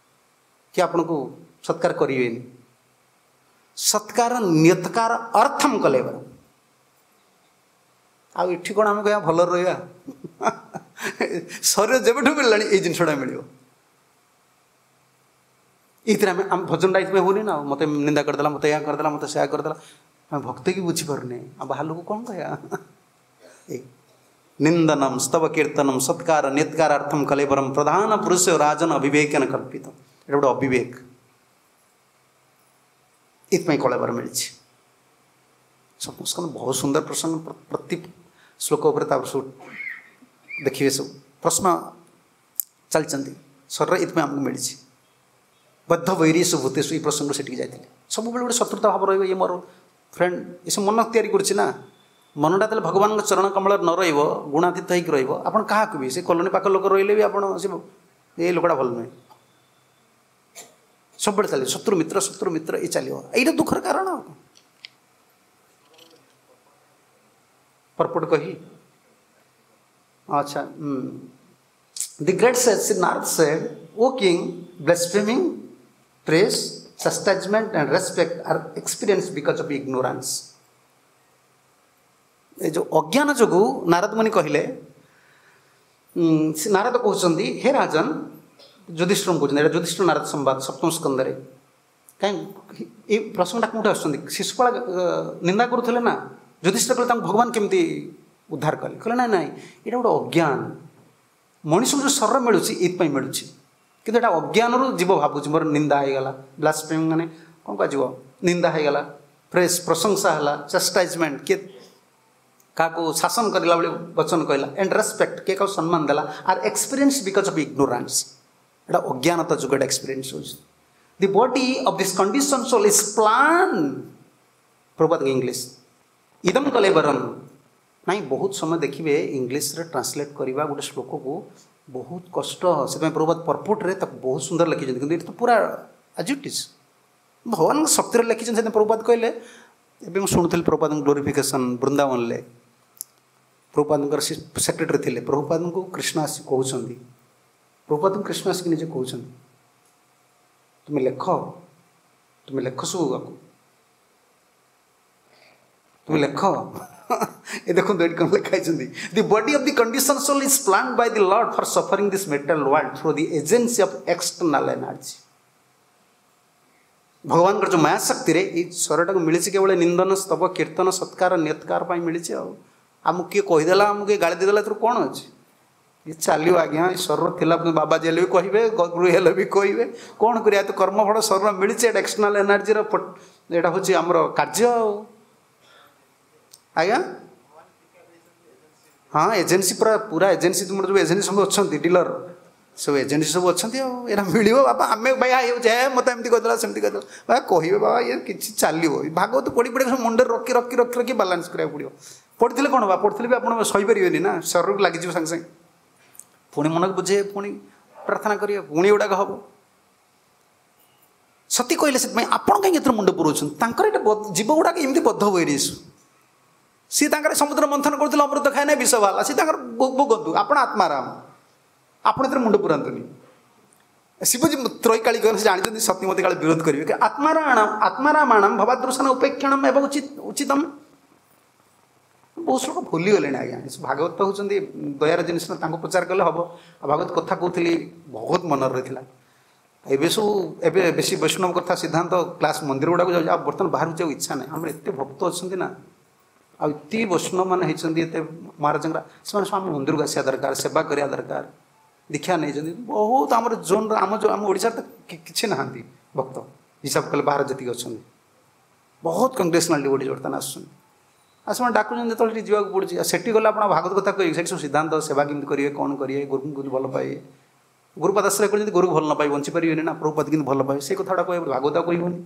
କିଏ ଆପଣଙ୍କୁ ସତ୍କାର କରିବେନି। ସତ୍କାର ନିୟତ୍କାର ଅର୍ଥମ କଲେ। ଆଉ ଏଠି କ'ଣ ଆମେ କହିବା ଭଲରେ ରହିବା? ଶରୀର ଯେବେଠୁ ମିଳିଲାଣି ଏଇ ଜିନିଷଟା ମିଳିବ। ଏଇଥିରେ ଆମେ ଆମ ଭଜନଟା ଏଇଥିପାଇଁ ହେଉନି ନା, ମୋତେ ନିନ୍ଦା କରିଦେଲା, ମୋତେ ଏହା କରିଦେଲା, ମୋତେ ସେୟା କରିଦେଲା, ଆମେ ଭକ୍ତିକି ବୁଝିପାରୁନେ, ଆଉ ବାହାର ଲୋକ କ'ଣ କହିବା? ଏ ନିନ୍ଦନମ ସ୍ତବ କୀର୍ତ୍ତନମ ସତ୍କାର ନିତ୍କାରାର୍ଥମ କଲେବରମ ପ୍ରଧାନ ପୁରୁଷ ରାଜନ ଅବିବେକନ କଳ୍ପିତ। ଏଇଟା ଗୋଟେ ଅବିବେକ, ଏଥିପାଇଁ କଳେବର ମିଳିଛି। ସପ୍ତମ ବହୁତ ସୁନ୍ଦର ପ୍ରସଙ୍ଗ, ପ୍ରତି ଶ୍ଲୋକ ଉପରେ ତାପରେ ସବୁ ଦେଖିବେ, ସବୁ ପ୍ରଶ୍ନ ଚାଲିଛନ୍ତି। ଶରୀର ଏଥିପାଇଁ ଆମକୁ ମିଳିଛି। ବଦ୍ଧ ବୈରୀଷୁ ଭୂତେଷୁ ଏଇ ପ୍ରସଙ୍ଗରୁ ସେଠିକି ଯାଇଥିଲେ। ସବୁବେଳେ ଗୋଟେ ଶତ୍ରୁତା ଭାବ ରହିବ, ଇଏ ମୋର ଫ୍ରେଣ୍ଡ, ଏସବୁ ମନ ତିଆରି କରୁଛି ନା। ମନଟା ଯେତେବେଳେ ଭଗବାନଙ୍କ ଚରଣ କମଳରେ ନ ରହିବ, ଗୁଣାତୀତ ହେଇକି ରହିବ, ଆପଣ କାହାକୁ ବି ସେ କଲୋନୀ ପାଖ ଲୋକ ରହିଲେ ବି ଆପଣ ସେ ଏ ଲୋକଟା ଭଲ ନୁହେଁ, ସବୁବେଳେ ଚାଲିବ ଶତ୍ରୁ ମିତ୍ର ଶତ୍ରୁ ମିତ୍ର ଏ ଚାଲିବ। ଏଇଟା ଦୁଃଖର କାରଣ। ଆଉ ପରପଟ କହି ଆଚ୍ଛା। The great sage Narad said, O king, blaspheming, praise, chastisement and respect are experienced because of ignorance. ଏ ଯେଉଁ ଅଜ୍ଞାନ ଯୋଗୁଁ ନାରଦ ମୁନି କହିଲେ, ସେ ନାରଦ କହୁଛନ୍ତି, ହେ ରାଜନ, ଯୁଧିଷ୍ଠିରଙ୍କୁ କହୁଛନ୍ତି, ଏଇଟା ଯୁଧିଷ୍ଠିର ନାରଦ ସମ୍ବାଦ ସପ୍ତମ ସ୍କନ୍ଧରେ। କାହିଁ ଏଇ ପ୍ରସଙ୍ଗଟା କେଉଁଠି ଆସୁଛନ୍ତି? ଶିଶୁପାଳ ନିନ୍ଦା କରୁଥିଲେ ନା, ଯୁଧିଷ୍ଠିର କହିଲେ ତାଙ୍କୁ ଭଗବାନ କେମିତି ଉଦ୍ଧାର କଲେ? କହିଲେ ନାଇଁ ନାଇଁ, ଏଇଟା ଗୋଟେ ଅଜ୍ଞାନ। ମଣିଷକୁ ଯେଉଁ ଶରୀର ମିଳୁଛି ଏଇଥିପାଇଁ ମିଳୁଛି, କିନ୍ତୁ ଏଇଟା ଅଜ୍ଞାନରୁ ଜୀବ ଭାବୁଛି ମୋର ନିନ୍ଦା ହେଇଗଲା। ବ୍ଲାସଫେମି ମାନେ କ'ଣ କୁହାଯିବ? ନିନ୍ଦା ହେଇଗଲା, ପ୍ରେସ୍ ପ୍ରଶଂସା ହେଲା, ଚାଷ୍ଟାଇଜମେଣ୍ଟ କିଏ କାହାକୁ ଶାସନ କରିଲା ଭଳି ବଚନ କହିଲା, ଆଣ୍ଡ ରେସ୍ପେକ୍ଟ କିଏ କାହାକୁ ସମ୍ମାନ ଦେଲା, are experience because of ignorance. ଏଇଟା ଅଜ୍ଞାନତା ଯୋଗୁଁ ଏଇଟା ଏକ୍ସପିରିଏନ୍ସ ହେଉଛି। The body of this condition soul is plan, Prabhupada English ଇଦମ୍ କଲେବରମ୍। ନାଇଁ, ବହୁତ ସମୟ ଦେଖିବେ ଇଂଲିଶରେ ଟ୍ରାନ୍ସଲେଟ୍ କରିବା ଗୋଟେ ଶ୍ଲୋକକୁ ବହୁତ କଷ୍ଟ। ସେଥିପାଇଁ ପ୍ରଭୁପାଦ ପର୍ପୋର୍ଟରେ ତାକୁ ବହୁତ ସୁନ୍ଦର ଲେଖିଛନ୍ତି, କିନ୍ତୁ ଏଇଟା ତ ପୁରା ଆଜ୍ it is ଭଗବାନଙ୍କ ଶକ୍ତିରେ ଲେଖିଛନ୍ତି। ସେଥିପାଇଁ ପ୍ରଭୁପାଦ କହିଲେ, ଏବେ ମୁଁ ଶୁଣୁଥିଲି ପ୍ରଭୁପାଦଙ୍କ ଗ୍ଲୋରିଫିକେସନ୍ ବୃନ୍ଦାବନରେ, ପ୍ରଭୁପାଦଙ୍କର ସେକ୍ରେଟାରୀ ଥିଲେ, ପ୍ରଭୁପାଦଙ୍କୁ କୃଷ୍ଣ ଆସି କହୁଛନ୍ତି, ପ୍ରଭୁପାଦଙ୍କୁ କୃଷ୍ଣ ଆସିକି ନିଜେ କହୁଛନ୍ତି, ତୁମେ ଲେଖ, ତୁମେ ଲେଖ ସବୁ ଆକୁ, ତୁମେ ଲେଖ। ଏ ଦେଖନ୍ତୁ ଏଠି କ'ଣ ଲେଖା ହେଇଛନ୍ତି, the body of the condition soul is plan by the lord for suffering this material world through the agency of external energy. ଭଗବାନଙ୍କର ଯେଉଁ ମାୟାଶକ୍ତିରେ ଏଇ ଶରୀରଟାକୁ ମିଳିଛି କେବଳ ନିନ୍ଦନ, ସ୍ତବ, କୀର୍ତ୍ତନ, ସତ୍କାର, ନିୟତ୍କାର ପାଇଁ ମିଳିଛି। ଆଉ ଆମକୁ କିଏ କହିଦେଲା, ଆମକୁ କିଏ ଗାଳି ଦେଇଦେଲା, ଏଥିରୁ କ'ଣ ଅଛି? ଇଏ ଚାଲିବ ଆଜ୍ଞା, ଏ ଶରୀର ଥିଲା ବାବାଜୀ ହେଲେ ବି କହିବେ, ଗୁରୁ ହେଲେ ବି କହିବେ, କ'ଣ କରିବା? ତ କର୍ମଫଳ ଶରୀର ମିଳିଛି, ଏଇଟା ଏକ୍ସଟର୍ନାଲ ଏନର୍ଜିର ଏଇଟା ହେଉଛି ଆମର କାର୍ଯ୍ୟ। ଆଉ ଆଜ୍ଞା ହଁ, ଏଜେନ୍ସି ପୁରା ପୁରା ଏଜେନ୍ସି, ତୁମର ଯେଉଁ ଏଜେନ୍ସି ସବୁ ଅଛନ୍ତି, ଡିଲର ସବୁ ଏଜେନ୍ସି ସବୁ ଅଛନ୍ତି, ଆଉ ଏଇଟା ମିଳିବ ବାପା। ଆମେ ଭାଇ ହେଉଛି, ହେ ମୋତେ ଏମିତି କହିଦେଲା, ସେମିତି କହିଦେଲା, ବାବା କହିବେ ବାବା, ଇଏ କିଛି ଚାଲିବ। ଭାଗବତ ପଢ଼ି ପଢ଼ି ସବୁ ମୁଣ୍ଡରେ ରଖି ରଖି ରଖି ରଖି ବାଲାନ୍ସ କରିବାକୁ ପଡ଼ିବ। ପଢ଼ିଥିଲେ କ'ଣ ବା, ପଢ଼ିଥିଲେ ବି ଆପଣ ସହିପାରିବେନି ନା, ଶରୀରକୁ ଲାଗିଯିବ ସାଙ୍ଗେ ସାଙ୍ଗେ। ପୁଣି ମନକୁ ବୁଝେଇବେ, ପୁଣି ପ୍ରାର୍ଥନା କରିବେ, ପୁଣି ଏଗୁଡ଼ାକ ହେବ। ସତୀ କହିଲେ ସେଥିପାଇଁ ଆପଣ କାହିଁକି ଏଥିରେ ମୁଣ୍ଡ ପୁରଉଛନ୍ତି? ତାଙ୍କର ଏଇଟା ଜୀବ ଗୁଡ଼ାକ ଏମିତି ବଦ୍ଧ ବୈରିସୁ, ସିଏ ତାଙ୍କର ସମୁଦ୍ର ମନ୍ଥନ କରୁଥିଲେ, ଅମୃତ ଖାଏ ନାହିଁ, ବିଷ ବାହାରିଲା, ସିଏ ତାଙ୍କର ଭୋଗନ୍ତୁ, ଆପଣ ଆତ୍ମାରାମ, ଆପଣ ଏଥିରେ ମୁଣ୍ଡ ପୁରାନ୍ତୁନି। ଶିବଜୀ ତ୍ରୈକାଳୀ କହିଲେ, ସେ ଜାଣିଛନ୍ତି ସତୀ ମତେ କାଳେ ବିରୋଧ କରିବେ। ଆତ୍ମାରାଣ ଆତ୍ମାରାମାଣମ ଭବାଦୃଶନ ଉପେକ୍ଷଣମ ଏବଂ ଉଚିତ ଉଚିତମ। ବହୁତ ଲୋକ ଭୁଲିଗଲେଣି ଆଜ୍ଞା। ଭାଗବତ ହେଉଛନ୍ତି ଦୟାର ଜିନିଷ ନା, ତାଙ୍କୁ ପ୍ରଚାର କଲେ ହେବ। ଆଉ ଭାଗବତ କଥା କହୁଥିଲି, ବହୁତ ମନରେ ରହିଥିଲା। ଏବେ ସବୁ ଏବେ ବେଶୀ ବୈଷ୍ଣବ କଥା ସିଦ୍ଧାନ୍ତ କ୍ଲାସ୍ ମନ୍ଦିର ଗୁଡ଼ାକୁ ଯାଉଛି, ଆଉ ବର୍ତ୍ତମାନ ବାହାରକୁ ଯିବାକୁ ଇଚ୍ଛା ନାହିଁ। ଆମର ଏତେ ଭକ୍ତ ଅଛନ୍ତି ନା, ଆଉ ଏତେ ବୈଷ୍ଣବ ମାନେ ହେଇଛନ୍ତି, ଏତେ ମହାରାଜଙ୍କର, ସେମାନେ ସବୁ ଆମ ମନ୍ଦିରକୁ ଆସିବା ଦରକାର, ସେବା କରିବା ଦରକାର, ଦୀକ୍ଷା ନେଇଛନ୍ତି ବହୁତ। ଆମର ଜୋନ୍ର ଆମ ଯେଉଁ ଆମ ଓଡ଼ିଶାରେ ତ କିଛି ନାହାନ୍ତି ଭକ୍ତ ହିସାବ କଲେ, ବାହାରେ ଯେତିକି ଅଛନ୍ତି ବହୁତ କଂଗ୍ରେସନାଲ ଡିଭୋଟିଜ୍ ବର୍ତ୍ତମାନ ଆସୁଛନ୍ତି। ଆଉ ସେମାନେ ଡାକୁଛନ୍ତି ଯେତେବେଳେ ସେଠି ଯିବାକୁ ପଡ଼ୁଛି। ଆଉ ସେଠି ଗଲେ ଆପଣ ଭାଗବତ କଥା କହିବେ, ସେଠି ସବୁ ସିଦ୍ଧାନ୍ତ, ସେବା କେମିତି କରିବେ, କ'ଣ କରିବେ, ଗୁରୁଙ୍କୁ କେମିତି ଭଲ ପାଇବେ। ଗୁରୁପାଦ ଆଶ୍ରୟ କରିଛନ୍ତି, ଗୁରୁକୁ ଭଲ ନ ପାଇ ବଞ୍ଚିପାରିବେନି ନା, ପ୍ରଭୁପାଦ କେମିତି ଭଲ ପାଇବେ, ସେ କଥାଟା କହିବେ, ଭାଗବତ କହିବନି।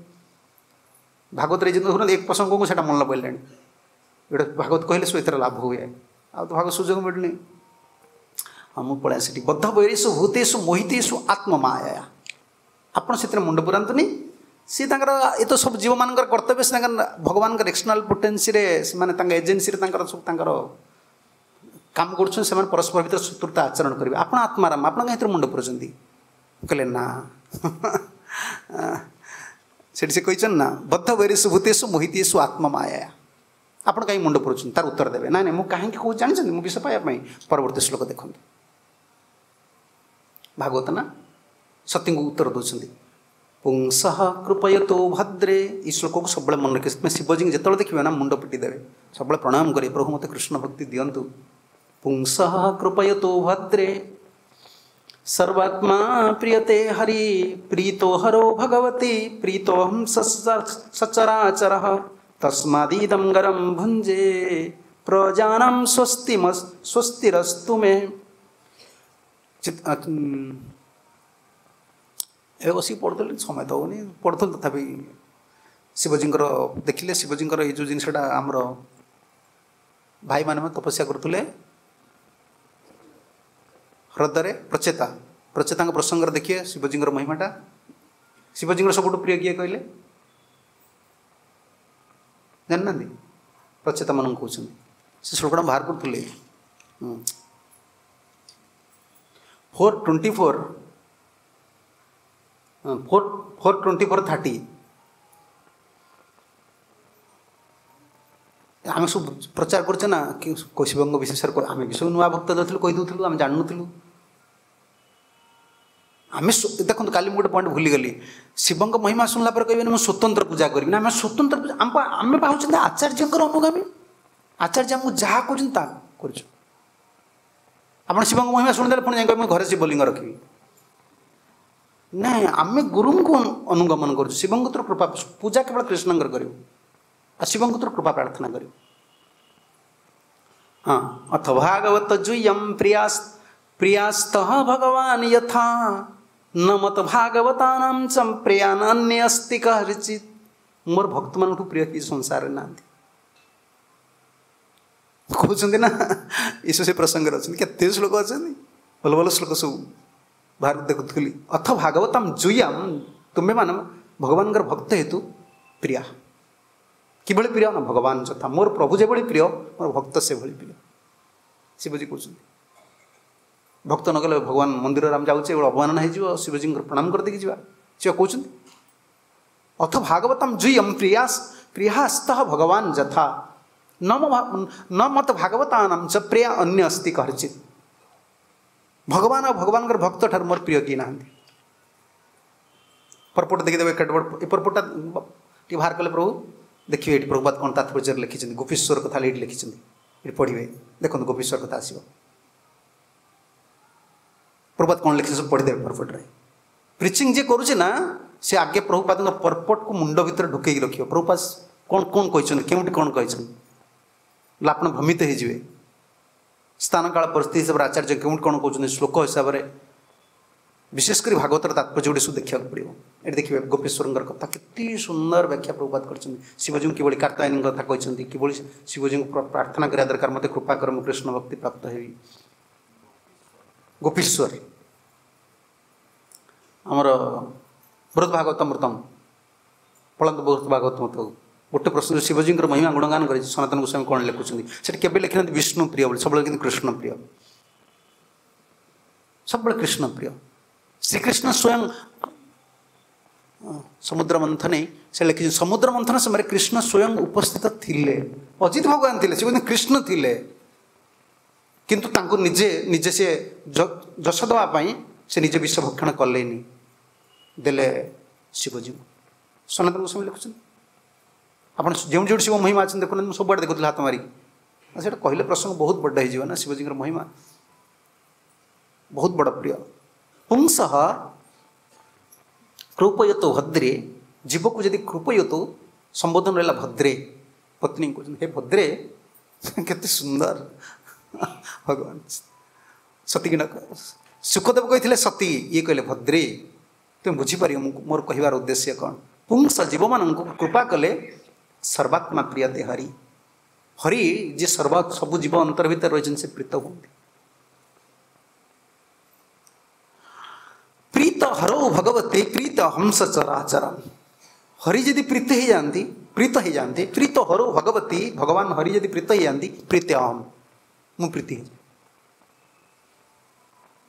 ଭାଗବତରେ ଯେମିତି ଦେଖୁନାହାନ୍ତି ଏକ ପ୍ରସଙ୍ଗକୁ ସେଇଟା ମନେ ପଡ଼ିଲାଣି, ଏଇଟା ଭାଗବତ କହିଲେ ସବୁ ଏଥିରେ ଲାଭ ହୁଏ, ଆଉ ତ ଭାଗବତ ସୁଯୋଗ ମିଳୁନି। ହଁ, ମୁଁ ପଳାଇ ସେଠି ବଦ୍ଧ ବୈରେଷୁ ଭୂତେଷୁ ମୋହିତେଷୁ ଆତ୍ମମାୟା, ଆପଣ ସେଥିରେ ମୁଣ୍ଡ ପୁରାନ୍ତୁନି। ସିଏ ତାଙ୍କର ଏ ତ ସବୁ ଜୀବମାନଙ୍କର କର୍ତ୍ତବ୍ୟ, ସେ ତାଙ୍କର ଭଗବାନଙ୍କର ଏକ୍ସଟର୍ନାଲ ପୋଟେନ୍ସିରେ ସେମାନେ ତାଙ୍କ ଏଜେନ୍ସିରେ ତାଙ୍କର ସବୁ ତାଙ୍କର କାମ କରୁଛନ୍ତି, ସେମାନେ ପରସ୍ପର ଭିତରେ ଶତ୍ରୁତା ଆଚରଣ କରିବେ। ଆପଣ ଆତ୍ମାରାମ, ଆପଣ କାହିଁ ଏଥିରେ ମୁଣ୍ଡ ପୁରାଉଛନ୍ତି? କହିଲେ ନା, ସେଠି ସେ କହିଛନ୍ତି ନା, ବଦ୍ଧ ବୈରେଷୁ ଭୂତେଷୁ ମୋହିତେଷୁ ଆତ୍ମମାୟା, ଆପଣ କାହିଁ ମୁଣ୍ଡ ପୁରାଉଛନ୍ତି? ତାର ଉତ୍ତର ଦେବେ, ନାଇଁ ନାଇଁ ମୁଁ କାହିଁକି କହୁଛି ଜାଣିଛନ୍ତି? ମୁଁ ବିଷ ପାଇବା ପାଇଁ। ପରବର୍ତ୍ତୀ ଶ୍ଲୋକ ଦେଖନ୍ତୁ, ଭାଗବତ ନା ସତୀଙ୍କୁ ଉତ୍ତର ଦେଉଛନ୍ତି, ପୁଂସଃ କୃପୟତୋ ଭଦ୍ରେ। ଏଇ ଶ୍ଲୋକକୁ ସବୁବେଳେ ମନେ ରଖିବେ। ସେଥିପାଇଁ ଶିବଜୀଙ୍କୁ ଯେତେବେଳେ ଦେଖିବେ ନା ମୁଣ୍ଡ ପିଟି ଦେବେ, ସବୁବେଳେ ପ୍ରଣାମ କରିବେ, ପ୍ରଭୁ ମୋତେ କୃଷ୍ଣ ଭକ୍ତି ଦିଅନ୍ତୁ। ପୁଂସଃ କୃପୟତୋ ଭଦ୍ରେ ସର୍ବାତ୍ମା ପ୍ରିୟତେ ହରି ପ୍ରୀତୋ ହରୋ ଭଗବତି ପ୍ରୀତୋହಂ ସଚରାଚରଃ ତସ୍ମାଦିଦಂ ଗରಂ ଭୁଞ୍ଜେ ପ୍ରଜାନାಂ ସ୍ୱସ୍ତି ସ୍ୱସ୍ତିରସ୍ତୁ ମେ। ଏବେ ବସିକି ପଢ଼ୁଥିଲି, ସମୟ ତ ହେଉନି, ପଢ଼ୁଥିଲି ତଥାପି ଶିବଜୀଙ୍କର ଦେଖିଲେ, ଶିବଜୀଙ୍କର ଏଇ ଯେଉଁ ଜିନିଷଟା ଆମର ଭାଇମାନେ ତପସ୍ୟା କରୁଥିଲେ ହ୍ରଦରେ, ପ୍ରଚେତା, ପ୍ରଚେତାଙ୍କ ପ୍ରସଙ୍ଗରେ ଦେଖିବେ ଶିବଜୀଙ୍କର ମହିମାଟା। ଶିବଜୀଙ୍କର ସବୁଠୁ ପ୍ରିୟ କିଏ କହିଲେ ଜାଣିନାହାନ୍ତି? ପ୍ରଚେତାମାନଙ୍କୁ କହୁଛନ୍ତି। ସେ ଶ୍ଲୋକଟା ବାହାର କରୁଥିଲେ। four twenty four four four twenty four thirty ଆମେ ସବୁ ପ୍ରଚାର କରୁଛେ ନା କି ଶିବଙ୍କ ବିଶେଷରେ ଆମେ ବି ସବୁ ନୂଆ ଭକ୍ତ ଯାଉଥିଲୁ କହିଦେଉଥିଲୁ ଆମେ ଜାଣୁନଥିଲୁ ଆମେ ଦେଖନ୍ତୁ କାଲି ମୁଁ ଗୋଟେ ପଏଣ୍ଟ ଭୁଲିଗଲି ଶିବଙ୍କ ମହିମା ଶୁଣିଲା ପରେ କହିବେନି ମୁଁ ସ୍ୱତନ୍ତ୍ର ପୂଜା କରିବି ନା ଆମେ ସ୍ୱତନ୍ତ୍ର ପୂଜା ଆମ ଆମେ ଭାବୁଛନ୍ତି ଆଚାର୍ଯ୍ୟଙ୍କର ଅନୁଗାମୀ ଆଚାର୍ଯ୍ୟ ଆମକୁ ଯାହା କହୁଛନ୍ତି ତାହା କରୁଛୁ ଆପଣ ଶିବଙ୍କ ମହିମା ଶୁଣିଦେଲେ ପୁଣି ଯାଇ କହିବେ ମୁଁ ଘରେ ଶିବଲିଙ୍ଗ ରଖିବି ନାଇଁ ଆମେ ଗୁରୁଙ୍କୁ ଅନୁଗମନ କରୁଛୁ ଶିବଙ୍କ କୃପା ପୂଜା କେବଳ କୃଷ୍ଣଙ୍କର କରିବୁ ଆଉ ଶିବଙ୍କ କୃପା ପ୍ରାର୍ଥନା କରିବୁ ହଁ ଅଥ ଭାଗବତ ଜୁୟಂ ପ୍ରିୟାସ୍ ପ୍ରିୟାସ୍ତଃ ଭଗବାନ ଯଥା ନ ମତ ଭାଗବତାନାಂ ଚ ପ୍ରିୟାନ୍ ଅନ୍ୟ ଅସ୍ତି କାହାରିଚିତ୍ ମୋର ଭକ୍ତମାନଙ୍କଠୁ ପ୍ରିୟ କି ସଂସାରରେ ନାହାନ୍ତି କହୁଛନ୍ତି ନା ଏସବୁ ସେ ପ୍ରସଙ୍ଗରେ ଅଛନ୍ତି କେତେ ଶ୍ଲୋକ ଅଛନ୍ତି ଭଲ ଭଲ ଶ୍ଲୋକ ସବୁ ବାହାର ଦେଖୁଥିଲି ଅଥ ଭାଗବତମ ଜୁୟାମ ତୁମେମାନେ ଭଗବାନଙ୍କର ଭକ୍ତ ହେତୁ ପ୍ରିୟା କିଭଳି ପ୍ରିୟ ନା ଭଗବାନ ଯଥା ମୋର ପ୍ରଭୁ ଯେଭଳି ପ୍ରିୟ ମୋର ଭକ୍ତ ସେଭଳି ପ୍ରିୟ ଶିବଜୀ କହୁଛନ୍ତି ଭକ୍ତ ନ ଗଲେ ଭଗବାନ ମନ୍ଦିରରେ ଆମେ ଯାଉଛେ ଗୋଟେ ଅବମାନନା ହେଇଯିବ ଶିବଜୀଙ୍କର ପ୍ରଣାମ କରିଦେଇକି ଯିବା ସେ କହୁଛନ୍ତି ଅଥ ଭାଗବତମ ଜୁୟମ ପ୍ରିୟାସ ପ୍ରିୟାସ୍ତଃ ଭଗବାନ ଯଥା ନ ନ ମତ ଭାଗବତାନାମ ଚ ପ୍ରିୟା ଅନ୍ୟ ଅସ୍ତି କାହାରିଚିତ୍ ଭଗବାନ ଆଉ ଭଗବାନଙ୍କର ଭକ୍ତ ଠାରୁ ମୋର ପ୍ରିୟ କିଏ ନାହାନ୍ତି ପରପୋଟ ଦେଖିଦେବେ କେତେ ବଡ଼ ଏ ପରପୋଟଟା ଟିକେ ବାହାର କଲେ ପ୍ରଭୁ ଦେଖିବେ ଏଠି ପ୍ରଭୁପାଦ କ'ଣ ତାତ୍ପର୍ଯ୍ୟରେ ଲେଖିଛନ୍ତି ଗୋପୀଶ୍ୱର କଥା ଏଇଠି ଲେଖିଛନ୍ତି ଏଠି ପଢ଼ିବେ ଦେଖନ୍ତୁ ଗୋପୀଶ୍ୱର କଥା ଆସିବ ପ୍ରଭୁପାଦ କ'ଣ ଲେଖିଛନ୍ତି ସବୁ ପଢ଼ିଦେବେ ପରପୋଟରେ ପ୍ରିଚିଂ ଯିଏ କରୁଛି ନା ସେ ଆଗେ ପ୍ରଭୁପାଦଙ୍କ ପରପୋଟକୁ ମୁଣ୍ଡ ଭିତରେ ଢୁକେଇକି ରଖିବ ପ୍ରଭୁପାଦ କ'ଣ କ'ଣ କହିଛନ୍ତି କେଉଁଠି କ'ଣ କହିଛନ୍ତି ଆପଣ ଭ୍ରମିତ ହେଇଯିବେ ସ୍ଥାନ କାଳ ପରିସ୍ଥିତି ହିସାବରେ ଆଚାର୍ଯ୍ୟ କେଉଁଠି କ'ଣ କହୁଛନ୍ତି ଶ୍ଲୋକ ହିସାବରେ ବିଶେଷ କରି ଭାଗବତର ତାତ୍ପର୍ଯ୍ୟ ଗୁଡ଼ିକ ସବୁ ଦେଖିବାକୁ ପଡ଼ିବ ଏଠି ଦେଖିବେ ଗୋପେଶ୍ୱରଙ୍କର କଥା କେତେ ସୁନ୍ଦର ବ୍ୟାଖ୍ୟା ପ୍ରଭୁପାଦ କରିଛନ୍ତି ଶିବଜୀଙ୍କୁ କିଭଳି କାର୍ତ୍ତାୟନୀଙ୍କ କଥା କହିଛନ୍ତି କିଭଳି ଶିବଜୀଙ୍କୁ ପ୍ରାର୍ଥନା କରିବା ଦରକାର ମୋତେ କୃପା କର ମୁଁ କୃଷ୍ଣ ଭକ୍ତି ପ୍ରାପ୍ତ ହେବି ଗୋପୀଶ୍ୱର ଆମର ବୃହତ ଭାଗବତ ଅମୃତମ ପଳନ୍ତ ବୃହତ ଭାଗବତ ଅମୃତ ଗୋଟେ ପ୍ରଶ୍ନ ଶିବଜୀଙ୍କର ମହିମା ଗୁଣଗାନ କରିଛି ସନାତନ ଗୋସ୍ୱାମୀ କ'ଣ ଲେଖୁଛନ୍ତି ସେଠି କେବେ ଲେଖିନାହାନ୍ତି ବିଷ୍ଣୁ ପ୍ରିୟ ବୋଲି ସବୁବେଳେ କିନ୍ତୁ କୃଷ୍ଣ ପ୍ରିୟ ସବୁବେଳେ କୃଷ୍ଣ ପ୍ରିୟ ଶ୍ରୀକୃଷ୍ଣ ସ୍ୱୟଂ ସମୁଦ୍ର ମନ୍ଥନେ ସେ ଲେଖିଛନ୍ତି ସମୁଦ୍ର ମନ୍ଥନ ସମୟରେ କୃଷ୍ଣ ସ୍ୱୟଂ ଉପସ୍ଥିତ ଥିଲେ ଅଜିତ ଭଗବାନ ଥିଲେ ସେ କହୁଛନ୍ତି କୃଷ୍ଣ ଥିଲେ କିନ୍ତୁ ତାଙ୍କୁ ନିଜେ ନିଜେ ସେ ଯଶ ଦେବା ପାଇଁ ସେ ନିଜେ ବିଷ ଭକ୍ଷଣ କଲେନି ଦେଲେ ଶିବଜୀଙ୍କୁ ସନାତନ ଗୋସ୍ୱାମୀ ଲେଖୁଛନ୍ତି ଆପଣ ଯେଉଁ ଯେଉଁଠି ଶିବ ମହିମା ଅଛନ୍ତି ଦେଖୁନାହାନ୍ତି ମୁଁ ସବୁଆଡ଼େ ଦେଖୁଥିଲି ହାତ ମାରିକି ସେଇଟା କହିଲେ ପ୍ରସଙ୍ଗ ବହୁତ ବଡ଼ ହେଇଯିବ ନା ଶିବଜୀଙ୍କର ମହିମା ବହୁତ ବଡ଼ ପ୍ରିୟ ପୁଂସଃ କୃପୟତୋ ଭଦ୍ରେ ଜୀବକୁ ଯଦି କୃପୟତୋ ସମ୍ବୋଧନ ରହିଲା ଭଦ୍ରେ ପତ୍ନୀ କହୁଛନ୍ତି ହେ ଭଦ୍ରେ କେତେ ସୁନ୍ଦର ଭଗବାନ ସତୀ ନ ଶୁକଦେବ କହିଥିଲେ ସତୀ ଇଏ କହିଲେ ଭଦ୍ରେ ତୁମେ ବୁଝିପାରିବ ମୁଁ ମୋର କହିବାର ଉଦ୍ଦେଶ୍ୟ କ'ଣ ପୁଂସ ଜୀବମାନଙ୍କୁ କୃପା କଲେ ସର୍ବାତ୍ମା ପ୍ରିୟତେ ହରି ହରି ଯିଏ ସର୍ବ ସବୁ ଜୀବ ଅନ୍ତର ଭିତରେ ରହିଛନ୍ତି ସେ ପ୍ରୀତ ହୁଅନ୍ତି ପ୍ରୀତ ହରौ ଭଗବତେ ପ୍ରୀତ ହଂସ ଚରାଚର ହରି ଯଦି ପ୍ରୀତ ହେଇଯାଆନ୍ତି ପ୍ରୀତ ହେଇଯାଆନ୍ତି ପ୍ରୀତ ହରौ ଭଗବତୀ ଭଗବାନ ହରି ଯଦି ପ୍ରୀତ ହେଇଯାଆନ୍ତି ପ୍ରୀତ ଅହମ୍ ମୁଁ ପ୍ରୀତି ହେଇଯାଏ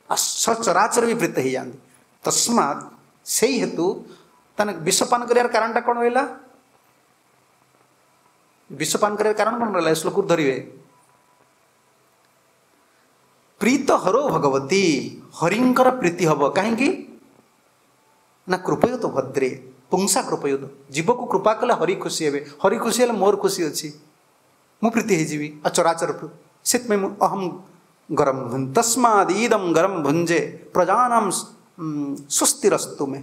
ଆଉ ସଚରାଚର ବି ପ୍ରୀତ ହେଇଯାଆନ୍ତି ତସ୍ମାତ୍ ସେଇ ହେତୁ ତାହେଲେ ବିଷପାନ କରିବାର କାରଣଟା କ'ଣ ରହିଲା ବିଷପାନ କରିବାର କାରଣ କ'ଣ ରହିଲା ଏ ଶ୍ଲୋକରୁ ଧରିବେ ପ୍ରୀତ ହରौ ଭଗବତୀ ହରିଙ୍କର ପ୍ରୀତି ହବ କାହିଁକି ନା କୃପୟତ ଭଦ୍ରେ ପୁଂସା କୃପୟତ ଜୀବକୁ କୃପା କଲେ ହରି ଖୁସି ହେବେ ହରି ଖୁସି ହେଲେ ମୋର ଖୁସି ଅଛି ମୁଁ ପ୍ରୀତି ହେଇଯିବି ଆଉ ଚରାଚର ସେଥିପାଇଁ ମୁଁ ଅହମ୍ ଗରମ ତସ୍ମାଦ୍ ଇଦಂ ଗରମ ଭୁଞ୍ଜେ ପ୍ରଜାନାମ ସ୍ୱସ୍ତିରସ୍ତୁ ମେ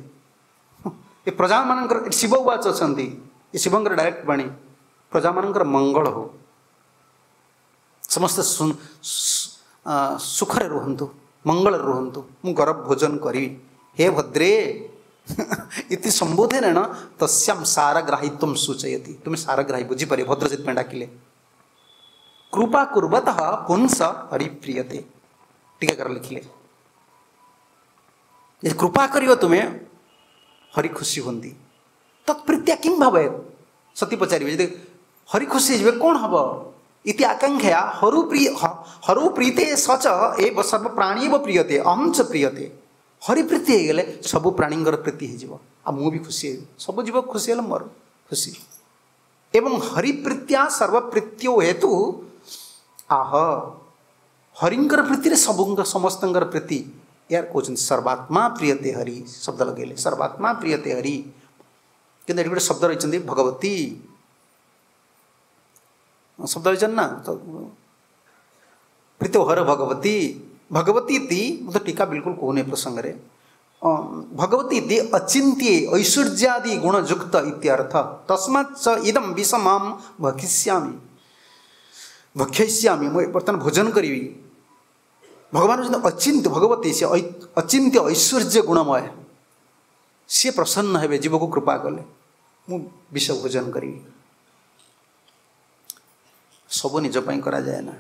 ଏ ପ୍ରଜାମାନଙ୍କର ଶିବ ଉବାଚ ଅଛନ୍ତି ଏ ଶିବଙ୍କର ଡାଇରେକ୍ଟ ବାଣୀ ପ୍ରଜାମାନଙ୍କର ମଙ୍ଗଳ ହଉ ସମସ୍ତେ ସୁଖରେ ରୁହନ୍ତୁ ମଙ୍ଗଳରେ ରୁହନ୍ତୁ ମୁଁ ଗରବ ଭୋଜନ କରିବି ହେ ଭଦ୍ରେ ଇତି ସମ୍ବୋଧନେନ ତସ୍ୟାମ ସାରଗ୍ରାହିତ୍ୱം ସୂଚୟତି ତୁମେ ସାରଗ୍ରାହୀ ବୁଝିପାରିବ ଭଦ୍ର ସେଥିପାଇଁ ଡାକିଲେ କୃପା କୁର୍ବତଃ ପୁଂସ ହରିପ୍ରିୟତେ ଟୀକାକାର ଲେଖିଲେ ଯଦି କୃପା କରିବ ତୁମେ ହରି ଖୁସି ହୁଅନ୍ତି ତତ୍ପ୍ରୀତ୍ୟା କିಂ ଭାବେ ସତୀ ପଚାରିବେ ଯଦି ହରି ଖୁସି ହେଇଯିବେ କ'ଣ ହବ ଇତି ଆକାଂକ୍ଷା ହରୁ ପ୍ରିୟ ହରୁ ପ୍ରୀତେ ସଚ ଏ ସର୍ବ ପ୍ରାଣୀବ ପ୍ରିୟତେ ଅହଂ ଚ ପ୍ରିୟତେ। ହରି ପ୍ରୀତି ହେଇଗଲେ ସବୁ ପ୍ରାଣୀଙ୍କର ପ୍ରୀତି ହେଇଯିବ, ଆଉ ମୁଁ ବି ଖୁସି ହେବି। ସବୁ ଜୀବ ଖୁସି ହେଲେ ମୋର ଖୁସି। ଏବଂ ହରିପ୍ରୀତ୍ୟା ସର୍ବପ୍ରୀତ୍ୟୋ ହେତୁ ଆହ, ହରିଙ୍କର ପ୍ରୀତିରେ ସବୁଙ୍କ ସମସ୍ତଙ୍କର ପ୍ରୀତି। ଏହାର କହୁଛନ୍ତି ସର୍ବାତ୍ମା ପ୍ରିୟତେ ହରି, ଶବ୍ଦ ଲଗେଇଲେ ସର୍ବାତ୍ମା ପ୍ରିୟତେ ହରି। କିନ୍ତୁ ଏଠି ଗୋଟେ ଶବ୍ଦ ରହିଛନ୍ତି ଭଗବତୀ, ଶବ୍ଦ ରହିଛନ୍ତି ନା ତ ପ୍ରୀତ ହର ଭଗବତୀ। ଭଗବତୀ ଇତି ମୁଁ ତ ଟୀକା ବିଲକୁଲ କହୁନି ଏ ପ୍ରସଙ୍ଗରେ। ଭଗବତୀ ଇତି ଅଚିନ୍ତ୍ୟେ ଐଶ୍ୱର୍ଯ୍ୟାଦି ଗୁଣଯୁକ୍ତ ଇତ୍ୟର୍ଥ। ତସ୍ମାତ୍ ଚ ଇଦಂ ବିଷମାಂ ଭକ୍ଷିଷ୍ୟାମି, ଭକ୍ଷୟିଷ୍ୟାମି, ମୁଁ ବର୍ତ୍ତମାନ ଭୋଜନ କରିବି। ଭଗବାନ ହେଉଛନ୍ତି ଅଚିନ୍ତ୍ୟ ଭଗବତୀ, ସେ ଅଚିନ୍ତ୍ୟ ଐଶ୍ୱର୍ଯ୍ୟ ଗୁଣମୟ, ସିଏ ପ୍ରସନ୍ନ ହେବେ ଜୀବକୁ କୃପା କଲେ, ମୁଁ ବିଷ ଭୋଜନ କରିବି। ସବୁ ନିଜ ପାଇଁ କରାଯାଏ ନା,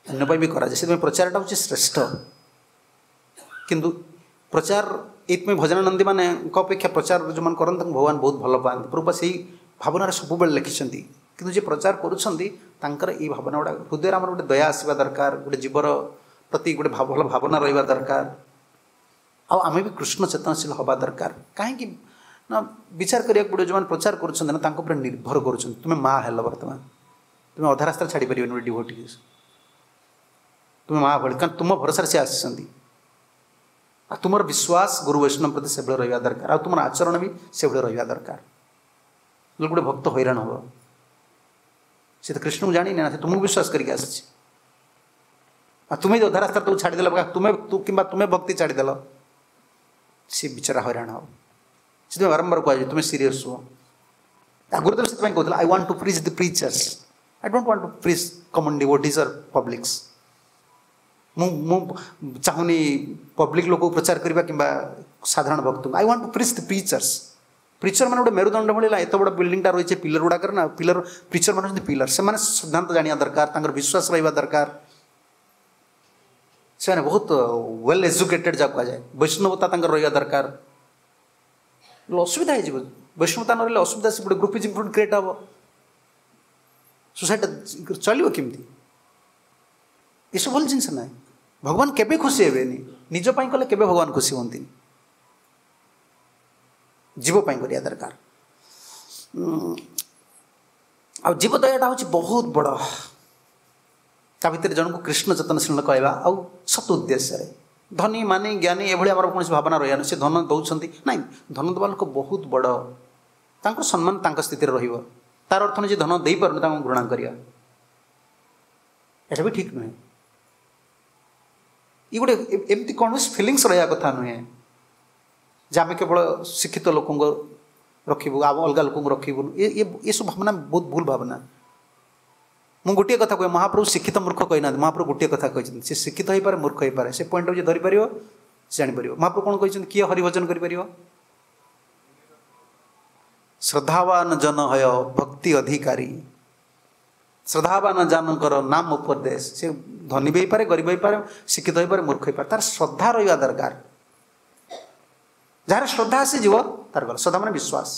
ଅନ୍ୟ ପାଇଁ ବି କରାଯାଏ। ସେଥିପାଇଁ ପ୍ରଚାରଟା ହେଉଛି ଶ୍ରେଷ୍ଠ। କିନ୍ତୁ ପ୍ରଚାର ଏଇଥିପାଇଁ ଭଜନାନନ୍ଦୀ ମାନଙ୍କ ଅପେକ୍ଷା ପ୍ରଚାର ଯେଉଁମାନେ କରନ୍ତି ତାଙ୍କୁ ଭଗବାନ ବହୁତ ଭଲ ପାଆନ୍ତି। ପ୍ରଭୁପାଦ ସେଇ ଭାବନାରେ ସବୁବେଳେ ଲେଖିଛନ୍ତି। କିନ୍ତୁ ଯିଏ ପ୍ରଚାର କରୁଛନ୍ତି ତାଙ୍କର ଏଇ ଭାବନା ଗୁଡ଼ା ହୃଦୟରେ ଆମର ଗୋଟେ ଦୟା ଆସିବା ଦରକାର, ଗୋଟେ ଜୀବର ପ୍ରତି ଗୋଟେ ଭଲ ଭାବନା ରହିବା ଦରକାର, ଆଉ ଆମେ ବି କୃଷ୍ଣ ଚେତନଶୀଳ ହେବା ଦରକାର। କାହିଁକି ନା ବିଚାର କରିବାକୁ ପଡ଼ିବ, ଯେଉଁମାନେ ପ୍ରଚାର କରୁଛନ୍ତି ନା ତାଙ୍କ ଉପରେ ନିର୍ଭର କରୁଛନ୍ତି। ତୁମେ ମା ହେଲ ବର୍ତ୍ତମାନ, ତୁମେ ଅଧା ରାସ୍ତାରେ ଛାଡ଼ିପାରିବନି ଗୋଟେ ଡିଭୋଟି, ତୁମେ ମା ଭଳି, କାରଣ ତୁମ ଭରସାରେ ସେ ଆସିଛନ୍ତି। ଆଉ ତୁମର ବିଶ୍ୱାସ ଗୁରୁ ବୈଷ୍ଣବ ପ୍ରତି ସେଭଳି ରହିବା ଦରକାର, ଆଉ ତୁମର ଆଚରଣ ବି ସେଭଳି ରହିବା ଦରକାର। ନହେଲେ ଗୋଟେ ଭକ୍ତ ହଇରାଣ ହେବ। ସେ ତ କୃଷ୍ଣଙ୍କୁ ଜାଣିନି ନା, ସେ ତୁମକୁ ବିଶ୍ୱାସ କରିକି ଆସିଛି। ଆଉ ତୁମେ ଯଦି ଅଧା ରାସ୍ତାରେ ତାକୁ ଛାଡ଼ିଦେଲ, ତୁମେ କିମ୍ବା ତୁମେ ଭକ୍ତି ଛାଡ଼ିଦେଲ, ସେ ବିଚାରା ହଇରାଣ ହେବ। ସେଥିପାଇଁ ବାରମ୍ବାର କୁହାଯାଏ ତୁମେ ସିରିୟସ୍ ହୁଅ। ଆଗରୁ ତ ସେଥିପାଇଁ କହୁଥିଲା I want to preach the preachers, I don't want to preach common devotees or publics. ମୁଁ ମୁଁ ଚାହୁଁନି ପବ୍ଲିକ୍ ଲୋକକୁ ପ୍ରଚାର କରିବା କିମ୍ବା ସାଧାରଣ ଭକ୍ତଙ୍କୁ। I want to preach the preachers. Preacher ମାନେ ଗୋଟେ ମେରୁଦଣ୍ଡ ଭଳି ହେଲା, ଏତେ ବଡ଼ ବିଲ୍ଡିଂଟା ରହିଛି ପିଲର ଗୁଡ଼ାକରେ ନା, ପିଲର ପ୍ରିଚର ମାନେ ହେଉଛନ୍ତି ପିଲର। ସେମାନେ ସିଦ୍ଧାନ୍ତ ଜାଣିବା ଦରକାର, ତାଙ୍କର ବିଶ୍ୱାସ ରହିବା ଦରକାର, ସେମାନେ ବହୁତ ୱେଲ୍ ଏଜୁକେଟେଡ଼ ଯାହା କୁହାଯାଏ, ବୈଷ୍ଣବତା ତାଙ୍କର ରହିବା ଦରକାର। ଅସୁବିଧା ହେଇଯିବ ବୈଷ୍ଣବତା ନ ରହିଲେ, ଅସୁବିଧା ସେ ଗୋଟେ ଗ୍ରୁପିଜିମ୍ ପୁଣି କ୍ରିଏଟ୍ ହେବ, ସୋସାଇଟି ଚଳିବ କେମିତି? ଏସବୁ ଭଲ ଜିନିଷ ନାହିଁ। ଭଗବାନ କେବେ ଖୁସି ହେବେନି, ନିଜ ପାଇଁ କଲେ କେବେ ଭଗବାନ ଖୁସି ହୁଅନ୍ତିନି, ଜୀବ ପାଇଁ କରିବା ଦରକାର। ଆଉ ଜୀବ ଦୟାଟା ହେଉଛି ବହୁତ ବଡ଼। ତା ଭିତରେ ଜଣକୁ କୃଷ୍ଣ ଚେତନଶୀଳ କହିବା ଆଉ ସତ ଉଦ୍ଦେଶ୍ୟରେ, ଧନୀ ମାନି ଜ୍ଞାନୀ ଏଭଳି ଆମର କୌଣସି ଭାବନା ରହିବା ନାହିଁ। ସେ ଧନ ଦେଉଛନ୍ତି ନାଇଁ, ଧନ ଦେବା ଲୋକ ବହୁତ ବଡ଼, ତାଙ୍କର ସମ୍ମାନ ତାଙ୍କ ସ୍ଥିତିରେ ରହିବ। ତାର ଅର୍ଥ ନୁହେଁ ଯେ ଧନ ଦେଇପାରୁନି ତାଙ୍କୁ ଘୃଣା କରିବା, ଏଇଟା ବି ଠିକ୍ ନୁହେଁ। ଇଏ ଗୋଟେ ଏମିତି କୌଣସି ଫିଲିଙ୍ଗସ୍ ରହିବା କଥା ନୁହେଁ ଯେ ଆମେ କେବଳ ଶିକ୍ଷିତ ଲୋକଙ୍କୁ ରଖିବୁ ଆଉ ଅଲଗା ଲୋକଙ୍କୁ ରଖିବୁନୁ। ଏ ଏସବୁ ଭାବନା ବହୁତ ଭୁଲ ଭାବନା। ମୁଁ ଗୋଟିଏ କଥା କୁହେ, ମହାପ୍ରଭୁ ଶିକ୍ଷିତ ମୂର୍ଖ କହିନାହାନ୍ତି। ମହାପ୍ରଭୁ ଗୋଟିଏ କଥା କହିଛନ୍ତି, ସେ ଶିକ୍ଷିତ ହେଇପାରେ ମୂର୍ଖ ହେଇପାରେ, ସେ ପଏଣ୍ଟ ଯିଏ ଧରିପାରିବ ସେ ଜାଣିପାରିବ। ମହାପ୍ରଭୁ କ'ଣ କହିଛନ୍ତି? କିଏ ହରିଭଜନ କରିପାରିବ? ଶ୍ରଦ୍ଧାବାନ ଜନ ହୟ ଭକ୍ତି ଅଧିକାରୀ। ଶ୍ରଦ୍ଧାବାନ ଜନଙ୍କର ନାମ ଉପଦେଶ। ସେ ଧନୀ ବି ହେଇପାରେ, ଗରିବ ହେଇପାରେ, ଶିକ୍ଷିତ ହେଇପାରେ, ମୂର୍ଖ ହେଇପାରେ, ତାର ଶ୍ରଦ୍ଧା ରହିବା ଦରକାର। ଯାହାର ଶ୍ରଦ୍ଧା ଆସିଯିବ ତାର ଗଲା। ଶ୍ରଦ୍ଧା ମାନେ ବିଶ୍ୱାସ।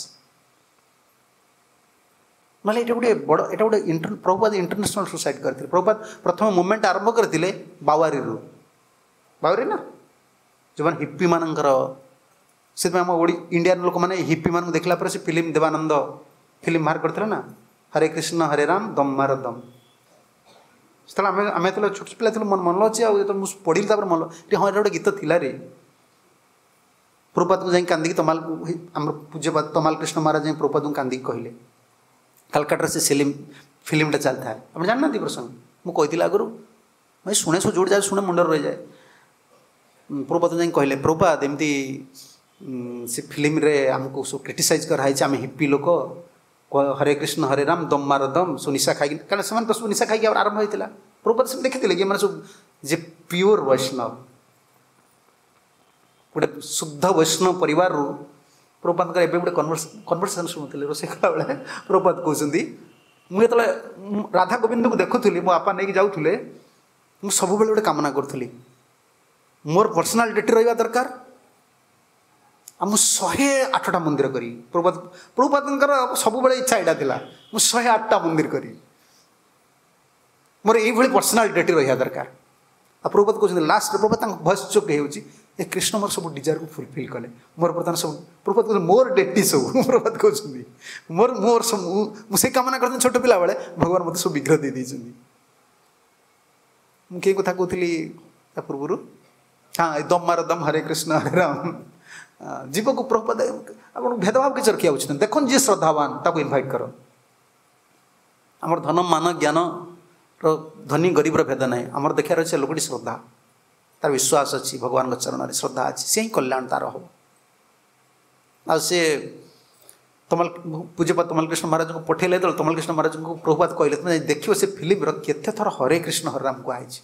ନହେଲେ ଏଇଟା ଗୋଟେ ବଡ଼, ଏଇଟା ଗୋଟେ ଇଣ୍ଟର ପ୍ରଭୁପାଦ ଇଣ୍ଟରନ୍ୟାସନାଲ୍ ସୋସାଇଟି କରିଥିଲେ। ପ୍ରଭୁପାଦ ପ୍ରଥମ ମୁଭମେଣ୍ଟ ଆରମ୍ଭ କରିଥିଲେ ବାୱାରୀରୁ। ବାୱାରୀ ନା ଯେଉଁମାନେ ହିପ୍ପିମାନଙ୍କର, ସେଥିପାଇଁ ଆମ ଓଡ଼ି ଇଣ୍ଡିଆନ୍ ଲୋକମାନେ ହିପ୍ପିମାନଙ୍କୁ ଦେଖିଲା ପରେ ସେ ଫିଲ୍ମ ଦେବାନନ୍ଦ ଫିଲ୍ମ ବାହାର କରିଥିଲେ ନା, ହରେ କୃଷ୍ଣ ହରେ ରାମ ଦମ୍ ମାର ଦମ୍। ସେତେବେଳେ ଆମେ ଆମେ ଯେତେବେଳେ ଛୋଟ ପିଲା ଥିଲୁ ମନ ମନ ଅଛି, ଆଉ ଯେତେବେଳେ ମୁଁ ପଢ଼ିଲି ତାପରେ ମନ ହଁ ଏଇଟା ଗୋଟେ ଗୀତ ଥିଲା ରେ। ପ୍ରଭୁପାଦକୁ ଯାଇ କାନ୍ଦିକି ତମାଲ, ଆମର ପୂଜ୍ୟପାଦ ତମାଲ କୃଷ୍ଣ ମହାରାଜ ଯାଇ ପ୍ରଭୁପାଦଙ୍କୁ କାନ୍ଦିକି କହିଲେ, କାଲକାଟାରେ ସେ ଫିଲ୍ମ ଫିଲ୍ମଟା ଚାଲିଥାଏ। ଆପଣ ଜାଣିନାହାନ୍ତି ପ୍ରସଙ୍ଗ? ମୁଁ କହିଥିଲି ଆଗରୁ, ମୁଁ ଶୁଣେ ସବୁ ଯେଉଁଠି ଯାଏ ଶୁଣେ ମୁଣ୍ଡରେ ରହିଯାଏ। ପ୍ରଭୁପାଦ ଯାଇ କହିଲେ, ପ୍ରଭୁପାଦ ଏମିତି ସେ ଫିଲ୍ମରେ ଆମକୁ ସବୁ କ୍ରିଟିସାଇଜ୍ କରାହେଇଛି, ଆମେ ହିପ୍ପି ଲୋକ, ହରେ କୃଷ୍ଣ ହରେ ରାମ ଦମ୍ ମାର ଦମ୍, ସବୁ ନିଶା ଖାଇକି, କାରଣ ସେମାନେ ତ ସବୁ ନିଶା ଖାଇକି ଆରମ୍ଭ ହେଇଥିଲା। ପ୍ରଭୁପାଦ ସେମିତି ଦେଖିଥିଲେ କି ଏମାନେ ସବୁ ଯେ ପିଓର ବୈଷ୍ଣବ, ଗୋଟେ ଶୁଦ୍ଧ ବୈଷ୍ଣବ ପରିବାରରୁ। ପ୍ରଭୁପାଦଙ୍କର ଏବେ ଗୋଟେ କନଭର୍ସ କନଭରସେସନ୍ ଶୁଣୁଥିଲି ରୋଷେଇ କଲାବେଳେ। ପ୍ରଭୁପାଦ କହୁଛନ୍ତି, ମୁଁ ଯେତେବେଳେ ରାଧା ଗୋବିନ୍ଦକୁ ଦେଖୁଥିଲି, ମୋ ବାପା ନେଇକି ଯାଉଥିଲେ, ମୁଁ ସବୁବେଳେ ଗୋଟେ କାମନା କରୁଥିଲି, ମୋର ପର୍ସନାଲିଟି ରହିବା ଦରକାର, ଆଉ ମୁଁ ଶହେ ଆଠଟା ମନ୍ଦିର କରିବି। ପ୍ରଭୁପାଦ ପ୍ରଭୁପାଦଙ୍କର ସବୁବେଳେ ଇଚ୍ଛା ଏଇଟା ଥିଲା, ମୁଁ ଶହେ ଆଠଟା ମନ୍ଦିର କରିବି। ମୋର ଏଇଭଳି ପର୍ସନାଲ୍ ଡେଟି ରହିବା ଦରକାର। ଆଉ ପ୍ରଭୁପାଦ କହୁଛନ୍ତି ଲାଷ୍ଟରେ ପ୍ରଭୁପାଦ ତାଙ୍କ ଭଏସ୍ ଚୋକ୍ ହେଇଯାଉଛି, ଏ କୃଷ୍ଣ ମୋର ସବୁ ଡିଜାୟାରକୁ ଫୁଲଫିଲ୍ କଲେ, ମୋର ବର୍ତ୍ତମାନ ସବୁ ପ୍ରଭୁପାଦ କହୁଛନ୍ତି ମୋର ଡେଟି ସବୁ ପ୍ରଭୁପାଦ କହୁଛନ୍ତି ମୋର ମୋର ସବୁ ମୁଁ ସେଇ କାମନା କରିଥିଲି ଛୋଟ ପିଲାବେଳେ, ଭଗବାନ ମୋତେ ସବୁ ବିଗ୍ରହ ଦେଇ ଦେଇଛନ୍ତି। ମୁଁ କେଉଁ କଥା କହୁଥିଲି ତା ପୂର୍ବରୁ? ହଁ, ଏ ଦମ ମାର ଦମ ହରେ କୃଷ୍ଣ ହରେ ରାମ। ଜୀବକୁ ପ୍ରଭୁପାଦ ଆପଣ ଭେଦଭାବ କିଛି ରଖିବା ଉଚିତ ନୁହେଁ। ଦେଖନ୍ତୁ ଯିଏ ଶ୍ରଦ୍ଧାବାନ ତାକୁ ଇନଭାଇଟ୍ କର। ଆମର ଧନ ମାନ ଜ୍ଞାନର ଧନୀ ଗରିବର ଭେଦ ନାହିଁ, ଆମର ଦେଖିବାର ଅଛି ଲୋକଟି ଶ୍ରଦ୍ଧା, ତାର ବିଶ୍ୱାସ ଅଛି ଭଗବାନଙ୍କ ଚରଣରେ, ଶ୍ରଦ୍ଧା ଅଛି, ସେ ହିଁ କଲ୍ୟାଣ ତାର ହେବ। ଆଉ ସେ ତମଲ ପୂଜ୍ୟପାଦ ତମଲ କୃଷ୍ଣ ମହାରାଜଙ୍କୁ ପଠେଇଲେ, ଯେତେବେଳେ ତମଲ କୃଷ୍ଣ ମହାରାଜଙ୍କୁ ପ୍ରଭୁପାଦ କହିଲେ ତୁମେ ଦେଖିବ ସେ ଫିଲ୍ମର କେତେ ଥର ହରେ କୃଷ୍ଣ ହରେ ରାମ କୁହାହେଇଛି।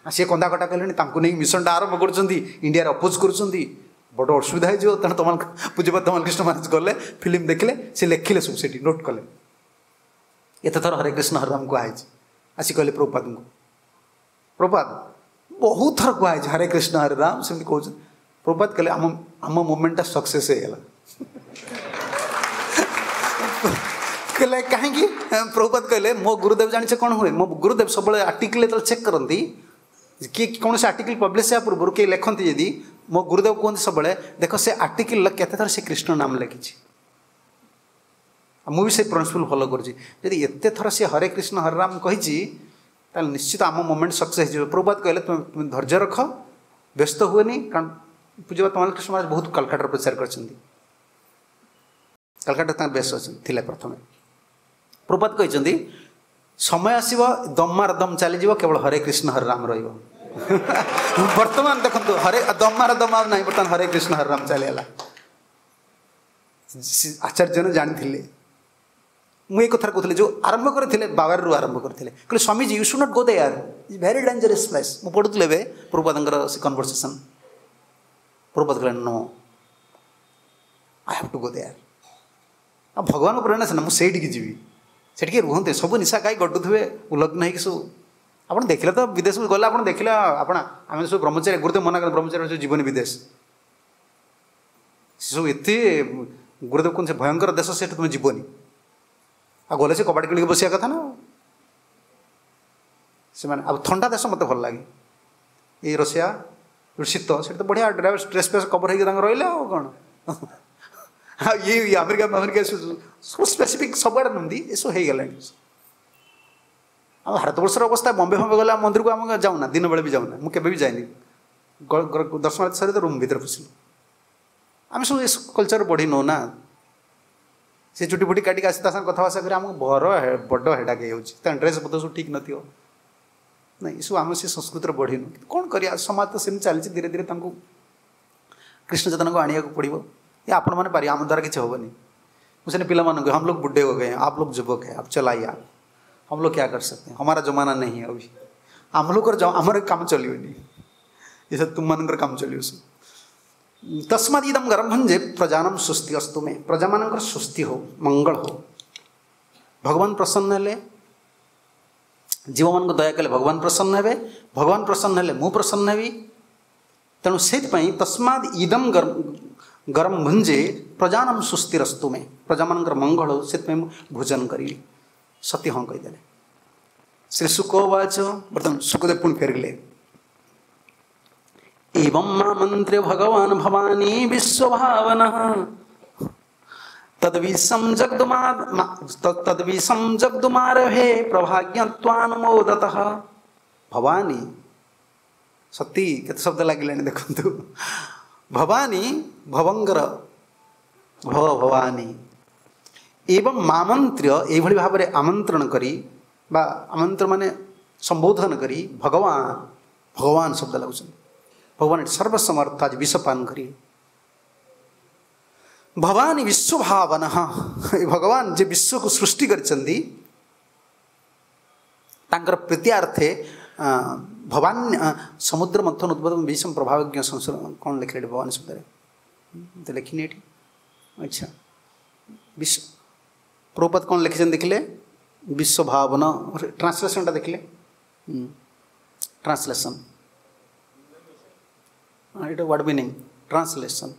ଆଉ ସିଏ କନ୍ଦା କଟା କଲେଣି, ତାଙ୍କୁ ନେଇକି ମିଶନଟା ଆରମ୍ଭ କରୁଛନ୍ତି, ଇଣ୍ଡିଆରେ ଅପୋଜ କରୁଛନ୍ତି, ବଡ଼ ଅସୁବିଧା ହେଇଯିବ। ତେଣୁ ତମଲ ପୂଜ୍ୟପାଦ ତମଲ କୃଷ୍ଣ ମହାରାଜ ଗଲେ, ଫିଲ୍ମ ଦେଖିଲେ, ସେ ଲେଖିଲେ ସବୁ ସେଠି ନୋଟ୍ କଲେ ଏତେ ଥର ହରେ କୃଷ୍ଣ ହରେ ରାମ କୁହାହେଇଛି। ଆସି କହିଲେ ପ୍ରଭୁପାଦଙ୍କୁ, ପ୍ରଭୁପାଦ ବହୁତ ଥର କୁହାହେଇଛି ହରେ କୃଷ୍ଣ ହରେ ରାମ ସେମିତି କହୁଛନ୍ତି। ପ୍ରଭୁପାଦ କହିଲେ ଆମ ଆମ ମୁଭମେଣ୍ଟଟା ସକ୍ସେସ୍ ହେଇଗଲା। କହିଲେ କାହିଁକି? ପ୍ରଭୁପାଦ କହିଲେ ମୋ ଗୁରୁଦେବ ଜାଣିଛ କ'ଣ ହୁଏ, ମୋ ଗୁରୁଦେବ ସବୁବେଳେ ଆର୍ଟିକଲ ଯେତେବେଳେ ଚେକ୍ କରନ୍ତି, କିଏ କୌଣସି ଆର୍ଟିକଲ ପବ୍ଲିଶ ହେବା ପୂର୍ବରୁ କିଏ ଲେଖନ୍ତି ଯଦି, ମୋ ଗୁରୁଦେବ କୁହନ୍ତି ସବୁବେଳେ ଦେଖ ସେ ଆର୍ଟିକଲର କେତେ ଥର ସେ କୃଷ୍ଣ ନାମ ଲେଖିଛି। ଆଉ ମୁଁ ବି ସେ ପ୍ରିନ୍ସିପଲ୍ ଫଲୋ କରୁଛି, ଯଦି ଏତେ ଥର ସେ ହରେ କୃଷ୍ଣ ହରେ ରାମ କହିଛି ତାହେଲେ ନିଶ୍ଚିତ ଆମ ମୁଭମେଣ୍ଟ ସକ୍ସେସ୍ ହେଇଯିବ। ପ୍ରଭୁପାଦ କହିଲେ ତୁମେ ତୁମେ ଧୈର୍ଯ୍ୟ ରଖ, ବ୍ୟସ୍ତ ହୁଏନି। କାରଣ ପୂଜ୍ୟପାଦ ତମଲ କୃଷ୍ଣ ମହାରାଜ ବହୁତ କାଲକାଟାରେ ପ୍ରଚାର କରିଛନ୍ତି, କାଲକାଟାରେ ତାଙ୍କ ବେଶ ଅଛନ୍ତି ଥିଲେ ପ୍ରଥମେ। ପ୍ରଭୁପାଦ କହିଛନ୍ତି ସମୟ ଆସିବ ଦମାର ଦମ ଚାଲିଯିବ, କେବଳ ହରେ କୃଷ୍ଣ ହରେ ରାମ ରହିବ। ବର୍ତ୍ତମାନ ଦେଖନ୍ତୁ ହରେ ଦମାର ଦମ ଆଉ ନାହିଁ, ବର୍ତ୍ତମାନ ହରେ କୃଷ୍ଣ ହରେ ରାମ ଚାଲିଗଲା। ଆଚାର୍ଯ୍ୟମାନେ ଜାଣିଥିଲେ, ମୁଁ ଏ କଥା କହୁଥିଲି ଯେଉଁ ଆରମ୍ଭ କରିଥିଲେ ବାବାରରୁ ଆରମ୍ଭ କରିଥିଲେ, କହିଲେ Swamiji you should not go there, is very dangerous place. ମୁଁ ପଢ଼ୁଥିଲି ଏବେ ପ୍ରଭୁପାଦଙ୍କର ସେ କନଭରସେସନ୍। ପ୍ରଭୁପାଦ କହିଲେ no, I have to go there. ଆଉ ଭଗବାନଙ୍କ ପ୍ରେରଣା ସିନା ମୁଁ ସେଇଠିକି ଯିବି, ସେଠିକି ରୁହନ୍ତି ସବୁ ନିଶା ଖାଇ ଗଡ଼ୁଥିବେ ଉଲଗ୍ନ ହେଇକି ସବୁ। ଆପଣ ଦେଖିଲେ ତ ବିଦେଶକୁ ଗଲେ ଆପଣ ଦେଖିଲେ ଆପଣ ଆମେ ସବୁ ବ୍ରହ୍ମଚାରୀ, ଗୁରୁଦେବ ମନା କଲେ ବ୍ରହ୍ମଚାରୀ ସବୁ ଯିବନି ବିଦେଶ, ସେସବୁ ଏତେ ଗୁରୁଦେବ କୁହନ୍ତି ସେ ଭୟଙ୍କର ଦେଶ, ସେଠି ତୁମେ ଯିବନି। ଆଉ ଗଲେ ସେ କବାଟ କିଣିକି ବସିବା କଥା ନା ସେମାନେ। ଆଉ ଥଣ୍ଡା ଦେଶ ମୋତେ ଭଲ ଲାଗେ, ଏଇ ରଷିଆ ଶୀତ, ସେଠି ତ ବଢ଼ିଆ ଡ୍ରେସ୍ ଡ୍ରେସ୍ ଫ୍ରେସ୍ କଭର୍ ହେଇକି ତାଙ୍କ ରହିଲେ ଆଉ କ'ଣ। ଆଉ ଇଏ ଆମେରିକା ଆମେରିକା ସବୁ ସ୍ପେସିଫିକ୍ ସବୁଆଡ଼େ ନୁହନ୍ତି, ଏସବୁ ହେଇଗଲାଣି। ଆଉ ଭାରତବର୍ଷର ଅବସ୍ଥା, ବମ୍ବେ ଫମ୍ବେ ଗଲେ ମନ୍ଦିରକୁ ଆମେ ଯାଉନା, ଦିନ ବେଳେ ବି ଯାଉନା, ମୁଁ କେବେ ବି ଯାଇନି। ଦର୍ଶନ ସରି ତ ରୁମ୍ ଭିତରେ ପଶିଲୁ। ଆମେ ସବୁ ଏ କଲଚର୍ ବଢ଼ିନୁ ନା, ସେ ଚୁଟି ଫୁଟି କାଟିକି ଆସି ତା ସାଙ୍ଗେ କଥାବାର୍ତ୍ତା କରି ଆମକୁ ବର ବଡ଼ ହେଡ଼ାକ ହେଇଯାଉଛି। ତାଙ୍କ ଡ୍ରେସ୍ ପତ୍ର ସବୁ ଠିକ୍ ନଥିବ, ନାଇଁ ଏସବୁ ଆମେ ସେ ସଂସ୍କୃତିରେ ବଢ଼ିନୁ। କିନ୍ତୁ କ'ଣ କରିବା, ସମାଜ ତ ସେମିତି ଚାଲିଛି, ଧୀରେ ଧୀରେ ତାଙ୍କୁ କୃଷ୍ଣ ଚେତନାକୁ ଆଣିବାକୁ ପଡ଼ିବ। ये ଆପଣମାନେ ପାରିବେ, ଆମ ଦ୍ୱାରା କିଛି ହେବନି। ମୁଁ ସେନେ ପିଲାମାନଙ୍କୁ, हम लोग बुढ़े हो गए हैं, आप लोग युवक हैं, आप चलाइए, आप हम लोग क्या कर सकते हैं, हमारा जमाना नहीं है अभी, हम लोग ଆମର କାମ ଚଲିବନି, ଏ ସବୁ ତୁମମାନଙ୍କର କାମ ଚଲିବ ସବୁ। ତସ୍ମାଦ୍ ଇଦಂ ଗର୍ଭଂ ଯେ ପ୍ରଜାନାಂ ସ୍ୱସ୍ତି ଅସ୍ତୁ ମେ, ପ୍ରଜାମାନଙ୍କର ସ୍ୱସ୍ତି ହଉ, ମଙ୍ଗଳ ହଉ। ଭଗବାନ ପ୍ରସନ୍ନ ହେଲେ, ଜୀବମାନଙ୍କୁ ଦୟା କଲେ ଭଗବାନ ପ୍ରସନ୍ନ ହେବେ, ଭଗବାନ ପ୍ରସନ୍ନ ହେଲେ ମୁଁ ପ୍ରସନ୍ନ ହେବି। ତେଣୁ ସେଇଥିପାଇଁ ତସ୍ମାଦ୍ ଇଦಂ ଗରମ ଭୁଞ୍ଜେ ପ୍ରଜାନାಂ ସ୍ୱସ୍ତିରସ୍ତୁ ମେ, ପ୍ରଜାମାନଙ୍କର ମଙ୍ଗଳ ହଉ, ସେଥିପାଇଁ ମୁଁ ଭୋଜନ କରିବି। ସତୀ ହଁ କହିଦେଲେ। ଶ୍ରୀ ଶୁକବାଚ, ବର୍ତ୍ତମାନ ଶୁକଦେବ ପୁଣି ଫେରିଲେ। ଏବଂ ମନ୍ତ୍ର୍ୟ ଭଗବାନ ଭବାନୀ ବିଶ୍ୱଭାବନଃ ତଦ୍ବିଷं ଜଗ୍ଦୁମା ତଦ୍ବିଷं ଜଗ୍ଦୁମାରଭେ ପ୍ରଭାଜ୍ଞତ୍ୱାନୁମୋଦତଃ। ଭବାନୀ ସତୀ, କେତେ ଶବ୍ଦ ଲାଗିଲାଣି ଦେଖନ୍ତୁ। ଭବାନୀ ଭବଙ୍କର ଭବ ଭବାନୀ ଏବଂ ମାମନ୍ତ୍ର୍ୟ, ଏଇଭଳି ଭାବରେ ଆମନ୍ତ୍ରଣ କରି ବା ଆମନ୍ତ୍ରଣ ମାନେ ସମ୍ବୋଧନ କରି ଭଗବାନ, ଭଗବାନ ଶବ୍ଦ ଲାଗୁଛନ୍ତି। ଭଗବାନ ଏଠି ସର୍ବସମର୍ଥ, ଆଜି ବିଷପାନ କରି ଭବାନୀ ବିଶ୍ୱଭାବନ, ଏ ଭଗବାନ ଯେ ବିଶ୍ୱକୁ ସୃଷ୍ଟି କରିଛନ୍ତି ତାଙ୍କର ପ୍ରୀତ୍ୟାର୍ଥେ ଭବାନ ସମୁଦ୍ର ମନ୍ଥନ ଉଦ୍ଭବ ବିଷମ ପ୍ରଭାବଜ୍ଞ ସଂସାର, କ'ଣ ଲେଖିଲେ ଏଠି ଭବାନୀ ଶବ୍ଦରେ ତ ଲେଖିନି ଏଠି। ଆଚ୍ଛା, ବିଶ୍ୱ ପ୍ରଭୁପାଦ କ'ଣ ଲେଖିଛନ୍ତି ଦେଖିଲେ, ବିଶ୍ୱଭାବନ ଟ୍ରାନ୍ସଲେସନଟା ଦେଖିଲେ, ଟ୍ରାନ୍ସଲେସନ୍ ଏଇଟା ୱାର୍ଡ଼ ମିନିଂ ଟ୍ରାନ୍ସଲେସନ୍।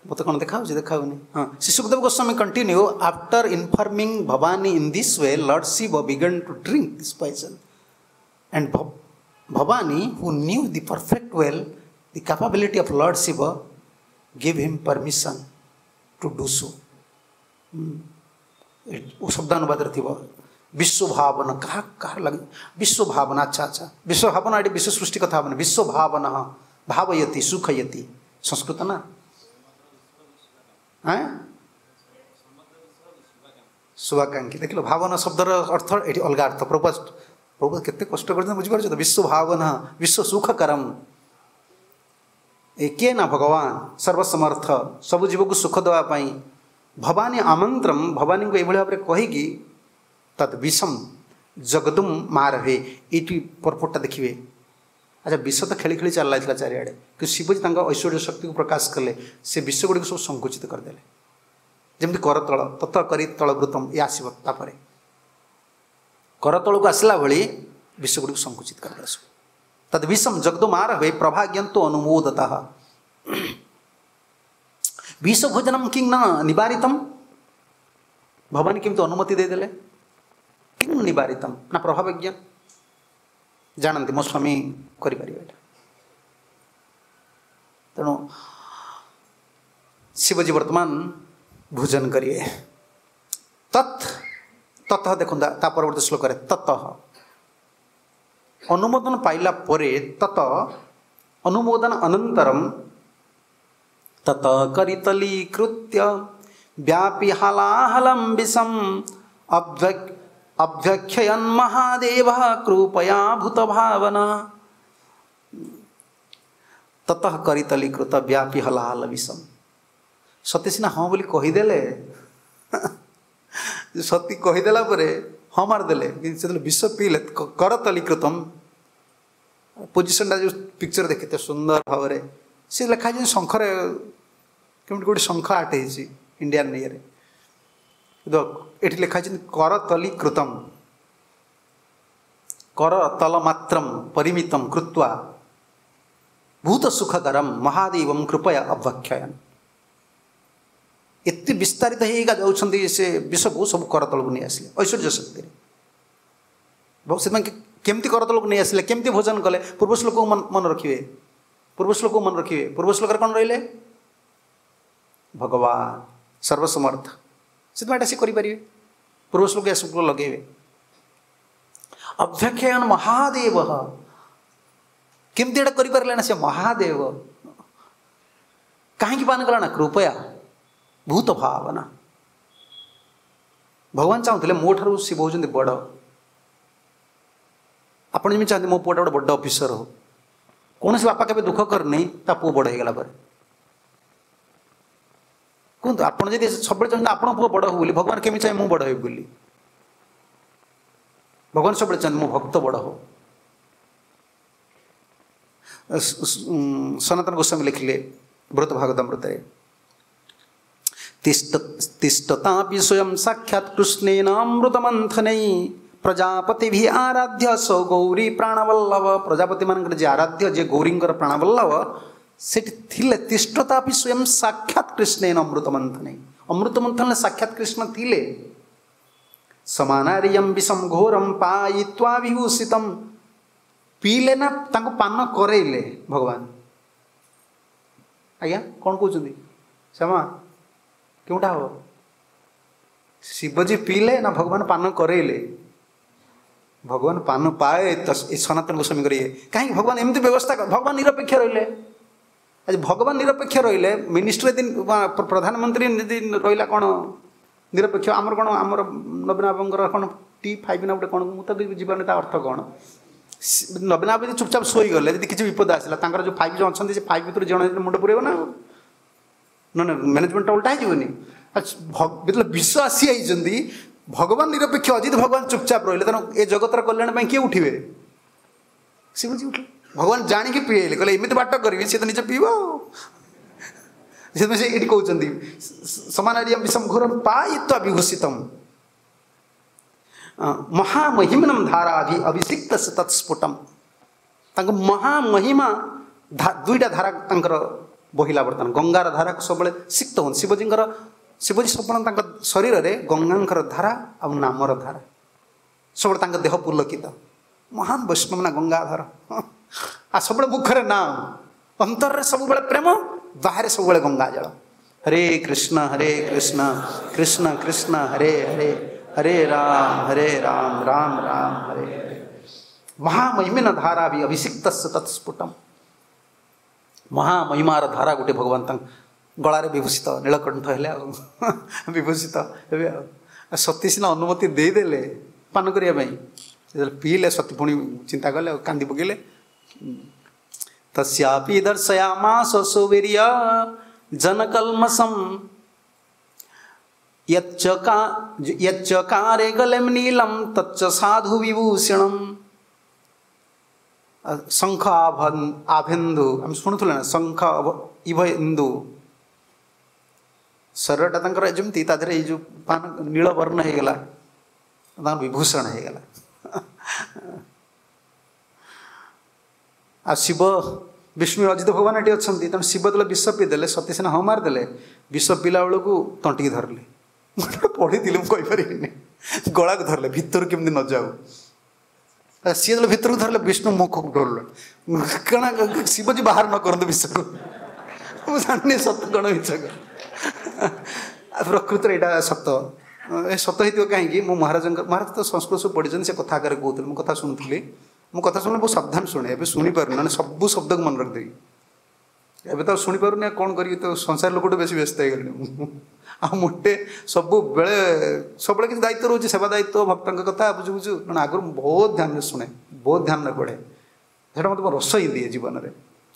ମୋତେ କ'ଣ ଦେଖାହେଉଛି ଦେଖାହେଉନି ହଁ Shri Sukadev Goswami continue after informing Bhavani in this way Lord Shiva began to drink this poison and Bhavani who knew the perfect well the capability of Lord Shiva give him permission to do so ଶବ୍ଦାନୁବାଦରେ ଥିବ ବିଶ୍ୱ ଭାବନା କାହା କାହାର ଲାଗେ ବିଶ୍ୱ ଭାବନା ଆଚ୍ଛା ଆଚ୍ଛା ବିଶ୍ୱ ଭାବନା ଏଠି ବିଶ୍ୱ ସୃଷ୍ଟି କଥା ହେବନି ବିଶ୍ୱ ଭାବନା ଭାବୟତି ସୁଖୟତି ସଂସ୍କୃତ ନା ଆଁ ଶୁଭାକାଂକ୍ଷୀ ଦେଖିଲ ଭାବନା ଶବ୍ଦର ଅର୍ଥ ଏଠି ଅଲଗା ଅର୍ଥ ପ୍ରଭୁପାଦ ପ୍ରଭୁପାଦ କେତେ କଷ୍ଟ କରିଛନ୍ତି ବୁଝିପାରୁଛ ତ ବିଶ୍ୱ ଭାବନା ବିଶ୍ୱ ସୁଖକରମ ଏ କିଏ ନା ଭଗବାନ ସର୍ବସମର୍ଥ ସବୁ ଜୀବକୁ ସୁଖ ଦେବା ପାଇଁ ଭବାନୀ ଆମନ୍ତ୍ରମ ଭବାନୀଙ୍କୁ ଏଇଭଳି ଭାବରେ କହିକି ତତ୍ ବିଷମ ଜଗଦୁମ ମାରଭେ ଏଇଠି ପରପୋର୍ଟଟା ଦେଖିବେ ଆଚ୍ଛା ବିଷ ତ ଖେଳି ଖେଳି ଚାଲିଥିଲା ଚାରିଆଡ଼େ କିନ୍ତୁ ଶିବଜୀ ତାଙ୍କ ଐଶ୍ୱର୍ଯ୍ୟ ଶକ୍ତିକୁ ପ୍ରକାଶ କଲେ ସେ ବିଷ ଗୁଡ଼ିକୁ ସବୁ ସଂକୁଚିତ କରିଦେଲେ ଯେମିତି କରତଳ ତତ କରି ତଳବୃତମ ଇଏ ଆସିବ ତାପରେ କରତଳକୁ ଆସିଲା ଭଳି ବିଷ ଗୁଡ଼ିକୁ ସଂକୁଚିତ କରିଦେଲେ ସବୁ ତଦ୍ ବିଷମ ଜଗଦୁମାର ହୁଏ ପ୍ରଭାଜ୍ଞନ୍ତୁ ଅନୁମୋଦତଃ ବିଷ ଭୋଜନମ କିଂ ନ ନିବାରିତମ ଭବାନୀ କେମିତି ଅନୁମତି ଦେଇଦେଲେ କିଂ ନିବାରିତମ ନା ପ୍ରଭାବଜ୍ଞ ଜାଣନ୍ତି ମୋ ସ୍ୱାମୀ କରିପାରିବେ ଏଇଟା ତେଣୁ ଶିବଜୀ ବର୍ତ୍ତମାନ ଭୋଜନ କରିବେ ତତ୍ ତତଃ ଦେଖନ୍ତୁ ତା ପରବର୍ତ୍ତୀ ଶ୍ଲୋକରେ ତତଃ ଅନୁମୋଦନ ପାଇଲା ପରେ ତତ ଅନୁମୋଦନ ଅନନ୍ତରମ ତତ କରିତଲୀକୃତ୍ୟ ବ୍ୟାପି ହାଲାହଲಂ ବିଷମ ଅଭ୍ୟକ୍ଷୟନ୍ ମହାଦେବ କୃପୟା ଭୂତ ଭାବନା ତତଃ କରିତଲୀକୃତ ବ୍ୟାପି ହଲାହଲ ବିଷମ ସତୀ ସିନା ହଁ ବୋଲି କହିଦେଲେ ସତୀ କହିଦେଲା ପରେ ହଁ ମାରିଦେଲେ କିନ୍ତୁ ସେତେବେଳେ ବିଷ ପିଇଲେ କରତଲୀକୃତମ ପୋଜିସନଟା ଯେଉଁ ପିକ୍ଚର ଦେଖିତେ ସୁନ୍ଦର ଭାବରେ ସେ ଲେଖା ହେଇଛି ଶଙ୍ଖରେ କେମିତି ଗୋଟେ ଶଙ୍ଖ ଆର୍ଟ ହେଇଛି ଇଣ୍ଡିଆନ୍ ଇଏରେ କିନ୍ତୁ ଏଠି ଲେଖା ହେଇଛନ୍ତି କରତଲୀକୃତମ କରତଲ ମାତ୍ରମ ପରିମିତମ କୃତ୍ୱା ଭୂତ ସୁଖକରମ ମହାଦେବମ କୃପୟା ଅଭକ୍ଷୟନ ଏତେ ବିସ୍ତାରିତ ହେଇକା ଯାଉଛନ୍ତି ସେ ବିଷକୁ ସବୁ କରତଳକୁ ନେଇ ଆସିଲେ ଐଶ୍ୱର୍ଯ୍ୟ ଶକ୍ତିରେ ସେଥିପାଇଁ କେମିତି କରତଳକୁ ନେଇ ଆସିଲେ କେମିତି ଭୋଜନ କଲେ ପୂର୍ବ ଶ୍ଲୋକକୁ ମନେ ରଖିବେ ପୂର୍ବ ଶ୍ଲୋକକୁ ମନେ ରଖିବେ ପୂର୍ବ ଶ୍ଲୋକରେ କ'ଣ ରହିଲେ ଭଗବାନ ସର୍ବସମର୍ଥ ସେଥିପାଇଁ ଏଇଟା ସେ କରିପାରିବେ ପୂର୍ବ ଶ୍ଲୋକ ଏସବୁ ଲଗେଇବେ ଅଭ୍ୟକ୍ଷୟନ ମହାଦେବ କେମିତି ଏଇଟା କରିପାରିଲେ ନା ସେ ମହାଦେବ କାହିଁକି ପାନ କଲା ନା କୃପୟା ଭୂତ ଭାବନା ଭଗବାନ ଚାହୁଁଥିଲେ ମୋ ଠାରୁ ଶିବ ହେଉଛନ୍ତି ବଡ଼ ଆପଣ ଯେମିତି ଚାହାନ୍ତି ମୋ ପୁଅଟା ଗୋଟେ ବଡ଼ ଅଫିସର ହଉ କୌଣସି ବାପା କେବେ ଦୁଃଖ କରିନି ତା ପୁଅ ବଡ଼ ହେଇଗଲା ପରେ କୁହନ୍ତୁ ଆପଣ ଯଦି ସବୁବେଳେ ଚାହୁଁଛନ୍ତି ଆପଣଙ୍କ ପୁଅ ବଡ଼ ହଉ ବୋଲି ଭଗବାନ କେମିତି ଚାହେଁ ମୁଁ ବଡ଼ ହେବି ବୋଲି ଭଗବାନ ସବୁବେଳେ ଚାହାନ୍ତି ମୋ ଭକ୍ତ ବଡ଼ ହଉ ସନାତନ ଗୋସ୍ୱାମୀ ଲେଖିଲେ ବୃହତ ଭାଗବତାମୃତରେ ତିଷ୍ଠ ତିଷ୍ଠତାପି ସ୍ୱୟଂ ସାକ୍ଷାତ୍ କୃଷ୍ଣେନ ଅମୃତମନ୍ଥନୈ ପ୍ରଜାପତି ଆରାଧ୍ୟ ସୌ ଗୌରୀ ପ୍ରାଣବଲ୍ଲଭ ପ୍ରଜାପତିମାନଙ୍କର ଯିଏ ଆରାଧ୍ୟ ଯିଏ ଗୌରୀଙ୍କର ପ୍ରାଣବଲ୍ଲଭ ସେଠି ଥିଲେ ତିଷ୍ଠତାପି ସ୍ୱୟଂ ସାକ୍ଷାତ୍ କୃଷ୍ଣେନ ଅମୃତମନ୍ଥନୈ ଅମୃତମନ୍ଥନରେ ସାକ୍ଷାତ୍ କୃଷ୍ଣ ଥିଲେ ସମାନାରିୟಂ ବିଷମ ଘୋରମ ପାୟିତ୍ୱା ବିଭୂଷିତମ ପିଇଲେ ନା ତାଙ୍କୁ ପାନ କରେଇଲେ ଭଗବାନ ଆଜ୍ଞା କ'ଣ କହୁଛନ୍ତି ଶ୍ୟାମା କେଉଁଟା ହବ ଶିବଜୀ ପିଇଲେ ନା ଭଗବାନ ପାନ କରେଇଲେ ଭଗବାନ ପାନ ପାଏ ତ ଏ ସନାତନ ଗୋସ୍ୱାମୀଙ୍କର ଇଏ କାହିଁକି ଭଗବାନ ଏମିତି ବ୍ୟବସ୍ଥା ଭଗବାନ ନିରପେକ୍ଷ ରହିଲେ ଆଜି ଭଗବାନ ନିରପେକ୍ଷ ରହିଲେ ମିନିଷ୍ଟର ଯଦି ପ୍ରଧାନମନ୍ତ୍ରୀ ଯଦି ରହିଲା କ'ଣ ନିରପେକ୍ଷ ଆମର କ'ଣ ଆମର ନବୀନ ବାବୁଙ୍କର କ'ଣ ଟି ଫାଇଭ୍ ନା ଗୋଟେ କ'ଣ ମୁଁ ତ ବୁଝିପାରୁନି ତା ଅର୍ଥ କ'ଣ ନବୀନ ବାବୁ ଯଦି ଚୁପଚାପ ଶୋଇଗଲେ ଯଦି କିଛି ବିପଦ ଆସିଲା ତାଙ୍କର ଯେଉଁ ଫାଇଭ୍ ଯେଉଁ ଅଛନ୍ତି ସେ ଫାଇଭ୍ ଭିତରୁ ଜଣେ ମୁଣ୍ଡ ପୁରେଇବ ନା ନା ନା ମ୍ୟାନେଜମେଣ୍ଟଟା ଓଲଟା ହେଇଯିବନି ଯେତେବେଳେ ବିଷ ଆସି ଯାଇଛନ୍ତି ଭଗବାନ ନିରପେକ୍ଷ ଯଦି ଭଗବାନ ଚୁପଚାପ ରହିଲେ ତେଣୁ ଏ ଜଗତର କଲ୍ୟାଣ ପାଇଁ କିଏ ଉଠିବେ ଶିବଜୀ ଉଠିଲେ ଭଗବାନ ଜାଣିକି ପିଏଇଲେ କହିଲେ ଏମିତି ବାଟ କରିବି ସେ ତ ନିଜେ ପିଇବ ଆଉ ସେଥିପାଇଁ ସେ ଏଇଠି କହୁଛନ୍ତି ସମାନାରିୟମ ବିଷମ ଘୋରମ ପାୟିତ୍ୱା ବିଭୂଷିତମ ମହାମହିମ୍ନମ ଧାରାଭି ଅଭିଷିକ୍ତ ତତ୍ସ୍ଫୁଟମ ତାଙ୍କ ମହାମହିମା ଦୁଇଟା ଧାରା ତାଙ୍କର ବହିଲା। ବର୍ତ୍ତମାନ ଗଙ୍ଗାର ଧାରାକୁ ସବୁବେଳେ ସିକ୍ତ ହୁଅନ୍ତି ଶିବଜୀଙ୍କର। ଶିବଜୀ ସବୁବେଳେ ତାଙ୍କ ଶରୀରରେ ଗଙ୍ଗାଙ୍କର ଧାରା ଆଉ ନାମର ଧାରା, ସବୁବେଳେ ତାଙ୍କ ଦେହ ପୁଲକିତ। ମହାନ ବୈଷ୍ଣବ ନା ଗଙ୍ଗାଧର। ଆଉ ସବୁବେଳେ ମୁଖରେ ନାମ, ଅନ୍ତରରେ ସବୁବେଳେ ପ୍ରେମ, ବାହାରେ ସବୁବେଳେ ଗଙ୍ଗା ଜଳ। ହରେ କୃଷ୍ଣ ହରେ କୃଷ୍ଣ କୃଷ୍ଣ କୃଷ୍ଣ ହରେ ହରେ, ହରେ ରାମ ହରେ ରାମ ରାମ ରାମ ହରେ ହରେ। ମହାମହିମିନ ଧାରା ବି ଅଭିଷିକ୍ତ ତତ୍ସ୍ଫୁଟମ। ମହାମହିମାର ଧାରା ଗୋଟେ ଭଗବାନ ତାଙ୍କ ଗଳାରେ ବିଭୂଷିତ, ନୀଳକଣ୍ଠ ହେଲେ ଆଉ ବିଭୂଷିତ ହେବେ। ଆଉ ସତୀ ସିନା ଅନୁମତି ଦେଇଦେଲେ ପାନ କରିବା ପାଇଁ, ଯେତେବେଳେ ପିଇଲେ ସତୀ ପୁଣି ଚିନ୍ତା କଲେ ଆଉ କାନ୍ଦି ପକେଇଲେ। ତସ୍ୟାପି ଦର୍ଶୟାମାସ ସୁବୀର୍ୟ जनकल्मषम यच्चका यच्चकारे गलेम नीलम तच्च साधु विभूषणम। शंख आभेन्दु आम शुणुले ना, शंख इभ इंदु शरीरटा तांकर जेमती ता देहरे ये जो पान नील वर्ण होईगला, तांकर विभूषण होईगला। आ शिव विष्णु अजित भगवान एटी अच्छा, तेणु शिव जो विष पीदेले, सती सिना ହଁ ମାରିଦେଲେ, ବିଷ ପିଲା ବେଳକୁ ତଣ୍ଟିକି ଧରିଲେ। ମୁଁ ପଢ଼ିଥିଲି, ମୁଁ କହିପାରିବିନି, ଗଳାକୁ ଧରିଲେ ଭିତରୁ କେମିତି ନ ଯାଉ। ସିଏ ଯେତେବେଳେ ଭିତରକୁ ଧରିଲେ ବିଷ୍ଣୁ ମୁଖକୁ ଧରିଲେ, କାରଣ ଶିବଜୀ ବାହାର ନ କରନ୍ତୁ ବିଷକୁ। ମୁଁ ଜାଣିନି ସତ କ'ଣ ମିଛ କ'ଣ, ପ୍ରକୃତରେ ଏଇଟା ସତ। ଏ ସତ ହେଇଥିବ କାହିଁକି, ମୁଁ ମହାରାଜଙ୍କ, ମହାରାଜ ତ ସଂସ୍କୃତ ସବୁ ପଢ଼ିଛନ୍ତି, ସେ କଥା ଆକାରରେ କହୁଥିଲେ, ମୁଁ କଥା ଶୁଣୁଥିଲି। ମୁଁ କଥା ଶୁଣିଲେ ବହୁତ ସାବଧାନ ଶୁଣେ, ଏବେ ଶୁଣିପାରୁନି, ମାନେ ସବୁ ଶବ୍ଦକୁ ମନେ ରଖିଦେବି। ଏବେ ତ ଶୁଣିପାରୁନି, ଆଉ କ'ଣ କରିବି, ତ ସଂସାର ଲୋକଠୁ ବେଶୀ ବ୍ୟସ୍ତ ହେଇଗଲିଣି ମୁଁ। ଆଉ ମୋଟେ ସବୁବେଳେ ସବୁବେଳେ କିଛି ଦାୟିତ୍ୱ ରହୁଛି, ସେବା ଦାୟିତ୍ୱ, ଭକ୍ତଙ୍କ କଥା ବୁଝୁ ବୁଝୁ। କାରଣ ଆଗରୁ ମୁଁ ବହୁତ ଧ୍ୟାନରେ ଶୁଣେ, ବହୁତ ଧ୍ୟାନରେ ପଢ଼େ, ସେଇଟା ମୋତେ ରସ ହିଁ ଦିଏ ଜୀବନରେ।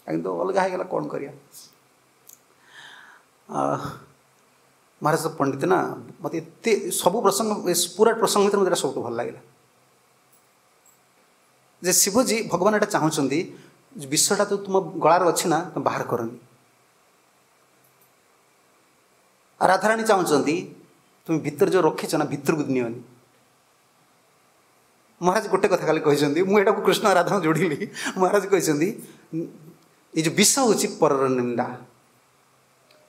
କିନ୍ତୁ ଅଲଗା ହେଇଗଲା, କ'ଣ କରିବା। ମହାରାଜ ପଣ୍ଡିତ ନା, ମୋତେ ଏତେ ସବୁ ପ୍ରସଙ୍ଗ, ପୁରା ପ୍ରସଙ୍ଗ ଭିତରେ ମୋତେ ଏଇଟା ସବୁଠୁ ଭଲ ଲାଗିଲା ଯେ ଶିବଜୀ ଭଗବାନ ଏଇଟା ଚାହୁଁଛନ୍ତି, ବିଷଟା ତ ତୁମ ଗଳାରେ ଅଛି ନା, ତୁମେ ବାହାର କରନି। ଆଉ ରାଧାରାଣୀ ଚାହୁଁଛନ୍ତି ତୁମେ ଭିତରେ ଯେଉଁ ରଖିଛ ନା, ଭିତରକୁ ନିଅନି। ମହାରାଜ ଗୋଟେ କଥା ଖାଲି କହିଛନ୍ତି, ମୁଁ ଏଇଟାକୁ କୃଷ୍ଣ ରାଧା ଯୋଡ଼ିଲି। ମହାରାଜ କହିଛନ୍ତି ଏଇ ଯେଉଁ ବିଷ ହେଉଛି ପରର ନିନ୍ଦା।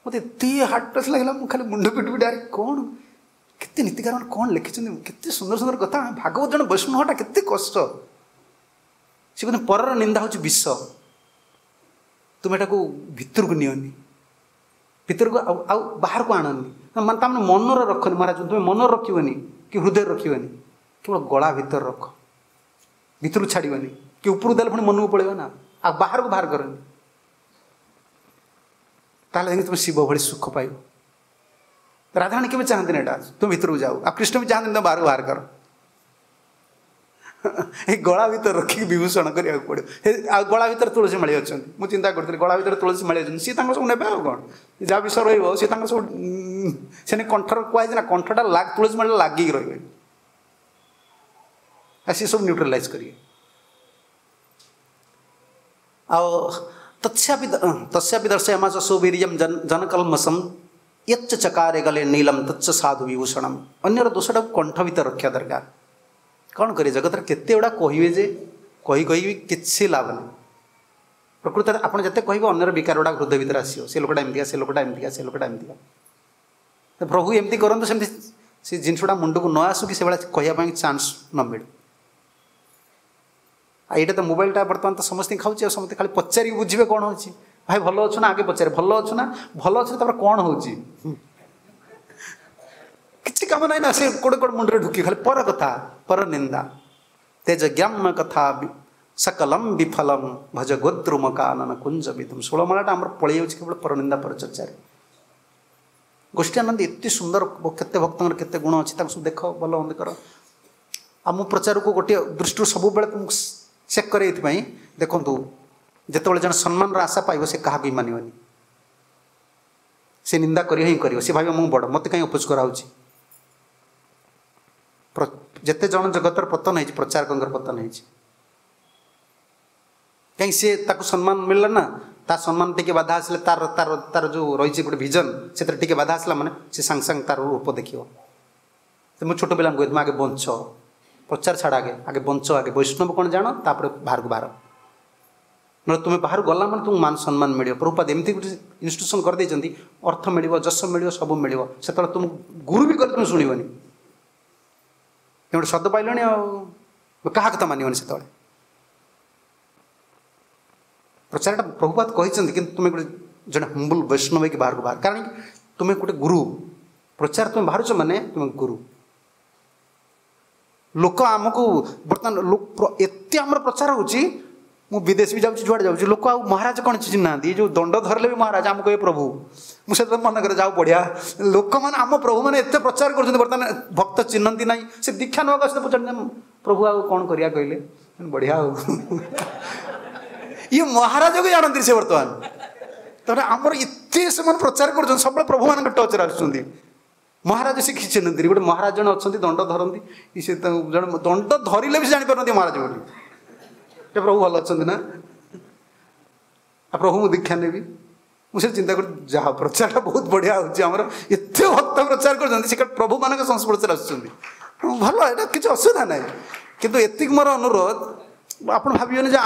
ମୋତେ ଏତେ ହାର୍ଟ ଟଚ୍ ଲାଗିଲା, ମୁଁ ଖାଲି ମୁଣ୍ଡ ପିଟି ପିଟି, ଆରେ କ'ଣ କେତେ ନୀତିକାର ମାନେ କ'ଣ ଲେଖିଛନ୍ତି, କେତେ ସୁନ୍ଦର ସୁନ୍ଦର କଥା। ଭାଗବତ ଜଣେ ବୈଷ୍ଣବଟା କେତେ କଷ୍ଟ। ସେ କହୁଛନ୍ତି ପରର ନିନ୍ଦା ହେଉଛି ବିଷ, ତୁମେ ଏଟାକୁ ଭିତରକୁ ନିଅନି, ଭିତରକୁ ଆଉ ଆଉ ବାହାରକୁ ଆଣନି, ମାନେ ତା ମାନେ ମନରେ ରଖନି। ମହାରାଜ ତୁମେ ମନରେ ରଖିବନି କି ହୃଦୟରେ ରଖିବନି, କେବଳ ଗଳା ଭିତରେ ରଖ, ଭିତରକୁ ଛାଡ଼ିବନି କି ଉପରକୁ ଦେଲେ ପୁଣି ମନକୁ ପଳେଇବ ନା, ଆଉ ବାହାରକୁ ବାହାର କରନି, ତାହେଲେ ଯାଇକି ତୁମେ ଶିବ ଭଳି ସୁଖ ପାଇବ। ରାଧାରାଣୀ କେବେ ଚାହାନ୍ତିନି ଏଇଟା, ତୁମେ ଭିତରକୁ ଯାଉ, ଆଉ କୃଷ୍ଣ ବି ଚାହାନ୍ତିନି ତୁମେ ବାହାରକୁ ବାହାର କର। ଏଇ ଗଳା ଭିତରେ ରଖିକି ବିଭୂଷଣ କରିବାକୁ ପଡ଼ିବ। ଆଉ ଗଳା ଭିତରେ ତୁଳସୀ ମାଳି ଅଛନ୍ତି, ମୁଁ ଚିନ୍ତା କରୁଥିଲି ଗଳା ଭିତରେ ତୁଳସୀ ମାଳି ଅଛନ୍ତି, ସିଏ ତାଙ୍କର ସବୁ ନେବେ ଆଉ କ'ଣ, ଯାହା ବିଷୟ ରହିବ ସିଏ ତାଙ୍କର ସବୁ। ସେନେ କଣ୍ଠର କୁହାଯାଇଛି ନା, କଣ୍ଠଟା ତୁଳସୀ ମାଳିଟା ଲାଗିକି ରହିବ, ଆଉ ସିଏ ସବୁ ନ୍ୟୁଟ୍ରାଲାଇଜ୍ କରିବେ। ଆଉ ତତ୍ସ୍ୟାପି ତସ୍ୟାପି ଦର୍ଶୟାମାସ ସୁବୀର୍ଯ୍ୟಂ ଜନକଲ୍ମଷಂ ୟଚ୍ଚ ଚକାରେ ଗଲେ ନୀଲମ ତଚ୍ଚ ସାଧୁ ବିଭୂଷଣମ। ଅନ୍ୟର ଦୋଷଟାକୁ କଣ୍ଠ ଭିତରେ ରଖିବା ଦରକାର। କ'ଣ କରିବେ, ଜଗତରେ କେତେ ଗୁଡ଼ା କହିବେ ଯେ କହି କହିବି କିଛି ଲାଭ ନାହିଁ। ପ୍ରକୃତରେ ଆପଣ ଯେତେ କହିବେ ଅନ୍ୟର ବିକାର ଗୁଡ଼ା ହୃଦୟ ଭିତରେ ଆସିବ, ସେ ଲୋକଟା ଏମିତିକା, ସେ ଲୋକଟା ଏମିତିକା, ସେ ଲୋକଟା ଏମିତିକା। ପ୍ରଭୁ ଏମିତି କରନ୍ତୁ ସେମିତି, ସେ ଜିନିଷଟା ମୁଣ୍ଡକୁ ନ ଆସୁ କି ସେଭଳିଆ କହିବା ପାଇଁ ଚାନ୍ସ ନ ମିଳୁ। ଆଉ ଏଇଟା ତ ମୋବାଇଲଟା ବର୍ତ୍ତମାନ ତ ସମସ୍ତଙ୍କୁ ଖାଉଛି, ଆଉ ସମସ୍ତେ ଖାଲି ପଚାରିକି ବୁଝିବେ କ'ଣ ହେଉଛି। ଭାଇ ଭଲ ଅଛୁ ନା, ଆଗେ ପଚାରେ ଭଲ ଅଛୁ ନା, ଭଲ ଅଛୁ ତାପରେ କ'ଣ ହେଉଛି, କିଛି କାମ ନାହିଁ ନା, ସେ କୋଡ଼େ କୋଡ଼େ ମୁଣ୍ଡରେ ଢୁକି ଖାଲି ପର କଥା, ପର ନିନ୍ଦା। ତେଜ ଜ୍ଞାମ କଥା ସକଲମ ବିଫଲମ ଭଜ ଗୋଦ୍ରୁମ କାନନ କୁଞ୍ଜ ବିଧୁମ। ଷୋଳମାଳାଟା ଆମର ପଳେଇ ଯାଉଛି କେବଳ ପର ନିନ୍ଦା ପର ଚର୍ଚ୍ଚାରେ। ଗୋଷ୍ଠୀ ଆନନ୍ଦ ଏତେ ସୁନ୍ଦର, କେତେ ଭକ୍ତଙ୍କର କେତେ ଗୁଣ ଅଛି, ତାଙ୍କୁ ସବୁ ଦେଖ, ଭଲ ମନ୍ଦ କର। ଆଉ ମୁଁ ପ୍ରଚାରକୁ ଗୋଟିଏ ଦୃଷ୍ଟିରୁ ସବୁବେଳେ ମୁଁ ଚେକ୍ କରେ ଏଇଥିପାଇଁ, ଦେଖନ୍ତୁ ଯେତେବେଳେ ଜଣେ ସମ୍ମାନର ଆଶା ପାଇବ ସେ କାହାକୁ ବି ମାନିବନି, ସେ ନିନ୍ଦା କରିବ ହିଁ କରିବ। ସେ ଭାବିବ ମୁଁ ବଡ଼, ମୋତେ କାହିଁ ଅପୋଜ କରାହେଉଛି। ଯେତେ ଜଣ ଜଗତର ପତନ ହେଇଛି, ପ୍ରଚାରକଙ୍କର ପତନ ହେଇଛି, କାହିଁକି ସିଏ ତାକୁ ସମ୍ମାନ ମିଳିଲା ନା, ତା ସମ୍ମାନ ଟିକେ ବାଧା ଆସିଲେ, ତାର ତାର ତାର ଯେଉଁ ରହିଛି ଗୋଟେ ଭିଜନ, ସେଥିରେ ଟିକେ ବାଧା ଆସିଲା ମାନେ ସେ ସାଙ୍ଗେ ସାଙ୍ଗେ ତାର ରୂପ ଦେଖିବ। ମୁଁ ଛୋଟ ପିଲାଙ୍କୁ କହେ ତୁମେ ଆଗେ ବଞ୍ଚ, ପ୍ରଚାର ଛାଡ଼, ଆଗେ ଆଗେ ବଞ୍ଚ, ଆଗେ ବୈଷ୍ଣବ କ'ଣ ଜାଣ, ତାପରେ ବାହାରକୁ ବାହାର। ନହେଲେ ତୁମେ ବାହାରୁ ଗଲା ମାନେ ତୁମକୁ ମାନ ସମ୍ମାନ ମିଳିବ। ପ୍ରଭୁପାଦ ଏମିତି ଗୋଟେ ଇନଷ୍ଟିଟ୍ୟୁସନ୍ କରିଦେଇଛନ୍ତି, ଅର୍ଥ ମିଳିବ, ଯଶ ମିଳିବ, ସବୁ ମିଳିବ। ସେତେବେଳେ ତୁମକୁ ଗୁରୁ ବି କଲେ ତୁମେ ଶୁଣିବନି, ତୁମେ ଗୋଟେ ସ୍ୱାଦ ପାଇଲଣି ଆଉ କାହା କଥା ମାନିବନି ସେତେବେଳେ। ପ୍ରଚାରଟା ପ୍ରଭୁପାଦ କହିଛନ୍ତି, କିନ୍ତୁ ତୁମେ ଗୋଟେ ଜଣେ ହମ୍ବୁଲ୍ ବୈଷ୍ଣବ ହେଇକି ବାହାରକୁ ବାହାର, କାରଣ ତୁମେ ଗୋଟେ ଗୁରୁ। ପ୍ରଚାର ତୁମେ ବାହାରୁଛ ମାନେ ତୁମେ ଗୁରୁ। ଲୋକ ଆମକୁ ବର୍ତ୍ତମାନ ଏତେ ଆମର ପ୍ରଚାର ହେଉଛି, ମୁଁ ବିଦେଶ ବି ଯାଉଛି, ଯୁଆଡ଼େ ଯାଉଛି, ଲୋକ ଆଉ ମହାରାଜ କ'ଣ ଚିହ୍ନି ନାହାନ୍ତି। ଏ ଯେଉଁ ଦଣ୍ଡ ଧରିଲେ ବି ମହାରାଜ ଆମକୁ କହିବେ ପ୍ରଭୁ। ମୁଁ ସେତେବେଳେ ମନେ କରେ ଯାଉ ବଢ଼ିଆ ଲୋକମାନେ ଆମ ପ୍ରଭୁମାନେ ଏତେ ପ୍ରଚାର କରୁଛନ୍ତି, ବର୍ତ୍ତମାନ ଭକ୍ତ ଚିହ୍ନନ୍ତି ନାହିଁ। ସେ ଦୀକ୍ଷା ନେବାକୁ ଆସିଲେ ପଚାରନ୍ତି ପ୍ରଭୁ ଆଉ କ'ଣ କରିବା କହିଲେ, ବଢ଼ିଆ ଆଉ ଇଏ ମହାରାଜକୁ ଜାଣନ୍ତି ସେ ବର୍ତ୍ତମାନ। ତାପରେ ଆମର ଏତେ ସେମାନେ ପ୍ରଚାର କରୁଛନ୍ତି, ସବୁବେଳେ ପ୍ରଭୁମାନଙ୍କ ଟଚ୍ରେ ଆସୁଛନ୍ତି। ମହାରାଜ ସେ କିଛି ଚିହ୍ନନ୍ତିନି। ଗୋଟେ ମହାରାଜ ଜଣେ ଅଛନ୍ତି, ଦଣ୍ଡ ଧରନ୍ତି, ସେ ଜଣେ ଦଣ୍ଡ ଧରିଲେ ବି ସେ ଜାଣିପାରନ୍ତି ମହାରାଜ ବୋଲି। ଏ ପ୍ରଭୁ ଭଲ ଅଛନ୍ତି ନା, ଆଉ ପ୍ରଭୁ ମୁଁ ଦୀକ୍ଷା ନେବି। ମୁଁ ସେ ଚିନ୍ତା କରୁଛି ଯାହା ପ୍ରଚାରଟା ବହୁତ ବଢ଼ିଆ ହେଉଛି ଆମର, ଏତେ ଭକ୍ତ ପ୍ରଚାର କରୁଛନ୍ତି, ସେ ପ୍ରଭୁମାନଙ୍କ ସଂସ୍ପର୍ଶରେ ଆସୁଛନ୍ତି, ଭଲ, ଏଇଟା କିଛି ଅସୁବିଧା ନାହିଁ। କିନ୍ତୁ ଏତିକି ମୋର ଅନୁରୋଧ, ଆପଣ ଭାବିବେନି ଯେ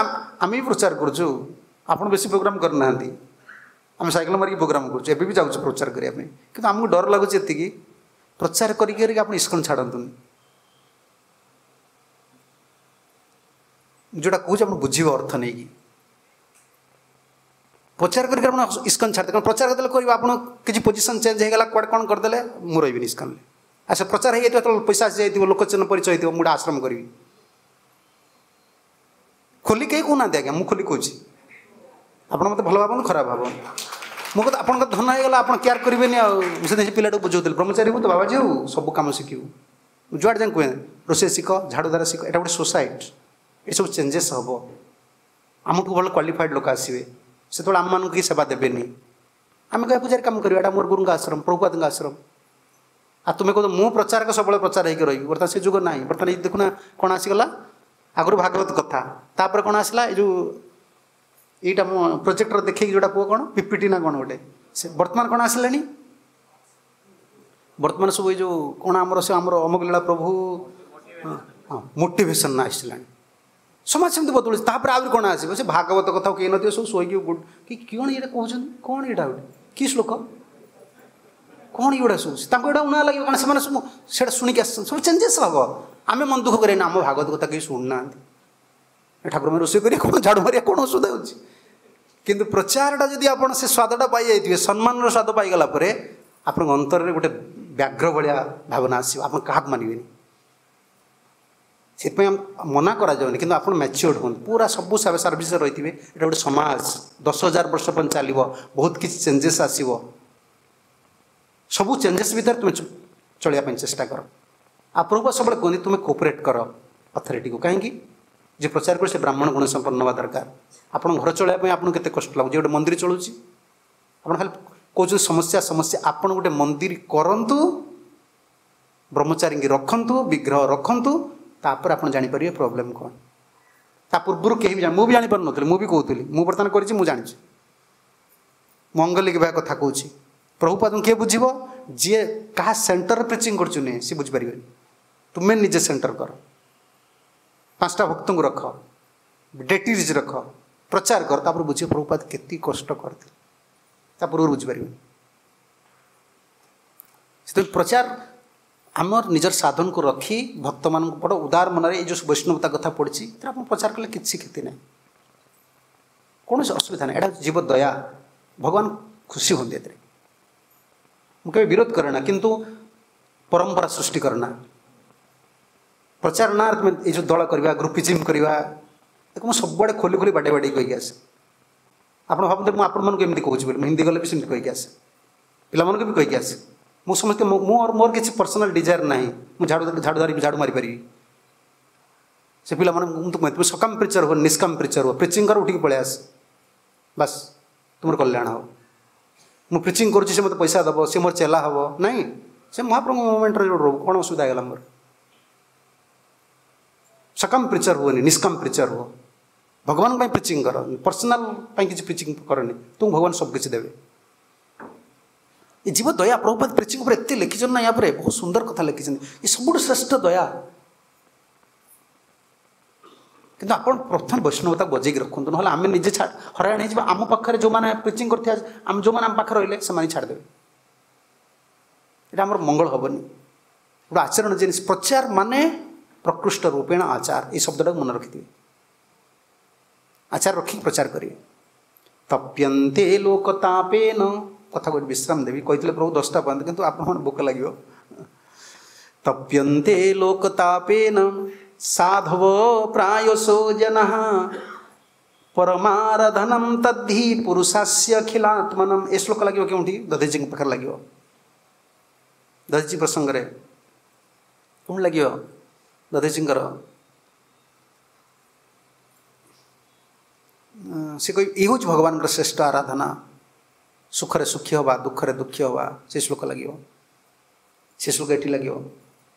ଆମେ ବି ପ୍ରଚାର କରୁଛୁ, ଆପଣ ବେଶୀ ପ୍ରୋଗ୍ରାମ୍ କରିନାହାନ୍ତି, ଆମେ ସାଇକେଲ ମାରିକି ପ୍ରୋଗ୍ରାମ୍ କରୁଛୁ, ଏବେ ବି ଯାଉଛୁ ପ୍ରଚାର କରିବା ପାଇଁ। କିନ୍ତୁ ଆମକୁ ଡର ଲାଗୁଛି ଏତିକି, ପ୍ରଚାର କରିକି କରିକି ଆପଣ ଇସ୍କନ ଛାଡ଼ନ୍ତୁନି। ଯେଉଁଟା କହୁଛି ଆପଣ ବୁଝିବେ ଅର୍ଥ ନେଇକି। ପ୍ରଚାର କରିକି ଆପଣ ଇସ୍କନ ଛାଡ଼ିଦେବେ, କାରଣ ପ୍ରଚାର କରିଦେଲେ କରିବ ଆପଣ କିଛି ପୋଜିସନ୍ ଚେଞ୍ଜ ହେଇଗଲା, କୁଆଡ଼େ କ'ଣ କରିଦେଲେ, ମୁଁ ରହିବିନି ଇସ୍କନରେ। ଆଚ୍ଛା ପ୍ରଚାର ହେଇଯାଇଥିବ, ଯେତେବେଳେ ପଇସା ଆସିଯାଇଥିବ, ଲୋକ ଚିହ୍ନ ପରିଚୟ ହେଇଥିବ, ମୁଁ ଗୋଟେ ଆଶ୍ରମ କରିବି। ଖୋଲି କେହି କହୁନାହାନ୍ତି ଆଜ୍ଞା, ମୁଁ ଖୋଲି କହୁଛି। ଆପଣ ମୋତେ ଭଲ ଭାବନ୍ତୁ ଖରାପ ଭାବନ୍ତୁ, ମୋ କଥା ଆପଣଙ୍କ ଧନ ହେଇଗଲା ଆପଣ କେୟାର କରିବେନି। ଆଉ ମୁଁ ସେ ପିଲାଟାକୁ ବୁଝାଉଥିଲି, ବ୍ରହ୍ମଚାରୀ ହବୁ ତ ବାବାଜୀ ହବୁ, ସବୁ କାମ ଶିଖିବୁ। ଯୁଆଡ଼େ ଯାଇ କୁହେ ରୋଷେଇ ଶିଖ, ଝାଡ଼ୁଦାର ଶିଖ, ଏଇଟା ଗୋଟେ ସୋସାଇଟି, ଏସବୁ ଚେଞ୍ଜେସ୍ ହେବ। ଆମଠୁ ଭଲ କ୍ୱାଲିଫାଏଡ଼ ଲୋକ ଆସିବେ, ସେତେବେଳେ ଆମମାନଙ୍କୁ କେହି ସେବା ଦେବେନି। ଆମେ କହିବା ପୂଜାରେ କାମ କରିବା, ଏଇଟା ମୋର ଗୁରୁଙ୍କ ଆଶ୍ରମ, ପ୍ରଭୁପାଦଙ୍କ ଆଶ୍ରମ। ଆଉ ତୁମେ କହୁଛ ମୁଁ ପ୍ରଚାରକ ସବୁବେଳେ ପ୍ରଚାର ହେଇକି ରହିବି, ବର୍ତ୍ତମାନ ସେ ଯୁଗ ନାହିଁ। ବର୍ତ୍ତମାନ ଏଇ ଦେଖୁନା କ'ଣ ଆସିଗଲା, ଆଗରୁ ଭାଗବତ କଥା, ତାପରେ କ'ଣ ଆସିଲା, ଏଇ ଯେଉଁ ଏଇଟା ମୁଁ ପ୍ରୋଜେକ୍ଟର ଦେଖେଇକି ଯେଉଁଟା କୁହ କ'ଣ ପିପିଟି ନା କ'ଣ ଗୋଟେ, ସେ ବର୍ତ୍ତମାନ କ'ଣ ଆସିଲାଣି, ବର୍ତ୍ତମାନ ସବୁ ଏଇ ଯେଉଁ କ'ଣ ଆମର ସେ ଆମର ଅମୁକ ଲୀଳା ପ୍ରଭୁ, ହଁ ମୋଟିଭେସନ୍ ଆସିଲାଣି। ସମାଜ ସେମିତି ବଦଳୁଛି। ତାପରେ ଆହୁରି କ'ଣ ଆସିବ, ସେ ଭାଗବତ କଥା କେହି ନଥିବ, ସବୁ ଶୋଇକି କି କ'ଣ ଏଇଟା କହୁଛନ୍ତି, କ'ଣ ଏଇଟା ଗୋଟେ କି ଶ୍ଲୋକ, କ'ଣ ଏଗୁଡ଼ା ସବୁ ତାଙ୍କୁ ଏଇଟା ଉଣା ଲାଗିବ, କାରଣ ସେମାନେ ସବୁ ସେଇଟା ଶୁଣିକି ଆସିଛନ୍ତି। ସବୁ ଚେଞ୍ଜେସ୍ ହେବ। ଆମେ ମନ ଦୁଃଖ କରିବେନି, ଆମ ଭାଗବତ କଥା କେହି ଶୁଣୁନାହାନ୍ତି, ଠାକୁରମାନେ ରୋଷେଇ କରିବା କ'ଣ ଝାଡ଼ୁ ମାରିବା କ'ଣ ଅସୁବିଧା ହେଉଛି। କିନ୍ତୁ ପ୍ରଚାରଟା ଯଦି ଆପଣ ସେ ସ୍ୱାଦଟା ପାଇଯାଇଥିବେ, ସମ୍ମାନର ସ୍ୱାଦ ପାଇଗଲା ପରେ ଆପଣଙ୍କ ଅନ୍ତରରେ ଗୋଟେ ବ୍ୟାଘ୍ର ଭଳିଆ ଭାବନା ଆସିବ, ଆପଣ କାହାକୁ ମାନିବେନି। ସେଥିପାଇଁ ମନା କରାଯାଉନି, କିନ୍ତୁ ଆପଣ ମ୍ୟାଚିଓର୍ଡ ହୁଅନ୍ତୁ, ପୁରା ସବୁ ସର୍ଭିସରେ ରହିଥିବେ। ଏଇଟା ଗୋଟେ ସମାଜ, ଦଶ ହଜାର ବର୍ଷ ପର୍ଯ୍ୟନ୍ତ ଚାଲିବ, ବହୁତ କିଛି ଚେଞ୍ଜେସ୍ ଆସିବ। ସବୁ ଚେଞ୍ଜେସ୍ ଭିତରେ ତୁମେ ଚଳିବା ପାଇଁ ଚେଷ୍ଟା କର। ଆଉ ପ୍ରଭୁ ସବୁବେଳେ କୁହନ୍ତି ତୁମେ କୋପରେଟ୍ କର ଅଥରିଟିକୁ। କାହିଁକି? ଯିଏ ପ୍ରଚାର କରେ ସେ ବ୍ରାହ୍ମଣ ଗୁଣ ସମ୍ପନ୍ନ ହେବା ଦରକାର। ଆପଣ ଘର ଚଳାଇବା ପାଇଁ ଆପଣଙ୍କୁ କେତେ କଷ୍ଟ ଲାଗୁଛି, ଗୋଟେ ମନ୍ଦିର ଚଳୁଛି, ଆପଣ ଖାଲି କହୁଛନ୍ତି ସମସ୍ୟା ସମସ୍ୟା। ଆପଣ ଗୋଟେ ମନ୍ଦିର କରନ୍ତୁ, ବ୍ରହ୍ମଚାରୀଙ୍କି ରଖନ୍ତୁ, ବିଗ୍ରହ ରଖନ୍ତୁ, ତାପରେ ଆପଣ ଜାଣିପାରିବେ ପ୍ରୋବ୍ଲେମ୍ କ'ଣ। ତା ପୂର୍ବରୁ କେହି ବି ଜାଣି, ମୁଁ ବି ଜାଣିପାରୁନଥିଲି, ମୁଁ ବି କହୁଥିଲି, ମୁଁ ବର୍ତ୍ତମାନ କରିଛି, ମୁଁ ଜାଣିଛି। ମଙ୍ଗଲିକ ଭାଇ କଥା କହୁଛି, ପ୍ରଭୁପାଦଙ୍କୁ କିଏ ବୁଝିବ? ଯିଏ କାହା ସେଣ୍ଟରରେ ପ୍ରିଚିଂ କରୁଛୁ ନୁହେଁ, ସିଏ ବୁଝିପାରିବେନି। ତୁମେ ନିଜେ ସେଣ୍ଟର କର, ପାଞ୍ଚଟା ଭକ୍ତଙ୍କୁ ରଖ, ଡେଟିଜ୍ ରଖ, ପ୍ରଚାର କର, ତାପରେ ବୁଝିବ ପ୍ରଭୁପାଦ କେତିକି କଷ୍ଟ କରିଥିଲେ। ତା ପୂର୍ବରୁ ବୁଝିପାରିବେନି। ସେଥିପାଇଁ ପ୍ରଚାର ଆମର ନିଜର ସାଧନକୁ ରଖି ଭକ୍ତମାନଙ୍କୁ ବଡ଼ ଉଦାର ମନରେ ଏଇ ଯେଉଁ ବୈଷ୍ଣବତା କଥା ପଡ଼ିଛି, ଏଥିରେ ଆପଣ ପ୍ରଚାର କଲେ କିଛି କ୍ଷତି ନାହିଁ, କୌଣସି ଅସୁବିଧା ନାହିଁ। ଏଇଟା ଜୀବ ଦୟା, ଭଗବାନ ଖୁସି ହୁଅନ୍ତି ଏଥିରେ। ମୁଁ କେବେ ବିରୋଧ କରେ ନା, କିନ୍ତୁ ପରମ୍ପରା ସୃଷ୍ଟି କରେ ନା। ପ୍ରଚାର ନା ତୁମେ ଏଇ ଯେଉଁ ଦଳ କରିବା, ଗ୍ରୁପିଜିମ୍ କରିବା, ତାକୁ ମୁଁ ସବୁଆଡ଼େ ଖୋଲି ଖୋଲି ବାଡ଼େଇ ବାଡ଼େଇ କହିକି ଆସେ। ଆପଣ ଭାବନ୍ତୁ ମୁଁ ଆପଣମାନଙ୍କୁ ଏମିତି କହୁଛି ବୋଲି, ମୁଁ ହିନ୍ଦୀ ଗଲେ ବି ସେମିତି କହିକି ଆସେ, ପିଲାମାନଙ୍କୁ ବି କହିକି ଆସେ। ମୁଁ ସମସ୍ତେ ମୋର ମୋର କିଛି ପର୍ସନାଲ୍ ଡିଜାୟାର ନାହିଁ, ମୁଁ ଝାଡ଼ୁ ଝାଡ଼ୁ ଧରିବି ଝାଡ଼ୁ ମାରିପାରିବି। ସେ ପିଲାମାନେ ମୁଁ ତ କୁହେ ତୁମେ ସକାମ ପ୍ରିଚର ହୁଅ, ନିଷ୍କାମ ପ୍ରିଚର ହୁଅ, ପ୍ରିଚିଂ କର, ଉଠିକି ପଳେଇ ଆସ, ବାସ୍ ତୁମର କଲ୍ୟାଣ ହେବ। ମୁଁ ପ୍ରିଚିଂ କରୁଛି, ସେ ମୋତେ ପଇସା ଦେବ, ସେ ମୋର ଚେଲା ହେବ, ନାଇଁ, ସେ ମହାପ୍ରଭୁଙ୍କ ମୁଭମେଣ୍ଟରେ ଯୋଉ ରହୁ, କ'ଣ ଅସୁବିଧା ହେଇଗଲା ମୋର? ସକାମ ପ୍ରିଚର ହୁଅନି, ନିଷ୍କାମ ପ୍ରିଚର ହୁଅ। ଭଗବାନଙ୍କ ପାଇଁ ପ୍ରିଚିଂ କର, ପର୍ସନାଲ୍ ପାଇଁ କିଛି ପ୍ରିଚିଂ କରନି, ତୁମକୁ ଭଗବାନ ସବୁ କିଛି ଦେବେ। ଏ ଜୀବ ଦୟା ପ୍ରଭୁପାଦ ପ୍ରିଚିଂ ଉପରେ ଏତେ ଲେଖିଛନ୍ତି ନା, ୟା ପରେ ବହୁତ ସୁନ୍ଦର କଥା ଲେଖିଛନ୍ତି। ଏ ସବୁଠୁ ଶ୍ରେଷ୍ଠ ଦୟା। କିନ୍ତୁ ଆପଣ ପ୍ରଥମେ ବୈଷ୍ଣବତାକୁ ବଜେଇକି ରଖନ୍ତୁ, ନହେଲେ ଆମେ ନିଜେ ହଇରାଣ ହେଇଯିବା। ଆମ ପାଖରେ ଯେଉଁମାନେ ପ୍ରିଚିଂ କରିଥିବା, ଆମେ ଯେଉଁମାନେ ଆମ ପାଖରେ ରହିଲେ ସେମାନେ ଛାଡ଼ିଦେବେ, ଏଇଟା ଆମର ମଙ୍ଗଳ ହେବନି। ଗୋଟେ ଆଚରଣ ଜିନିଷ, ପ୍ରଚାର ମାନେ ପ୍ରକୃଷ୍ଟ ରୂପେଣ ଆଚାର, ଏଇ ଶବ୍ଦଟାକୁ ମନେ ରଖିଥିବେ। ଆଚାର ରଖିକି ପ୍ରଚାର କରିବେ। ତପ୍ୟନ୍ତେ ଲୋକତାପେନ, କଥା ଗୋଟେ ବିଶ୍ରାମ ଦେବି, କହିଥିଲେ ପ୍ରଭୁ ଦଶଟା ପର୍ଯ୍ୟନ୍ତ, କିନ୍ତୁ ଆପଣମାନେ ଭୋକ ଲାଗିବ। ତପ୍ୟନ୍ତେ ଲୋକତାପେନ ସାଧବ ପ୍ରାୟଶୋ ଜନଃ ପରମାରାଧନಂ ତଦ୍ଧି ପୁରୁଷାସ୍ୟ ଅଖିଲାତ୍ମନମ୍। ଏ ଶ୍ଲୋକ ଲାଗିବ କେଉଁଠି? ଦଧିଚିଙ୍କ ପାଖରେ ଲାଗିବ। ଦଧିଚି ପ୍ରସଙ୍ଗରେ କେଉଁଠି ଲାଗିବ? ଦଧିଚିଙ୍କର ସେ କହି ଏ ହେଉଛି ଭଗବାନଙ୍କର ଶ୍ରେଷ୍ଠ ଆରାଧନା, ସୁଖରେ ସୁଖୀ ହେବା, ଦୁଃଖରେ ଦୁଃଖୀ ହେବା, ସେ ଶ୍ଲୋକ ଲାଗିବ। ସେ ଶ୍ଲୋକ ଏଠି ଲାଗିବ।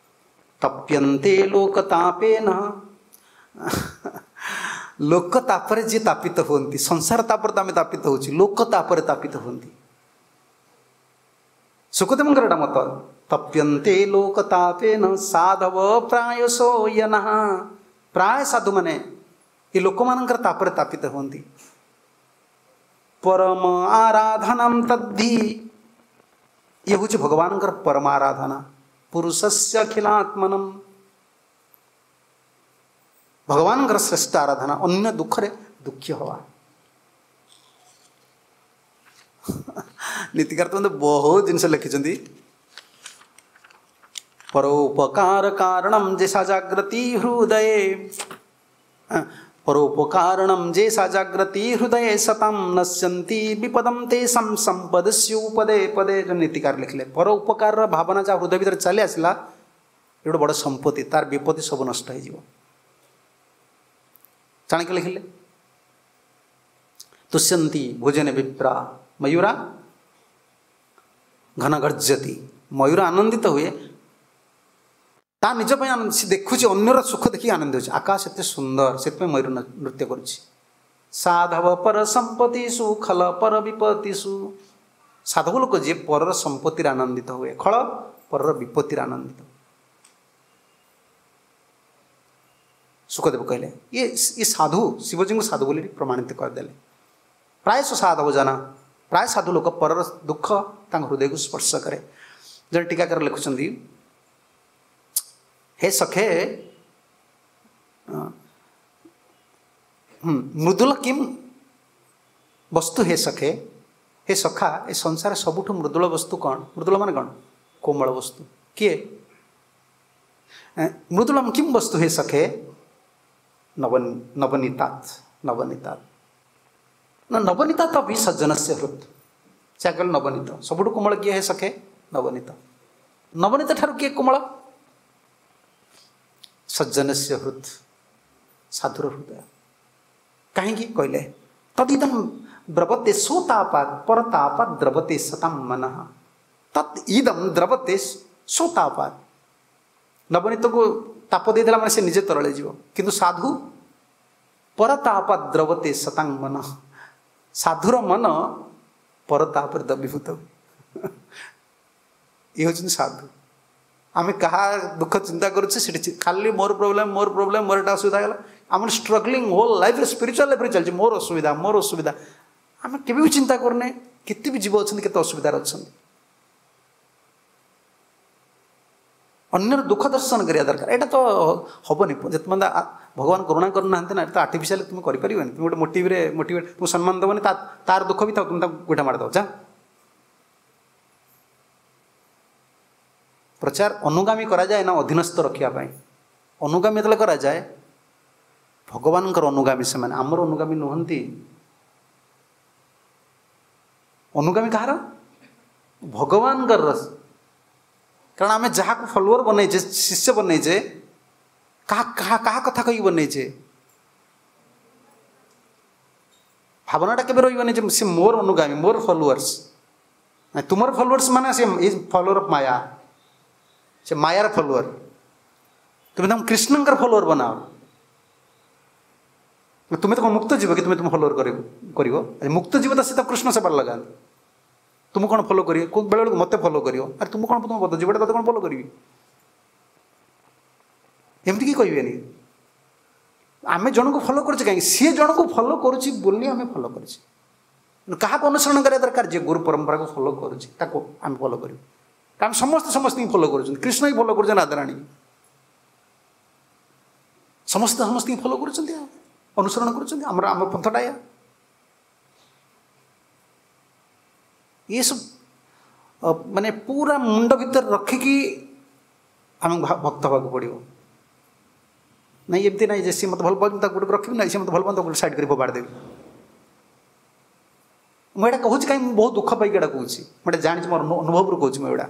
ତପ୍ୟନ୍ତେ ଲୋକତାପେନ, ଲୋକ ତାପରେ ଯିଏ ତାପିତ ହୁଅନ୍ତି, ସଂସାର ତାପରେ ତ ଆମେ ତାପିତ ହେଉଛୁ, ଲୋକ ତାପରେ ତାପିତ ହୁଅନ୍ତି। ସୁଖଦେବଙ୍କର ଏଟା ମତ। ତପ୍ୟନ୍ତେ ଲୋକତାପେନ ସାଧବ ପ୍ରାୟଶୋ ୟନଃ, ପ୍ରାୟ ସାଧୁମାନେ ଏ ଲୋକମାନଙ୍କର ତାପରେ ତାପିତ ହୁଅନ୍ତି। ପରମ ଆରାଧନାಂ ତଦ୍ଧି, ଇଏ ହେଉଛି ଭଗବାନଙ୍କର ପରମ ଆରାଧନା। ପୁରୁଷସ୍ୟ ଅଖିଲାତ୍ମନମ୍, ଭଗବାନଙ୍କର ଶ୍ରେଷ୍ଠ ଆରାଧନା, ଅନ୍ୟ ଦୁଃଖରେ ଦୁଃଖୀ ହେବା। ନୀତିକାର ତ ବହୁତ ଜିନିଷ ଲେଖିଛନ୍ତି। ପରୋପକାର କାରଣಂ ଯେସା ଜାଗ୍ରତି ହୃଦୟେ, ପରୋପକାରଣಂ ଯେସା ଜାଗ୍ରତି ହୃଦୟେ ସତାಂ ନଶ୍ୟନ୍ତି ବିପଦಂ ତେଷାଂ ସମ୍ପଦସ୍ୟୁ ପଦେ ପଦେ। ଯେଉଁ ନୀତିକାର ଲେଖିଲେ, ପର ଉପକାରର ଭାବନା ଯାହା ହୃଦୟ ଭିତରେ ଚାଲି ଆସିଲା, ଏ ଗୋଟେ ବଡ଼ ସମ୍ପତ୍ତି, ତାର ବିପତ୍ତି ସବୁ ନଷ୍ଟ ହେଇଯିବ। ଚାଣକ୍ୟ ଲେଖିଲେ, ତୁଷ୍ୟନ୍ତି ଭୋଜନେ ବିପ୍ରା ମୟୂରା ଘନ ଗର୍ଜତି, ମୟୂର ଆନନ୍ଦିତ ହୁଏ ତା ନିଜ ପାଇଁ ଆନନ୍ଦ, ସେ ଦେଖୁଛି ଅନ୍ୟର ସୁଖ ଦେଖିକି ଆନନ୍ଦ ହେଉଛି। ଆକାଶ ଏତେ ସୁନ୍ଦର, ସେଥିପାଇଁ ମୟୂର ନୃତ୍ୟ କରୁଛି। ସାଧବ ପର ସମ୍ପତ୍ତିଷୁ ଖଲ ପର ବିପତ୍ତିଷୁ, ସାଧବ ଲୋକ ଯିଏ ପରର ସମ୍ପତ୍ତିରେ ଆନନ୍ଦିତ ହୁଏ, ଖଳ ପରର ବିପତ୍ତିରେ ଆନନ୍ଦିତ। ସୁଖଦେବ କହିଲେ ଇଏ ଇଏ ସାଧୁ, ଶିବଜୀଙ୍କୁ ସାଧୁ ବୋଲି ପ୍ରମାଣିତ କରିଦେଲେ। ପ୍ରାୟଶଃ ସାଧବ ଜନ, ପ୍ରାୟ ସାଧୁ ଲୋକ ପରର ଦୁଃଖ ତାଙ୍କ ହୃଦୟକୁ ସ୍ପର୍ଶ କରେ। ଜଣେ ଟୀକାକାର ଲେଖୁଛନ୍ତି, ହେ ସଖେ ମୃଦୁଲ କିମ୍ ବସ୍ତୁ, ହେ ସଖେ, ହେ ସଖା, ଏ ସଂସାର ସବୁଠୁ ମୃଦୁଳ ବସ୍ତୁ କ'ଣ? ମୃଦୁଳ ମାନେ କ'ଣ? କୋମଳ ବସ୍ତୁ। କିଏ? ମୃଦୁଳମ କିମ୍ ବସ୍ତୁ ହେ ସଖେ? ନବ ନବନୀତାତ୍, ନବନୀତାତ୍ ନା ନବନୀତା ତ ବି ସଜ୍ଜନସ୍ୟ ହୃତ୍। ସେ କହିଲେ ନବନୀତ ସବୁଠୁ କୋମଳ କିଏ ହେ ସଖେ? ନବନୀତ। ନବନୀତ ଠାରୁ କିଏ କୋମଳ? ସଜ୍ଜନସ୍ୟ ହୃତ୍, ସାଧୁର ହୃଦୟ। କାହିଁକି କହିଲେ? ତଦିଦಂ ଦ୍ରବତେ ସୋତାପାତ ପରତାପାତ ଦ୍ରବତେ ସତାಂ ମନଃ, ତତ୍ ଇଦಂ ଦ୍ରବତେ ସୋତାପାତ। ନବନୀତକୁ ତାପ ଦେଇଦେଲା ମାନେ ସେ ନିଜେ ତରଳିଯିବ, କିନ୍ତୁ ସାଧୁ ପରତାପାତ ଦ୍ରବତେ ସତାଂ ମନଃ, ସାଧୁର ମନ ପରତାପରେ ଦ୍ରବୀଭୂତ। ଇଏ ହେଉଛନ୍ତି ସାଧୁ। ଆମେ କାହା ଦୁଃଖ ଚିନ୍ତା କରୁଛେ ସେଠି ଖାଲି ମୋର ପ୍ରୋବ୍ଲେମ୍, ମୋର ପ୍ରୋବ୍ଲେମ୍, ମୋର ଏଇଟା ଅସୁବିଧା ହେଇଗଲା। ଆମର ଷ୍ଟ୍ରଗଲିଂ ହୋଲ୍ ଲାଇଫ୍ରେ, ସ୍ପିରିଚୁଆଲ୍ ଲାଇଫ୍ରେ ଚାଲିଛି ମୋର ଅସୁବିଧା, ମୋର ଅସୁବିଧା। ଆମେ କେବେ ବି ଚିନ୍ତା କରୁନେ କେତେ ବି ଜୀବ ଅଛନ୍ତି, କେତେ ଅସୁବିଧାରେ ଅଛନ୍ତି। ଅନ୍ୟର ଦୁଃଖ ଦର୍ଶନ କରିବା ଦରକାର। ଏଇଟା ତ ହେବନି ଯେତେ ପର୍ଯ୍ୟନ୍ତ ଭଗବାନ କରୁଣା କରୁନାହାନ୍ତି ନା, ଏଇଟା ତ ଆର୍ଟିଫିସିଆଲି ତୁମେ କରିପାରିବନି। ତୁମେ ଗୋଟେ ମୋଟିଭରେ ମୋଟିଭେଟ୍ ତୁମକୁ ସମ୍ମାନ ଦେବନି, ତା ତାର ଦୁଃଖ ବି ଥାଉ, ତୁମେ ତାକୁ ଗୋଇଠା ମାରିଦେବ ଯା। ପ୍ରଚାର ଅନୁଗାମୀ କରାଯାଏ ନା ଅଧୀନସ୍ଥ ରଖିବା ପାଇଁ? ଅନୁଗାମୀ ଯେତେବେଳେ କରାଯାଏ, ଭଗବାନଙ୍କର ଅନୁଗାମୀ ସେମାନେ, ଆମର ଅନୁଗାମୀ ନୁହନ୍ତି। ଅନୁଗାମୀ କାହାର? ଭଗବାନଙ୍କର। କାରଣ ଆମେ ଯାହାକୁ ଫଲୋଅର ବନେଇଛେ, ଶିଷ୍ୟ ବନେଇଛେ, କାହା କାହା କାହା କଥା କହିକି ବନେଇଛେ? ଭାବନାଟା କେବେ ରହିବନି ଯେ ସେ ମୋର ଅନୁଗାମୀ, ମୋର ଫଲୋଅର୍ସ। ତୁମର ଫଲୋଅର୍ସ ମାନେ ସେ is follower of ମାୟା, ସେ ମାୟାର ଫଲୋଅର। ତୁମେ ତାଙ୍କୁ କୃଷ୍ଣଙ୍କର ଫଲୋଅର ବନାଅ। ତୁମେ ତ କ'ଣ ମୁକ୍ତ ଯିବ କି ତୁମେ ତୁମ ଫଲୋଅର କରିବ? ମୁକ୍ତ ଯିବ ତ ସେ ତ କୃଷ୍ଣ ସେବାରେ ଲଗାନ୍ତି। ତୁମକୁ କ'ଣ ଫଲୋ କରିବେ? ବେଳେବେଳେ ମୋତେ ଫଲୋ କରିବ। ଆରେ ତୁମକୁ କ'ଣ, ତୁମ ବଦ୍ଧ ଜୀବଟା ତତେ କ'ଣ ଫଲୋ କରିବି? ଏମିତି କି କହିବେନି। ଆମେ ଜଣକୁ ଫଲୋ କରୁଛେ କାହିଁକି? ସିଏ ଜଣକୁ ଫଲୋ କରୁଛି ବୋଲି ଆମେ ଫଲୋ କରୁଛେ। କାହାକୁ ଅନୁସରଣ କରିବା ଦରକାର? ଯିଏ ଗୁରୁ ପରମ୍ପରାକୁ ଫଲୋ କରୁଛି ତାକୁ ଆମେ ଫଲୋ କରିବୁ। କାରଣ ସମସ୍ତେ ସମସ୍ତଙ୍କୁ ଫଲୋ କରୁଛନ୍ତି। କୃଷ୍ଣ ହିଁ ଫଲୋ କରୁଛନ୍ତି ରାଧାରାଣୀ, ସମସ୍ତେ ସମସ୍ତଙ୍କୁ ଫଲୋ କରୁଛନ୍ତି, ଆଉ ଅନୁସରଣ କରୁଛନ୍ତି। ଆମର ଆମ ପନ୍ଥଟା ଏଇଆ। ଏସବୁ ମାନେ ପୁରା ମୁଣ୍ଡ ଭିତରେ ରଖିକି ଆମକୁ ଭକ୍ତ ହେବାକୁ ପଡ଼ିବ। ନାଇଁ ଏମିତି ନାଇଁ ଯେ ସିଏ ମୋତେ ଭଲ ପାଉଛି ମୁଁ ତାକୁ ଗୋଟେ ରଖିବି, ନାଇଁ ସିଏ ମୋତେ ଭଲ ପାଉନି ତାକୁ ଗୋଟେ ସାଇଡ଼୍ କରି ଫୋପାଡ଼ି ଦେବି। ମୁଁ ଏଇଟା କହୁଛି କାହିଁ ମୁଁ ବହୁତ ଦୁଃଖ ପାଇକି ଏଇଟା କହୁଛି, ମୁଁ ଏଇଟା ଜାଣିଛି, ମୋର ଅନୁଭବରୁ କହୁଛି। ମୁଁ ଏଇଟା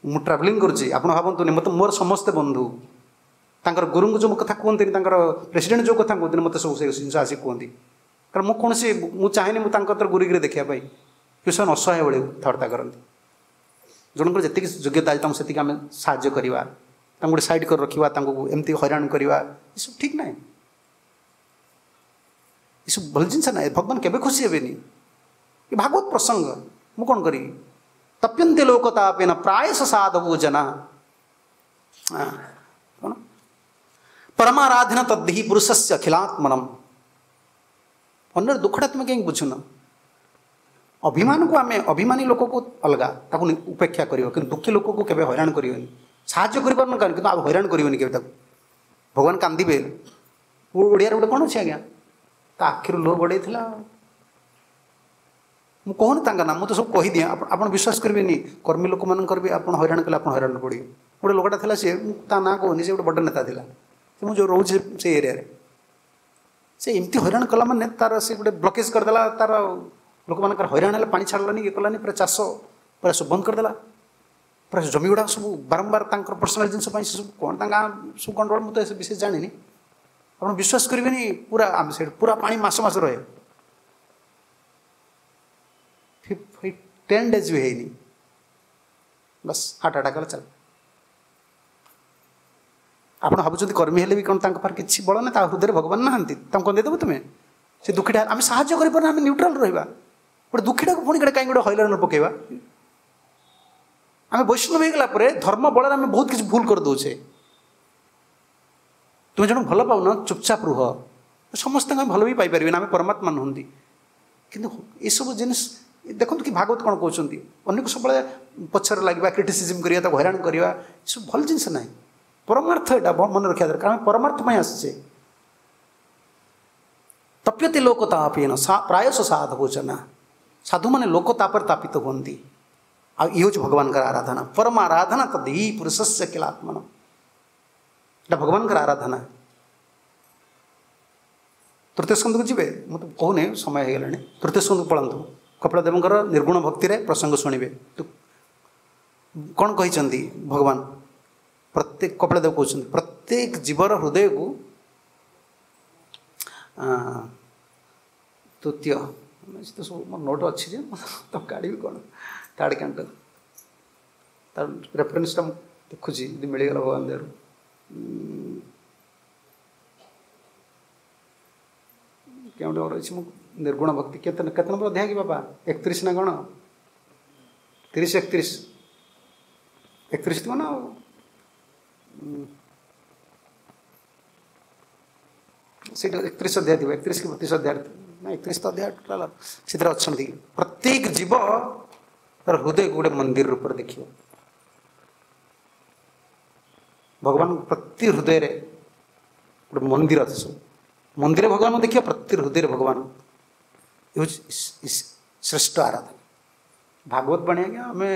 ମୁଁ ଟ୍ରାଭେଲିଂ କରୁଛି, ଆପଣ ଭାବନ୍ତୁନି ମୋତେ ମୋର ସମସ୍ତେ ବନ୍ଧୁ, ତାଙ୍କର ଗୁରୁଙ୍କୁ ଯେଉଁ କଥା କୁହନ୍ତିନି, ତାଙ୍କର ପ୍ରେସିଡେଣ୍ଟ ଯେଉଁ କଥା କୁହନ୍ତିନି, ମୋତେ ସବୁ ସେ ଜିନିଷ ଆସିକି କୁହନ୍ତି। କାରଣ ମୁଁ କୌଣସି ମୁଁ ଚାହେଁନି ମୁଁ ତାଙ୍କ କତିରେ ଗୁରୁଗିରି ଦେଖିବା ପାଇଁ, କିନ୍ତୁ ସେମାନେ ଅସହାୟ ଭଳି କଥାବାର୍ତ୍ତା କରନ୍ତି। ଜଣଙ୍କର ଯେତିକି ଯୋଗ୍ୟତା ଅଛି ତାଙ୍କୁ ସେତିକି ଆମେ ସାହାଯ୍ୟ କରିବା, ତାଙ୍କୁ ଗୋଟେ ସାଇଡ଼୍ କରି ରଖିବା, ତାଙ୍କୁ ଏମିତି ହଇରାଣ କରିବା ଏସବୁ ଠିକ୍ ନାହିଁ, ଏସବୁ ଭଲ ଜିନିଷ ନାହିଁ। ଭଗବାନ କେବେ ଖୁସି ହେବେନି। ଏ ଭାଗବତ ପ୍ରସଙ୍ଗ ମୁଁ କ'ଣ କରିବି? ତପ୍ୟନ୍ତେ ଲୋକ ତାପେନ ପ୍ରାୟଶ ସାଧବୋ ଜନା କ'ଣ ପରମାରାଧନା ତଦ୍ଧି ପୁରୁଷସ୍ୟ ଅଖିଲାତ୍ମନମ୍। ଅନ୍ୟର ଦୁଃଖଟା ତୁମେ କାହିଁକି ବୁଝୁନ? ଅଭିମାନକୁ ଆମେ ଅଭିମାନୀ ଲୋକକୁ ଅଲଗା ତାକୁ ଉପେକ୍ଷା କରିବ, କିନ୍ତୁ ଦୁଃଖୀ ଲୋକକୁ କେବେ ହଇରାଣ କରିବନି। ସାହାଯ୍ୟ କରିପାରୁନ କାରଣ, କିନ୍ତୁ ଆଉ ହଇରାଣ କରିବନି କେବେ ତାକୁ। ଭଗବାନ କାନ୍ଦିବେ। ଓଡ଼ିଆରେ ଗୋଟେ କ'ଣ ଅଛି ଆଜ୍ଞା, ତା ଆଖିରୁ ଲୁହ ଗଡ଼େଇଥିଲା। ମୁଁ କହୁନି ତାଙ୍କ ନାଁ, ମୁଁ ତ ସବୁ କହିଦିଏ, ଆପଣ ବିଶ୍ୱାସ କରିବେନି। କର୍ମୀ ଲୋକମାନଙ୍କର ବି ଆପଣ ହଇରାଣ କଲେ ଆପଣ ହଇରାଣ ପଡ଼ିବେ। ଗୋଟେ ଲୋକଟା ଥିଲା, ସିଏ ମୁଁ ତା ନାଁ କହୁନି, ସେ ଗୋଟେ ବଡ଼ ନେତା ଥିଲା, ସେ ମୁଁ ଯେଉଁ ରହୁଛି ସେ ଏରିଆରେ, ସେ ଏମିତି ହଇରାଣ କଲା ମାନେ ତାର ସେ ଗୋଟେ ବ୍ଲକେଜ୍ କରିଦେଲା। ତାର ଲୋକମାନଙ୍କର ହଇରାଣ ହେଲେ ପାଣି ଛାଡ଼ିଲାନି, ଇଏ କଲାନି, ପୁରା ଚାଷ ପୁରା ସବୁ ବନ୍ଦ କରିଦେଲା। ପୁରା ଜମି ଗୁଡ଼ାକ ସବୁ ବାରମ୍ବାର ତାଙ୍କର ପର୍ସନାଲ୍ ଜିନିଷ ପାଇଁ ସେ ସବୁ କ'ଣ ତାଙ୍କ ଗାଁ ସବୁ ଗଣ୍ଡଗୋଳ, ମୁଁ ତ ଏ ବିଶେଷ ଜାଣିନି। ଆପଣ ବିଶ୍ୱାସ କରିବେନି, ପୁରା ଆମେ ସେଇଠି ପୁରା ପାଣି ମାସ ମାସ ରହେ, ଟେନ୍ ଡେଜ୍ ବି ହେଇନି, ବାସ୍ ହାର୍ଟ ଆଟାକ୍ କଲା ଚାଲ। ଆପଣ ଭାବୁଛନ୍ତି କର୍ମୀ ହେଲେ ବି କ'ଣ ତାଙ୍କ ପାଖରେ କିଛି ବଳ ନାହିଁ? ତା ହୃଦୟରେ ଭଗବାନ ନାହାନ୍ତି, ତାଙ୍କୁ କ'ଣ ଦେଇଦେବ ତୁମେ? ସେ ଦୁଃଖୀଟା ଆମେ ସାହାଯ୍ୟ କରିପାରୁନା, ଆମେ ନ୍ୟୁଟ୍ରାଲ୍ ରହିବା। ଗୋଟେ ଦୁଃଖୀଟାକୁ ପୁଣି ଗୋଟେ କାହିଁକି ଗୋଟେ ହଇରାଣ ପକାଇବା? ଆମେ ବୈଷ୍ଣବ ହେଇଗଲା ପରେ ଧର୍ମ ବଳରେ ଆମେ ବହୁତ କିଛି ଭୁଲ କରିଦେଉଛେ। ତୁମେ ଜଣକୁ ଭଲ ପାଉନ, ଚୁପଚାପ ରୁହ। ସମସ୍ତଙ୍କୁ ଆମେ ଭଲ ବି ପାଇପାରିବେନି, ଆମେ ପରମାତ୍ମା ନୁହନ୍ତି। କିନ୍ତୁ ଏସବୁ ଜିନିଷ ଦେଖନ୍ତୁ କି ଭାଗବତ କ'ଣ କହୁଛନ୍ତି, ଅନ୍ୟକୁ ସବୁବେଳେ ପଛରେ ଲାଗିବା, କ୍ରିଟିସିଜିମ୍ କରିବା, ତାକୁ ହଇରାଣ କରିବା, ଏସବୁ ଭଲ ଜିନିଷ ନାହିଁ। ପରମାର୍ଥ ଏଇଟା ମନେ ରଖିବା ଦରକାର, ଆମେ ପରମାର୍ଥ ପାଇଁ ଆସିଛେ। ତପ୍ୟତେ ଲୋକ ତାପେନ ପ୍ରାୟଶ ସାଧବୋ ଜନା, ସାଧୁମାନେ ଲୋକ ତାପରେ ତାପିତ ହୁଅନ୍ତି। ଆଉ ଇଏ ହେଉଛି ଭଗବାନଙ୍କର ଆରାଧନା, ପରମ ଆରାଧନା ତଦ୍ଧି ପୁରୁଷସ୍ୟ କିଳାତ୍ମନ। ଏଇଟା ଭଗବାନଙ୍କର ଆରାଧନା। ତୃତୀୟ ସ୍କନ୍ଧକୁ ଯିବେ, ମୁଁ ତ କହୁନି, ସମୟ ହେଇଗଲାଣି। ତୃତୀୟ ସ୍କନ୍ଧକୁ ପଳାନ୍ତୁ, କପିଳ ଦେବଙ୍କର ନିର୍ଗୁଣ ଭକ୍ତିରେ ପ୍ରସଙ୍ଗ ଶୁଣିବେ। କ'ଣ କହିଛନ୍ତି ଭଗବାନ? ପ୍ରତ୍ୟେକ କପିଳ ଦେବ କହୁଛନ୍ତି ପ୍ରତ୍ୟେକ ଜୀବର ହୃଦୟକୁ ତୃତୀୟ ତ ସବୁ ମୋର ନୋଟ୍ ଅଛି ଯେ ତ କାଢ଼ିବି କ'ଣ, ଥାର୍ଡ଼ କ୍ୟାଣ୍ଟୋ ତାର ରେଫରେନ୍ସଟା ମୁଁ ଦେଖୁଛି ଯଦି ମିଳିଗଲା ଭଗବାନ ଦେହରୁ। କେଉଁଠି ମୋର ଅଛି ମୁଁ ନିର୍ଗୁଣ ଭକ୍ତି କେତେ କେତେ ନମ୍ବର ଅଧ୍ୟାୟ କି ବାପା? ଏକତିରିଶ ନା କ'ଣ? ତିରିଶ ଏକତିରିଶ ଏକତିରିଶ ଥିବ ନା ଆଉ। ସେଇଟା ଏକତିରିଶ ଅଧ୍ୟାୟ ଥିବ, ଏକତିରିଶ କି ବତିଶ ଅଧ୍ୟାୟ ନା ଏକତିରିଶ ତ ଅଧ୍ୟାୟ ଟୋଟାଲ ସେଥିରେ ଅଛନ୍ତି। ପ୍ରତ୍ୟେକ ଜୀବ ତାର ହୃଦୟକୁ ଗୋଟେ ମନ୍ଦିର ରୂପରେ ଦେଖିବ। ଭଗବାନ ପ୍ରତି ହୃଦୟରେ ଗୋଟେ ମନ୍ଦିର ଅଛି, ସବୁ ମନ୍ଦିର ଭଗବାନଙ୍କୁ ଦେଖିବ, ପ୍ରତି ହୃଦୟରେ ଭଗବାନ। ଏ ହେଉଛି ଶ୍ରେଷ୍ଠ ଆରାଧନା। ଭାଗବତ ବାଣୀ ଆଜ୍ଞା, ଆମେ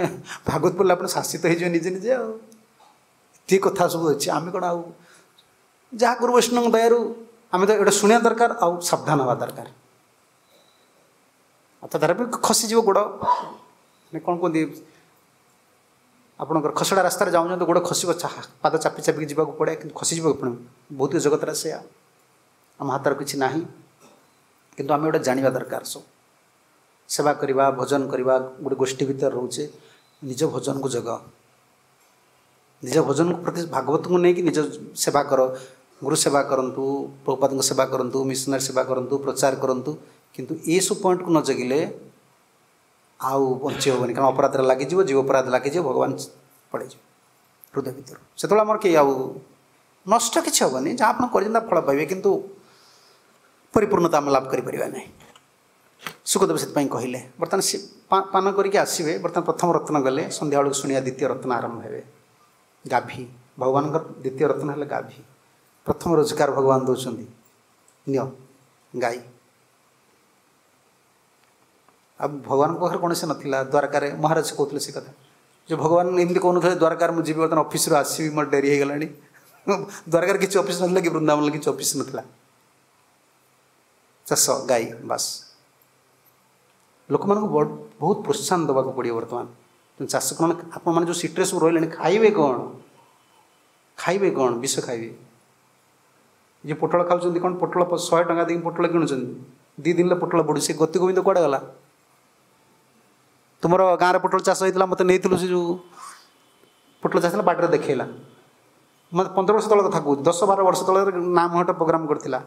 ଭାଗବତ ପଢ଼ିଲେ ଆପଣ ଶାସିତ ହେଇଯିବେ ନିଜେ ନିଜେ। ଆଉ ଏତିକି କଥା ସବୁ ଅଛି, ଆମେ କ'ଣ ଆଉ ଯାହା ଗୁରୁ ବୈଷ୍ଣବଙ୍କ ଦୟାରୁ ଆମେ ତ ଏଇଟା ଶୁଣିବା ଦରକାର ଆଉ ସାବଧାନ ହେବା ଦରକାର। ଆଉ ତା ଦ୍ୱାରା ବି ଖସିଯିବ ଗୋଡ଼, ମାନେ କ'ଣ କୁହନ୍ତି ଆପଣଙ୍କର ଖସଡ଼ା ରାସ୍ତାରେ ଯାଉଛନ୍ତି ଗୋଡ଼ ଖସିବ, ପାଦ ଚାପି ଚାପିକି ଯିବାକୁ ପଡ଼େ, କିନ୍ତୁ ଖସିଯିବ ପୁଣି। ବହୁତ ଜଗତରେ ସେଇଆ, ଆମ ହାତରେ କିଛି ନାହିଁ, କିନ୍ତୁ ଆମେ ଗୋଟେ ଜାଣିବା ଦରକାର। ସବୁ ସେବା କରିବା, ଭଜନ କରିବା, ଗୋଟେ ଗୋଷ୍ଠୀ ଭିତରେ ରହୁଛେ, ନିଜ ଭଜନକୁ ଜଗ, ନିଜ ଭଜନକୁ ପ୍ରତି ଭାଗବତଙ୍କୁ ନେଇକି ନିଜ ସେବା କର, ଗୁରୁ ସେବା କରନ୍ତୁ, ପ୍ରଭୁପାଦଙ୍କ ସେବା କରନ୍ତୁ, ମିଶନାରୀ ସେବା କରନ୍ତୁ, ପ୍ରଚାର କରନ୍ତୁ, କିନ୍ତୁ ଏସବୁ ପଏଣ୍ଟକୁ ନ ଜଗିଲେ ଆଉ ବଞ୍ଚି ହେବନି। କାରଣ ଅପରାଧରେ ଲାଗିଯିବ, ଜୀବ ଅପରାଧ ଲାଗିଯିବ, ଭଗବାନ ପଳେଇଯିବ ହୃଦୟ ଭିତରୁ। ସେତେବେଳେ ଆମର କେହି ଆଉ ନଷ୍ଟ କିଛି ହେବନି, ଯାହା ଆପଣ କରିଛନ୍ତି ତା ଫଳ ପାଇବେ, କିନ୍ତୁ ପରିପୂର୍ଣ୍ଣତା ଆମେ ଲାଭ କରିପାରିବା ନାହିଁ। ଶୁକଦେବ ସେଥିପାଇଁ କହିଲେ। ବର୍ତ୍ତମାନ ସେ ପାନ କରିକି ଆସିବେ। ବର୍ତ୍ତମାନ ପ୍ରଥମ ରତ୍ନ ଗଲେ, ସନ୍ଧ୍ୟାବେଳକୁ ଶୁଣିବା ଦ୍ୱିତୀୟ ରତ୍ନ ଆରମ୍ଭ ହେବେ। ଗାଭୀ, ଭଗବାନଙ୍କର ଦ୍ୱିତୀୟ ରତ୍ନ ହେଲେ ଗାଭୀ। ପ୍ରଥମ ରୋଜଗାର ଭଗବାନ ଦେଉଛନ୍ତି, ନିଅ ଗାଈ। ଆଉ ଭଗବାନଙ୍କ ପାଖରେ କୌଣସି ନଥିଲା। ଦ୍ୱାରକାରେ ମହାରାଜ କହୁଥିଲେ ସେ କଥା, ଯେ ଭଗବାନ ଏମିତି କହୁନଥିଲେ ଦ୍ୱାରକାରେ ମୁଁ ଯିବି, ବର୍ତ୍ତମାନ ଅଫିସରୁ ଆସିବି, ମୋର ଡେରି ହେଇଗଲାଣି। ଦ୍ୱାରକାରେ କିଛି ଅଫିସ ନଥିଲା କି ବୃନ୍ଦାବନରେ କିଛି ଅଫିସ ନଥିଲା। ଚାଷ, ଗାଈ, ବାସ୍। ଲୋକମାନଙ୍କୁ ବହୁତ ପ୍ରୋତ୍ସାହନ ଦେବାକୁ ପଡ଼ିବ ବର୍ତ୍ତମାନ। ଚାଷ କ'ଣ, ଆପଣମାନେ ଯେଉଁ ସିଟିରେ ସବୁ ରହିଲେଣି, ଖାଇବେ କ'ଣ? ଖାଇବେ କ'ଣ? ବିଷ ଖାଇବେ। ଯେ ପୋଟଳ ଖାଉଛନ୍ତି କ'ଣ, ପୋଟଳ ଶହେ ଟଙ୍କା ଦେଇକି ପୋଟଳ କିଣୁଛନ୍ତି, ଦୁଇ ଦିନରେ ପୋଟଳ ବଢ଼ୁଛି। ସେ ଗତି ଗୋବିନ୍ଦ କୁଆଡ଼େ ଗଲା? ତୁମର ଗାଁରେ ପୋଟଳ ଚାଷ ହେଇଥିଲା, ମୋତେ ନେଇଥିଲୁ, ସେ ଯେଉଁ ପୋଟଳ ଚାଷ ହେଲା ବାଟରେ ଦେଖେଇଲା। ମୋତେ ପନ୍ଦର ବର୍ଷ ତଳ କଥା କହୁଛି, ଦଶ ବାର ବର୍ଷ ତଳେ ନାମ ଗୋଟେ ପ୍ରୋଗ୍ରାମ୍ କରିଥିଲା।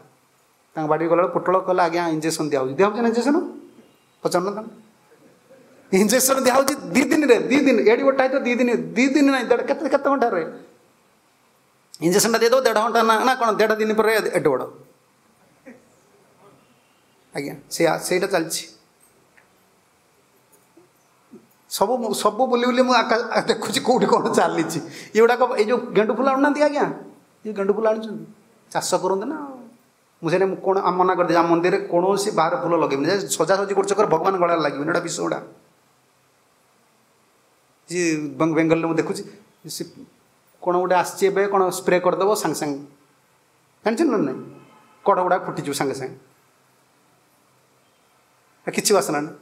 ତାଙ୍କ ବାଡ଼ିରେ ଗଲାବେଳେ ପୋଟଳ କହିଲା, ଆଜ୍ଞା ଇଞ୍ଜେକ୍ସନ୍ ଦିଆହେଉଛି। ଦିଆହେଉଛି ନା ଇଞ୍ଜେକ୍ସନ୍? ପଚାରୁନ ତାଙ୍କୁ। ଇଞ୍ଜେକ୍ସନ୍ ଦିଆହେଉଛି ଦୁଇ ଦିନରେ, ଦୁଇ ଦିନ ଏଡ଼ି ଗୋଟା ହେଇଥିବ, ଦୁଇ ଦିନ, ଦୁଇ ଦିନ ନାହିଁ, ଦେଢ଼ କେତେ କେତେ ଘଣ୍ଟାରେ ଇଞ୍ଜେକ୍ସନ୍ଟା ଦେଇଦେବ, ଦେଢ଼ ଘଣ୍ଟା ନା ନା କ'ଣ ଦେଢ଼ ଦିନ ପରେ ଏଡ଼େ ବଡ଼। ଆଜ୍ଞା ସେଇଆ, ସେଇଟା ଚାଲିଛି। ସବୁ ସବୁ ବୁଲି ବୁଲି ମୁଁ ଆକା ଦେଖୁଛି କେଉଁଠି କ'ଣ ଚାଲିଛି। ଏଗୁଡ଼ାକ ଏଇ ଯେଉଁ ଗେଣ୍ଡୁ ଫୁଲ ଆଣୁନାହାନ୍ତି ଆଜ୍ଞା, ଏ ଗେଣ୍ଡୁ ଫୁଲ ଆଣୁଛନ୍ତି, ଚାଷ କରନ୍ତି ନା। ମୁଁ ସେଇଟା ମୁଁ କ'ଣ ମନା କରିଦେବି, ଆମ ମନ୍ଦିରରେ କୌଣସି ବାହାର ଫୁଲ ଲଗେଇବିନି। ସଜାସଜି କରୁଛ କର, ଭଗବାନ ଗଳାରେ ଲାଗିବନି, ଏଇଟା ବିଷ ଗୁଡ଼ା। ଯିଏ ବେଙ୍ଗଲରେ ମୁଁ ଦେଖୁଛି, ସେ କ'ଣ ଗୋଟେ ଆସିଛି ଏବେ, କ'ଣ ସ୍ପ୍ରେ କରିଦେବ ସାଙ୍ଗେ ସାଙ୍ଗେ, ଜାଣିଛନ୍ତି ନା ନାଇଁ? କଢ଼ ଗୁଡ଼ାକ ଫୁଟିଯିବ ସାଙ୍ଗେ ସାଙ୍ଗେ, କିଛି ବାସନା ନାହିଁ।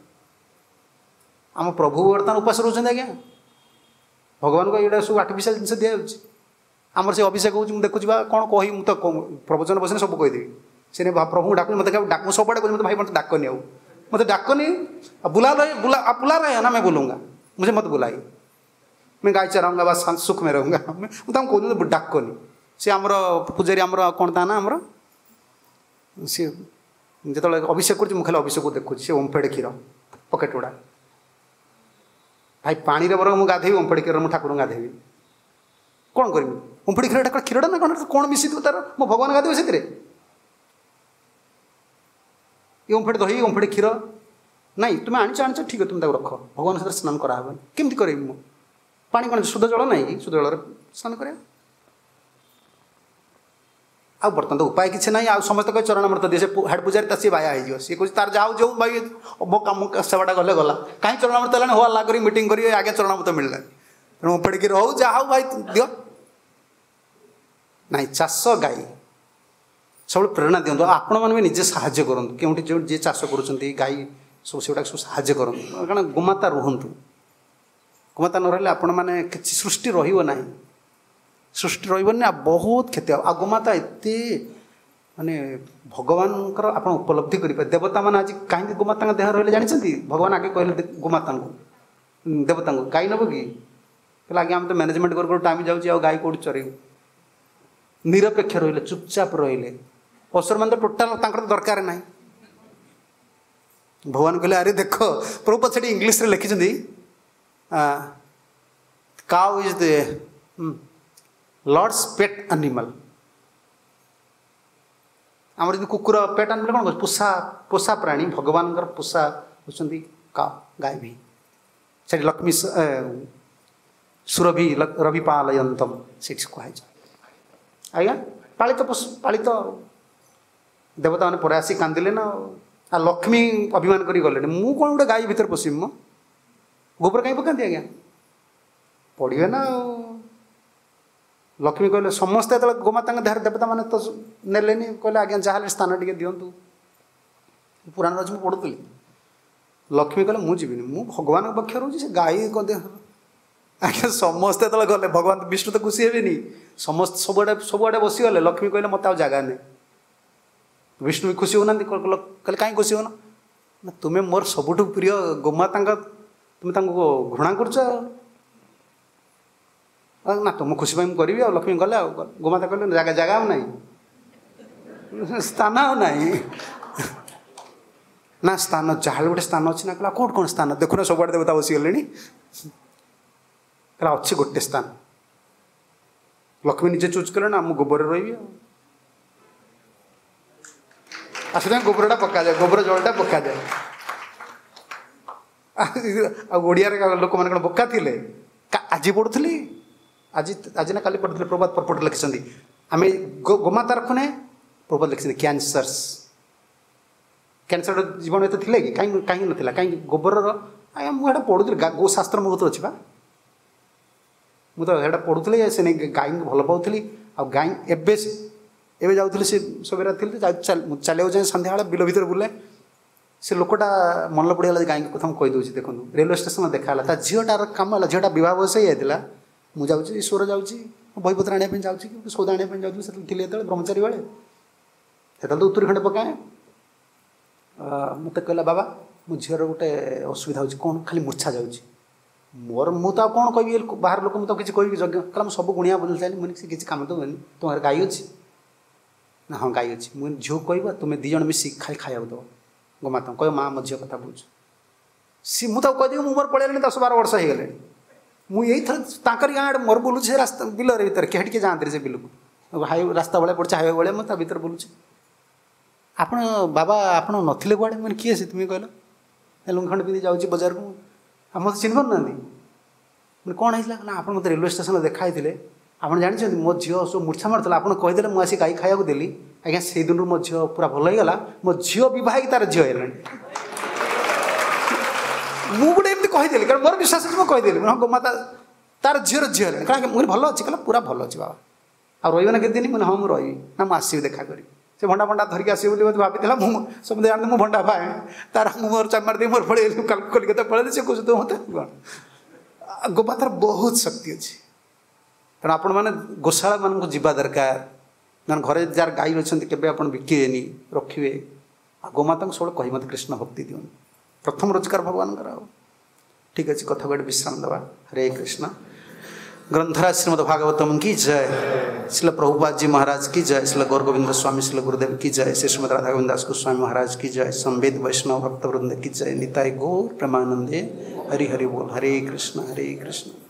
ଆମ ପ୍ରଭୁ ବର୍ତ୍ତମାନ ଉପାସ ରହୁଛନ୍ତି ଆଜ୍ଞା। ଭଗବାନଙ୍କୁ ଏଇଟା ସବୁ ଆର୍ଟିଫିସିଆଲ ଜିନିଷ ଦିଆଯାଉଛି। ଆମର ସେ ଅଭିଷେକ ହେଉଛି, ମୁଁ ଦେଖୁଛି ବା କ'ଣ କହିବି, ମୁଁ ତ ପ୍ରବଚନ ବସିଲେ ସବୁ କହିଦେବି। ସେ ପ୍ରଭୁଙ୍କୁ ଡାକୁଛି, ମୋତେ ଡାକ, ମୁଁ ସବୁଆଡ଼େ କହୁଛି, ମୋତେ ଭାଇ ମୋତେ ଡାକନି, ଆଉ ମୋତେ ଡାକନି, बुला रहे बुला आप बुला रहे हैं ना, मैं बोलूँगा, मुझे मत बुलाइए, मैं गाय चराऊँगा, बस सुख में रहूँगा। ମୁଁ ତାଙ୍କୁ କହୁଛି ଡାକନି। ସେ ଆମର ପୂଜାରୀ, ଆମର କ'ଣ ତା ନା, ଆମର ସିଏ ଯେତେବେଳେ ଅଭିଷେକ କରୁଛି, ମୁଁ ଖାଲି ଅଭିଷେକକୁ ଦେଖୁଛି। ସେ ଓମ୍ଫେଡ଼ କ୍ଷୀର ପକେଟ୍ ଗୁଡ଼ା, ଭାଇ ପାଣିରେ ବରଂ ମୁଁ ଗାଧେଇବି, ଓମ୍ଫେଡ଼ କ୍ଷୀରରେ ମୁଁ ଠାକୁରଙ୍କୁ ଗାଧେଇବି। କ'ଣ କରିବି? ଓମ୍ଫେଡ଼ କ୍ଷୀରଟା କ'ଣ କ୍ଷୀରଟା ନା କ'ଣ, କ'ଣ ମିଶିଥିବ ତାର? ମୋ ଭଗବାନ ଗାଧେଇବେ ସେଥିରେ? ଏ ଓମ୍ଫେଡ଼ ଦହି, ଓମ୍ଫେଡ଼ କ୍ଷୀର ନାଇଁ, ତୁମେ ଆଣିଛ ଆଣିଛ ଠିକ୍ ଅଛି, ତୁମେ ତାକୁ ରଖ, ଭଗବାନ ସେଥିରେ ସ୍ନାନ କରାହେବନି। କେମିତି କରିବି ମୁଁ? ପାଣି କ'ଣ ଶୁଦ୍ଧ ଜଳ ନାହିଁ କି? ଶୁଦ୍ଧ ଜଳରେ ସ୍ନାନ କରିବା। ଆଉ ବର୍ତ୍ତମାନ ତ ଉପାୟ କିଛି ନାହିଁ। ଆଉ ସମସ୍ତେ କହେ ଚରଣାମୃତ ଦିଏ, ସେ ହେଡ଼ ପୂଜାରୀ ତା ସିଏ ବାୟା ହେଇଯିବ। ସିଏ କହୁଛି ତାର ଯାହା ଯେଉଁ ଭାଇ ମୋ କାମ ସେବାଟା ଗଲେ ଗଲା, କାହିଁ ଚରଣାମୃତ ହେଲାଣି? ହୋ ହଲ୍ଲା କରି ମିଟିଂ କରି ଆଜ୍ଞା ଚରଣାମୃତ ମିଳିଲାନି, ତେଣୁ ଓମ୍ଫେଡ଼ କ୍ଷୀର ହଉ ଯାହା ହଉ ଭାଇ ଦିଅ। ନାଇଁ, ଚାଷ ଗାଈ ସବୁବେଳେ ପ୍ରେରଣା ଦିଅନ୍ତୁ। ଆପଣମାନେ ବି ନିଜେ ସାହାଯ୍ୟ କରନ୍ତୁ, କେଉଁଠି ଯେଉଁ ଯିଏ ଚାଷ କରୁଛନ୍ତି ଗାଈ ସବୁ ସେଗୁଡ଼ାକ ସବୁ ସାହାଯ୍ୟ କରନ୍ତୁ। କାରଣ ଗୋମାତା ରୁହନ୍ତୁ, ଗୋମାତା ନ ରହିଲେ ଆପଣମାନେ କିଛି ସୃଷ୍ଟି ରହିବ ନାହିଁ, ସୃଷ୍ଟି ରହିବନି, ଆଉ ବହୁତ କ୍ଷତି ହେବ। ଆଉ ଗୋମାତା ଏତେ ମାନେ ଭଗବାନଙ୍କର ଆପଣ ଉପଲବ୍ଧି କରିପାରିବେ। ଦେବତାମାନେ ଆଜି କାହିଁକି ଗୋମାତାଙ୍କ ଦେହ ରହିଲେ ଜାଣିଛନ୍ତି? ଭଗବାନ ଆଗେ କହିଲେ ଗୋମାତାଙ୍କୁ, ଦେବତାଙ୍କୁ, ଗାଈ ନେବ କି? କହିଲେ ଆଜ୍ଞା ଆମେ ତ ମ୍ୟାନେଜମେଣ୍ଟ କରୁ କରୁ ଟାଇମ୍ ଯାଉଛି, ଆଉ ଗାଈ କେଉଁଠି ଚରେଇବୁ? ନିରପେକ୍ଷ ରହିଲେ, ଚୁପଚାପ ରହିଲେ। ଅସୁରମାନେ ତ ଟୋଟାଲ ତାଙ୍କର ତ ଦରକାର ନାହିଁ। ଭଗବାନ କହିଲେ ଆରେ ଦେଖ, ପ୍ରଭୁପାଦ ସେଠି ଇଂଲିଶରେ ଲେଖିଛନ୍ତି, cow is the lord's pet animal. ଆମର ଯେମିତି କୁକୁର ପେଟ୍ ଆନିମାଲ୍ କ'ଣ କହୁଛି, ପୋଷା ପୋଷା ପ୍ରାଣୀ, ଭଗବାନଙ୍କର ପୋଷା ହେଉଛନ୍ତି କାଉ, ଗାଈ ବି। ସେଠି ଲକ୍ଷ୍ମୀ ସୁରଭି ରବି ପାଲୟନ୍ତମ ସେଠି କୁହାଯାଇଛି ଆଜ୍ଞା। ପାଳିତ ପଶୁ, ପାଳିତ ଦେବତାମାନେ ପରେ ଆସି କାନ୍ଦିଲେ ନା, ଆଉ ଲକ୍ଷ୍ମୀ ଅଭିମାନ କରି ଗଲେଣି, ମୁଁ କ'ଣ ଗୋଟେ ଗାଈ ଭିତରେ ପଶିବି? ମୁଁ ଗୋବର କାହିଁ ପକାନ୍ତି ଆଜ୍ଞା, ପଡ଼ିବେ ନା। ଆଉ ଲକ୍ଷ୍ମୀ କହିଲେ ସମସ୍ତେ ଯେତେବେଳେ ଗୋମାତାଙ୍କ ଦେହରେ ଦେବତାମାନେ ତ ନେଲେନି, କହିଲେ ଆଜ୍ଞା ଯାହାହେଲେ ସ୍ଥାନ ଟିକେ ଦିଅନ୍ତୁ। ପୁରାଣରେ ଅଛି, ମୁଁ ପଢ଼ୁଥିଲି। ଲକ୍ଷ୍ମୀ କହିଲେ ମୁଁ ଯିବିନି, ମୁଁ ଭଗବାନଙ୍କ ପକ୍ଷ ରହୁଛି, ସେ ଗାଈ ଦେହ। ଆଜ୍ଞା ସମସ୍ତେ ଯେତେବେଳେ ଗଲେ, ଭଗବାନ ବିଷ୍ଣୁ ତ ଖୁସି ହେବେନି, ସମସ୍ତେ ସବୁଆଡ଼େ ସବୁଆଡ଼େ ବସିଗଲେ। ଲକ୍ଷ୍ମୀ କହିଲେ ମୋତେ ଆଉ ଜାଗା ନାହିଁ। ବିଷ୍ଣୁ ବି ଖୁସି ହେଉନାହାନ୍ତି, କହିଲେ କାହିଁ ଖୁସି ହେଉନ? ନା ତୁମେ ମୋର ସବୁଠୁ ପ୍ରିୟ ଗୋମାତାଙ୍କ, ତୁମେ ତାଙ୍କୁ ଘୃଣା କରୁଛ। ନା ତୁମ ଖୁସି ପାଇଁ ମୁଁ କରିବି। ଆଉ ଲକ୍ଷ୍ମୀ ଗଲେ, ଆଉ ଗୋମାତା କହିଲେ ଜାଗା ଜାଗା ଆଉ ନାହିଁ, ସ୍ଥାନ ଆଉ ନାହିଁ। ନା ସ୍ଥାନ ଯାହାହେଲେ ଗୋଟେ ସ୍ଥାନ ଅଛି ନା। କହିଲା କେଉଁଠି କ'ଣ ସ୍ଥାନ? ଦେଖୁନ ସବୁଆଡ଼େ ଦେବତା ବସିଗଲେଣି। କହିଲା ଅଛି ଗୋଟେ ସ୍ଥାନ, ଲକ୍ଷ୍ମୀ ନିଜେ ଚୁଜ୍ କଲେ ନା ମୁଁ ଗୋବରରେ ରହିବି ଆଉ। ଆଉ ସେଥିପାଇଁ ଗୋବରଟା ପକାଯାଏ, ଗୋବର ଜଳଟା ପକାଯାଏ। ଆଉ ଓଡ଼ିଆରେ ଲୋକମାନେ କ'ଣ ବୋକା ଥିଲେ? ଆଜି ପଢ଼ୁଥିଲି, ଆଜି ଆଜି ନା କାଲି ପଢ଼ୁଥିଲି, ପ୍ରଭାତ ପରପଟ ଲେଖିଛନ୍ତି ଆମେ ଗୋମାତା ରଖୁନେ, ପ୍ରଭାତ ଲେଖିଛନ୍ତି କ୍ୟାନ୍ସର୍ସ। କ୍ୟାନ୍ସର ଜୀବନ ଏତେ ଥିଲେ କି? କାହିଁକି କାହିଁକି ନଥିଲା? କାହିଁକି ଗୋବରର? ଆଜ୍ଞା ମୁଁ ଏଇଟା ପଢ଼ୁଥିଲି, ଗୋ ଶାସ୍ତ୍ର ମୋ କତିରେ ଅଛି ବା, ମୁଁ ତ ସେଇଟା ପଢ଼ୁଥିଲି, ସେ ନେଇ ଗାଈଙ୍କୁ ଭଲ ପାଉଥିଲି। ଆଉ ଗାଈ ଏବେ ଏବେ ଯାଉଥିଲି, ସେ ସବେରା ଥିଲି, ଚାଲିବାକୁ ଯାଏ ସନ୍ଧ୍ୟାବେଳେ ବିଲ ଭିତରେ ବୁଲେ, ସେ ଲୋକଟା ମନେ ପଡ଼ିଗଲା ଗାଈଙ୍କ କଥା ମୁଁ କହିଦେଉଛି। ଦେଖନ୍ତୁ ରେଲୱେ ଷ୍ଟେସନରେ ଦେଖା ହେଲା, ତା ଝିଅଟାର କାମ ହେଲା, ଝିଅଟା ବିବାହ ବୟସ ହେଇଯାଇଥିଲା। ମୁଁ ଯାଉଛି, ଈଶ୍ୱର ଯାଉଛି, ବହିପତ୍ର ଆଣିବା ପାଇଁ ଯାଉଛି କି ସଉଦା ଆଣିବା ପାଇଁ ଯାଉଥିଲି ସେତେବେଳେ ଥିଲି, ଯେତେବେଳେ ବ୍ରହ୍ମଚାରୀ ବେଳେ, ସେତେବେଳେ ତ ଉତ୍ତରୀ ଖଣ୍ଡେ ପକାଏ। ମୋତେ କହିଲା ବାବା ମୋ ଝିଅର ଗୋଟେ ଅସୁବିଧା ହେଉଛି, କ'ଣ ଖାଲି ମୂର୍ଚ୍ଛା ଯାଉଛି। ମୋର ମୁଁ ତ ଆଉ କ'ଣ କହିବି, ବାହାର ଲୋକ ମୁଁ ତ କିଛି କହିବି ଯଜ୍ଞ କହିଲା ମୁଁ ସବୁ ଗୁଣିଆ ବଦଳି ସାରିଲି, ମୁଁ ସେ କିଛି କାମ ତ ହୁଏନି। ତୁମ ଘରେ ଗାଈ ଅଛି ନା? ହଁ ଗାଈ ଅଛି। ମୁଁ ଝିଅକୁ କହିବ ତୁମେ ଦୁଇ ଜଣ ମିଶିକି ଖାଲି ଖାଇବାକୁ ଦେବ ଗୋମାତାଙ୍କୁ, କହିବ ମା ମୋ ଝିଅ କଥା ବୁଝୁ। ସିଏ ମୁଁ ତାକୁ କହିଦେବି, ମୁଁ ମୋର ପଳେଇଲାଣି ଦଶ ବାର ବର୍ଷ ହେଇଗଲାଣି। ମୁଁ ଏଇଥର ତାଙ୍କରି ଗାଁ ଆଡ଼େ ମୋର ବୁଲୁଛି ସେ ରାସ୍ତା ବିଲରେ ଭିତରେ, କେହି ଟିକେ ଯାଆନ୍ତିନି ସେ ବିଲକୁ, ହାଇ ରାସ୍ତା ଭଳିଆ ପଡ଼ିଛି, ହାଇୱେ ଭଳିଆ, ମୁଁ ତା ଭିତରେ ବୁଲୁଛି। ଆପଣ ବାବା ଆପଣ ନଥିଲେ କୁଆଡ଼େ? ମାନେ କିଏ ସେ ତୁମେ କହିଲ? ଲୁଙ୍ଗି ଖଣ୍ଡେ ପିନ୍ଧି ଯାଉଛି ବଜାରକୁ, ଆଉ ମୋତେ ଚିହ୍ନି ପାରୁନାହାନ୍ତି? ମାନେ କ'ଣ ହେଇଥିଲା ନା ଆପଣ ମୋତେ ରେଲୱେ ଷ୍ଟେସନରେ ଦେଖା ହେଇଥିଲେ, ଆପଣ ଜାଣିଛନ୍ତି ମୋ ଝିଅ ସବୁ ମୂର୍ଚ୍ଛା ମାରୁଥିଲା, ଆପଣ କହିଦେଲେ ମୁଁ ଆସି ଗାଈ ଖାଇବାକୁ ଦେଲି, ଆଜ୍ଞା ସେଇ ଦିନରୁ ମୋ ଝିଅ ପୁରା ଭଲ ହେଇଗଲା, ମୋ ଝିଅ ବିବାହ ହେଇକି ତାର ଝିଅ ହେଲାଣି। ମୁଁ ଗୋଟେ ଏମିତି କହିଦେଲି, କାରଣ ମୋର ବିଶ୍ୱାସ ଅଛି, ମୁଁ କହିଦେଲି ହଁ ଗୋମାତା ତାର ଝିଅର ଝିଅ ହେଲାଣି। କାରଣ ମୁଁ ଭଲ ଅଛି, କହିଲା ପୁରା ଭଲ ଅଛି ବାବା, ଆଉ ରହିବ ନା କେତେ ଦିନ? ମୁଁ ହଁ ମୁଁ ରହିବି। ନା ମୁଁ ଆସିବି ଦେଖା କରିବି। ସେ ଭଣ୍ଡା ଭଣ୍ଡା ଧରିକି ଆସିବ ବୋଲି ମୋତେ ଭାବିଥିଲା, ମୁଁ ସମସ୍ତେ ଜାଣନ୍ତି ମୁଁ ଭଣ୍ଡା ପାଏ, ତାର ମୁଁ ମୋର ଚାମାର ଦେଇ ମୋର ପଳେଇଲି କଲିକତା ପଳେଇଲି। ସେ କହୁଛି ତୁ ମୋତେ କ'ଣ? ଗୋମାତାର ବହୁତ ଶକ୍ତି ଅଛି। ତେଣୁ ଆପଣମାନେ ଗୋଶାଳାମାନଙ୍କୁ ଯିବା ଦରକାର। ମାନେ ଘରେ ଯାହାର ଗାଈ ଅଛନ୍ତି କେବେ ଆପଣ ବିକିବେନି, ରଖିବେ। ଆଉ ଗୋମାତାଙ୍କୁ ସବୁବେଳେ କହି ମୋତେ କୃଷ୍ଣ ଭକ୍ତି ଦିଅନ୍ତୁ, ପ୍ରଥମ ରୋଜଗାର ଭଗବାନଙ୍କର। ଆଉ ଠିକ୍ ଅଛି, କଥାକୁ ଏଠି ବିଶ୍ରାମ ଦେବା। ହରେ କୃଷ୍ଣ। ग्रंथराज श्रीमद् भागवतम की जय, श्रील प्रभुपाद जी महाराज की जय, श्रील गौर गोविंद स्वामी श्रील गुरुदेव की जय, श्री श्रीमद राधा गोविंद दास गोस्वामी महाराज की जय, संवेद वैष्णव भक्त वृंद की जय, निताय गौर प्रेमानंदे हरि हरि बोल। हरे कृष्ण हरे कृष्ण।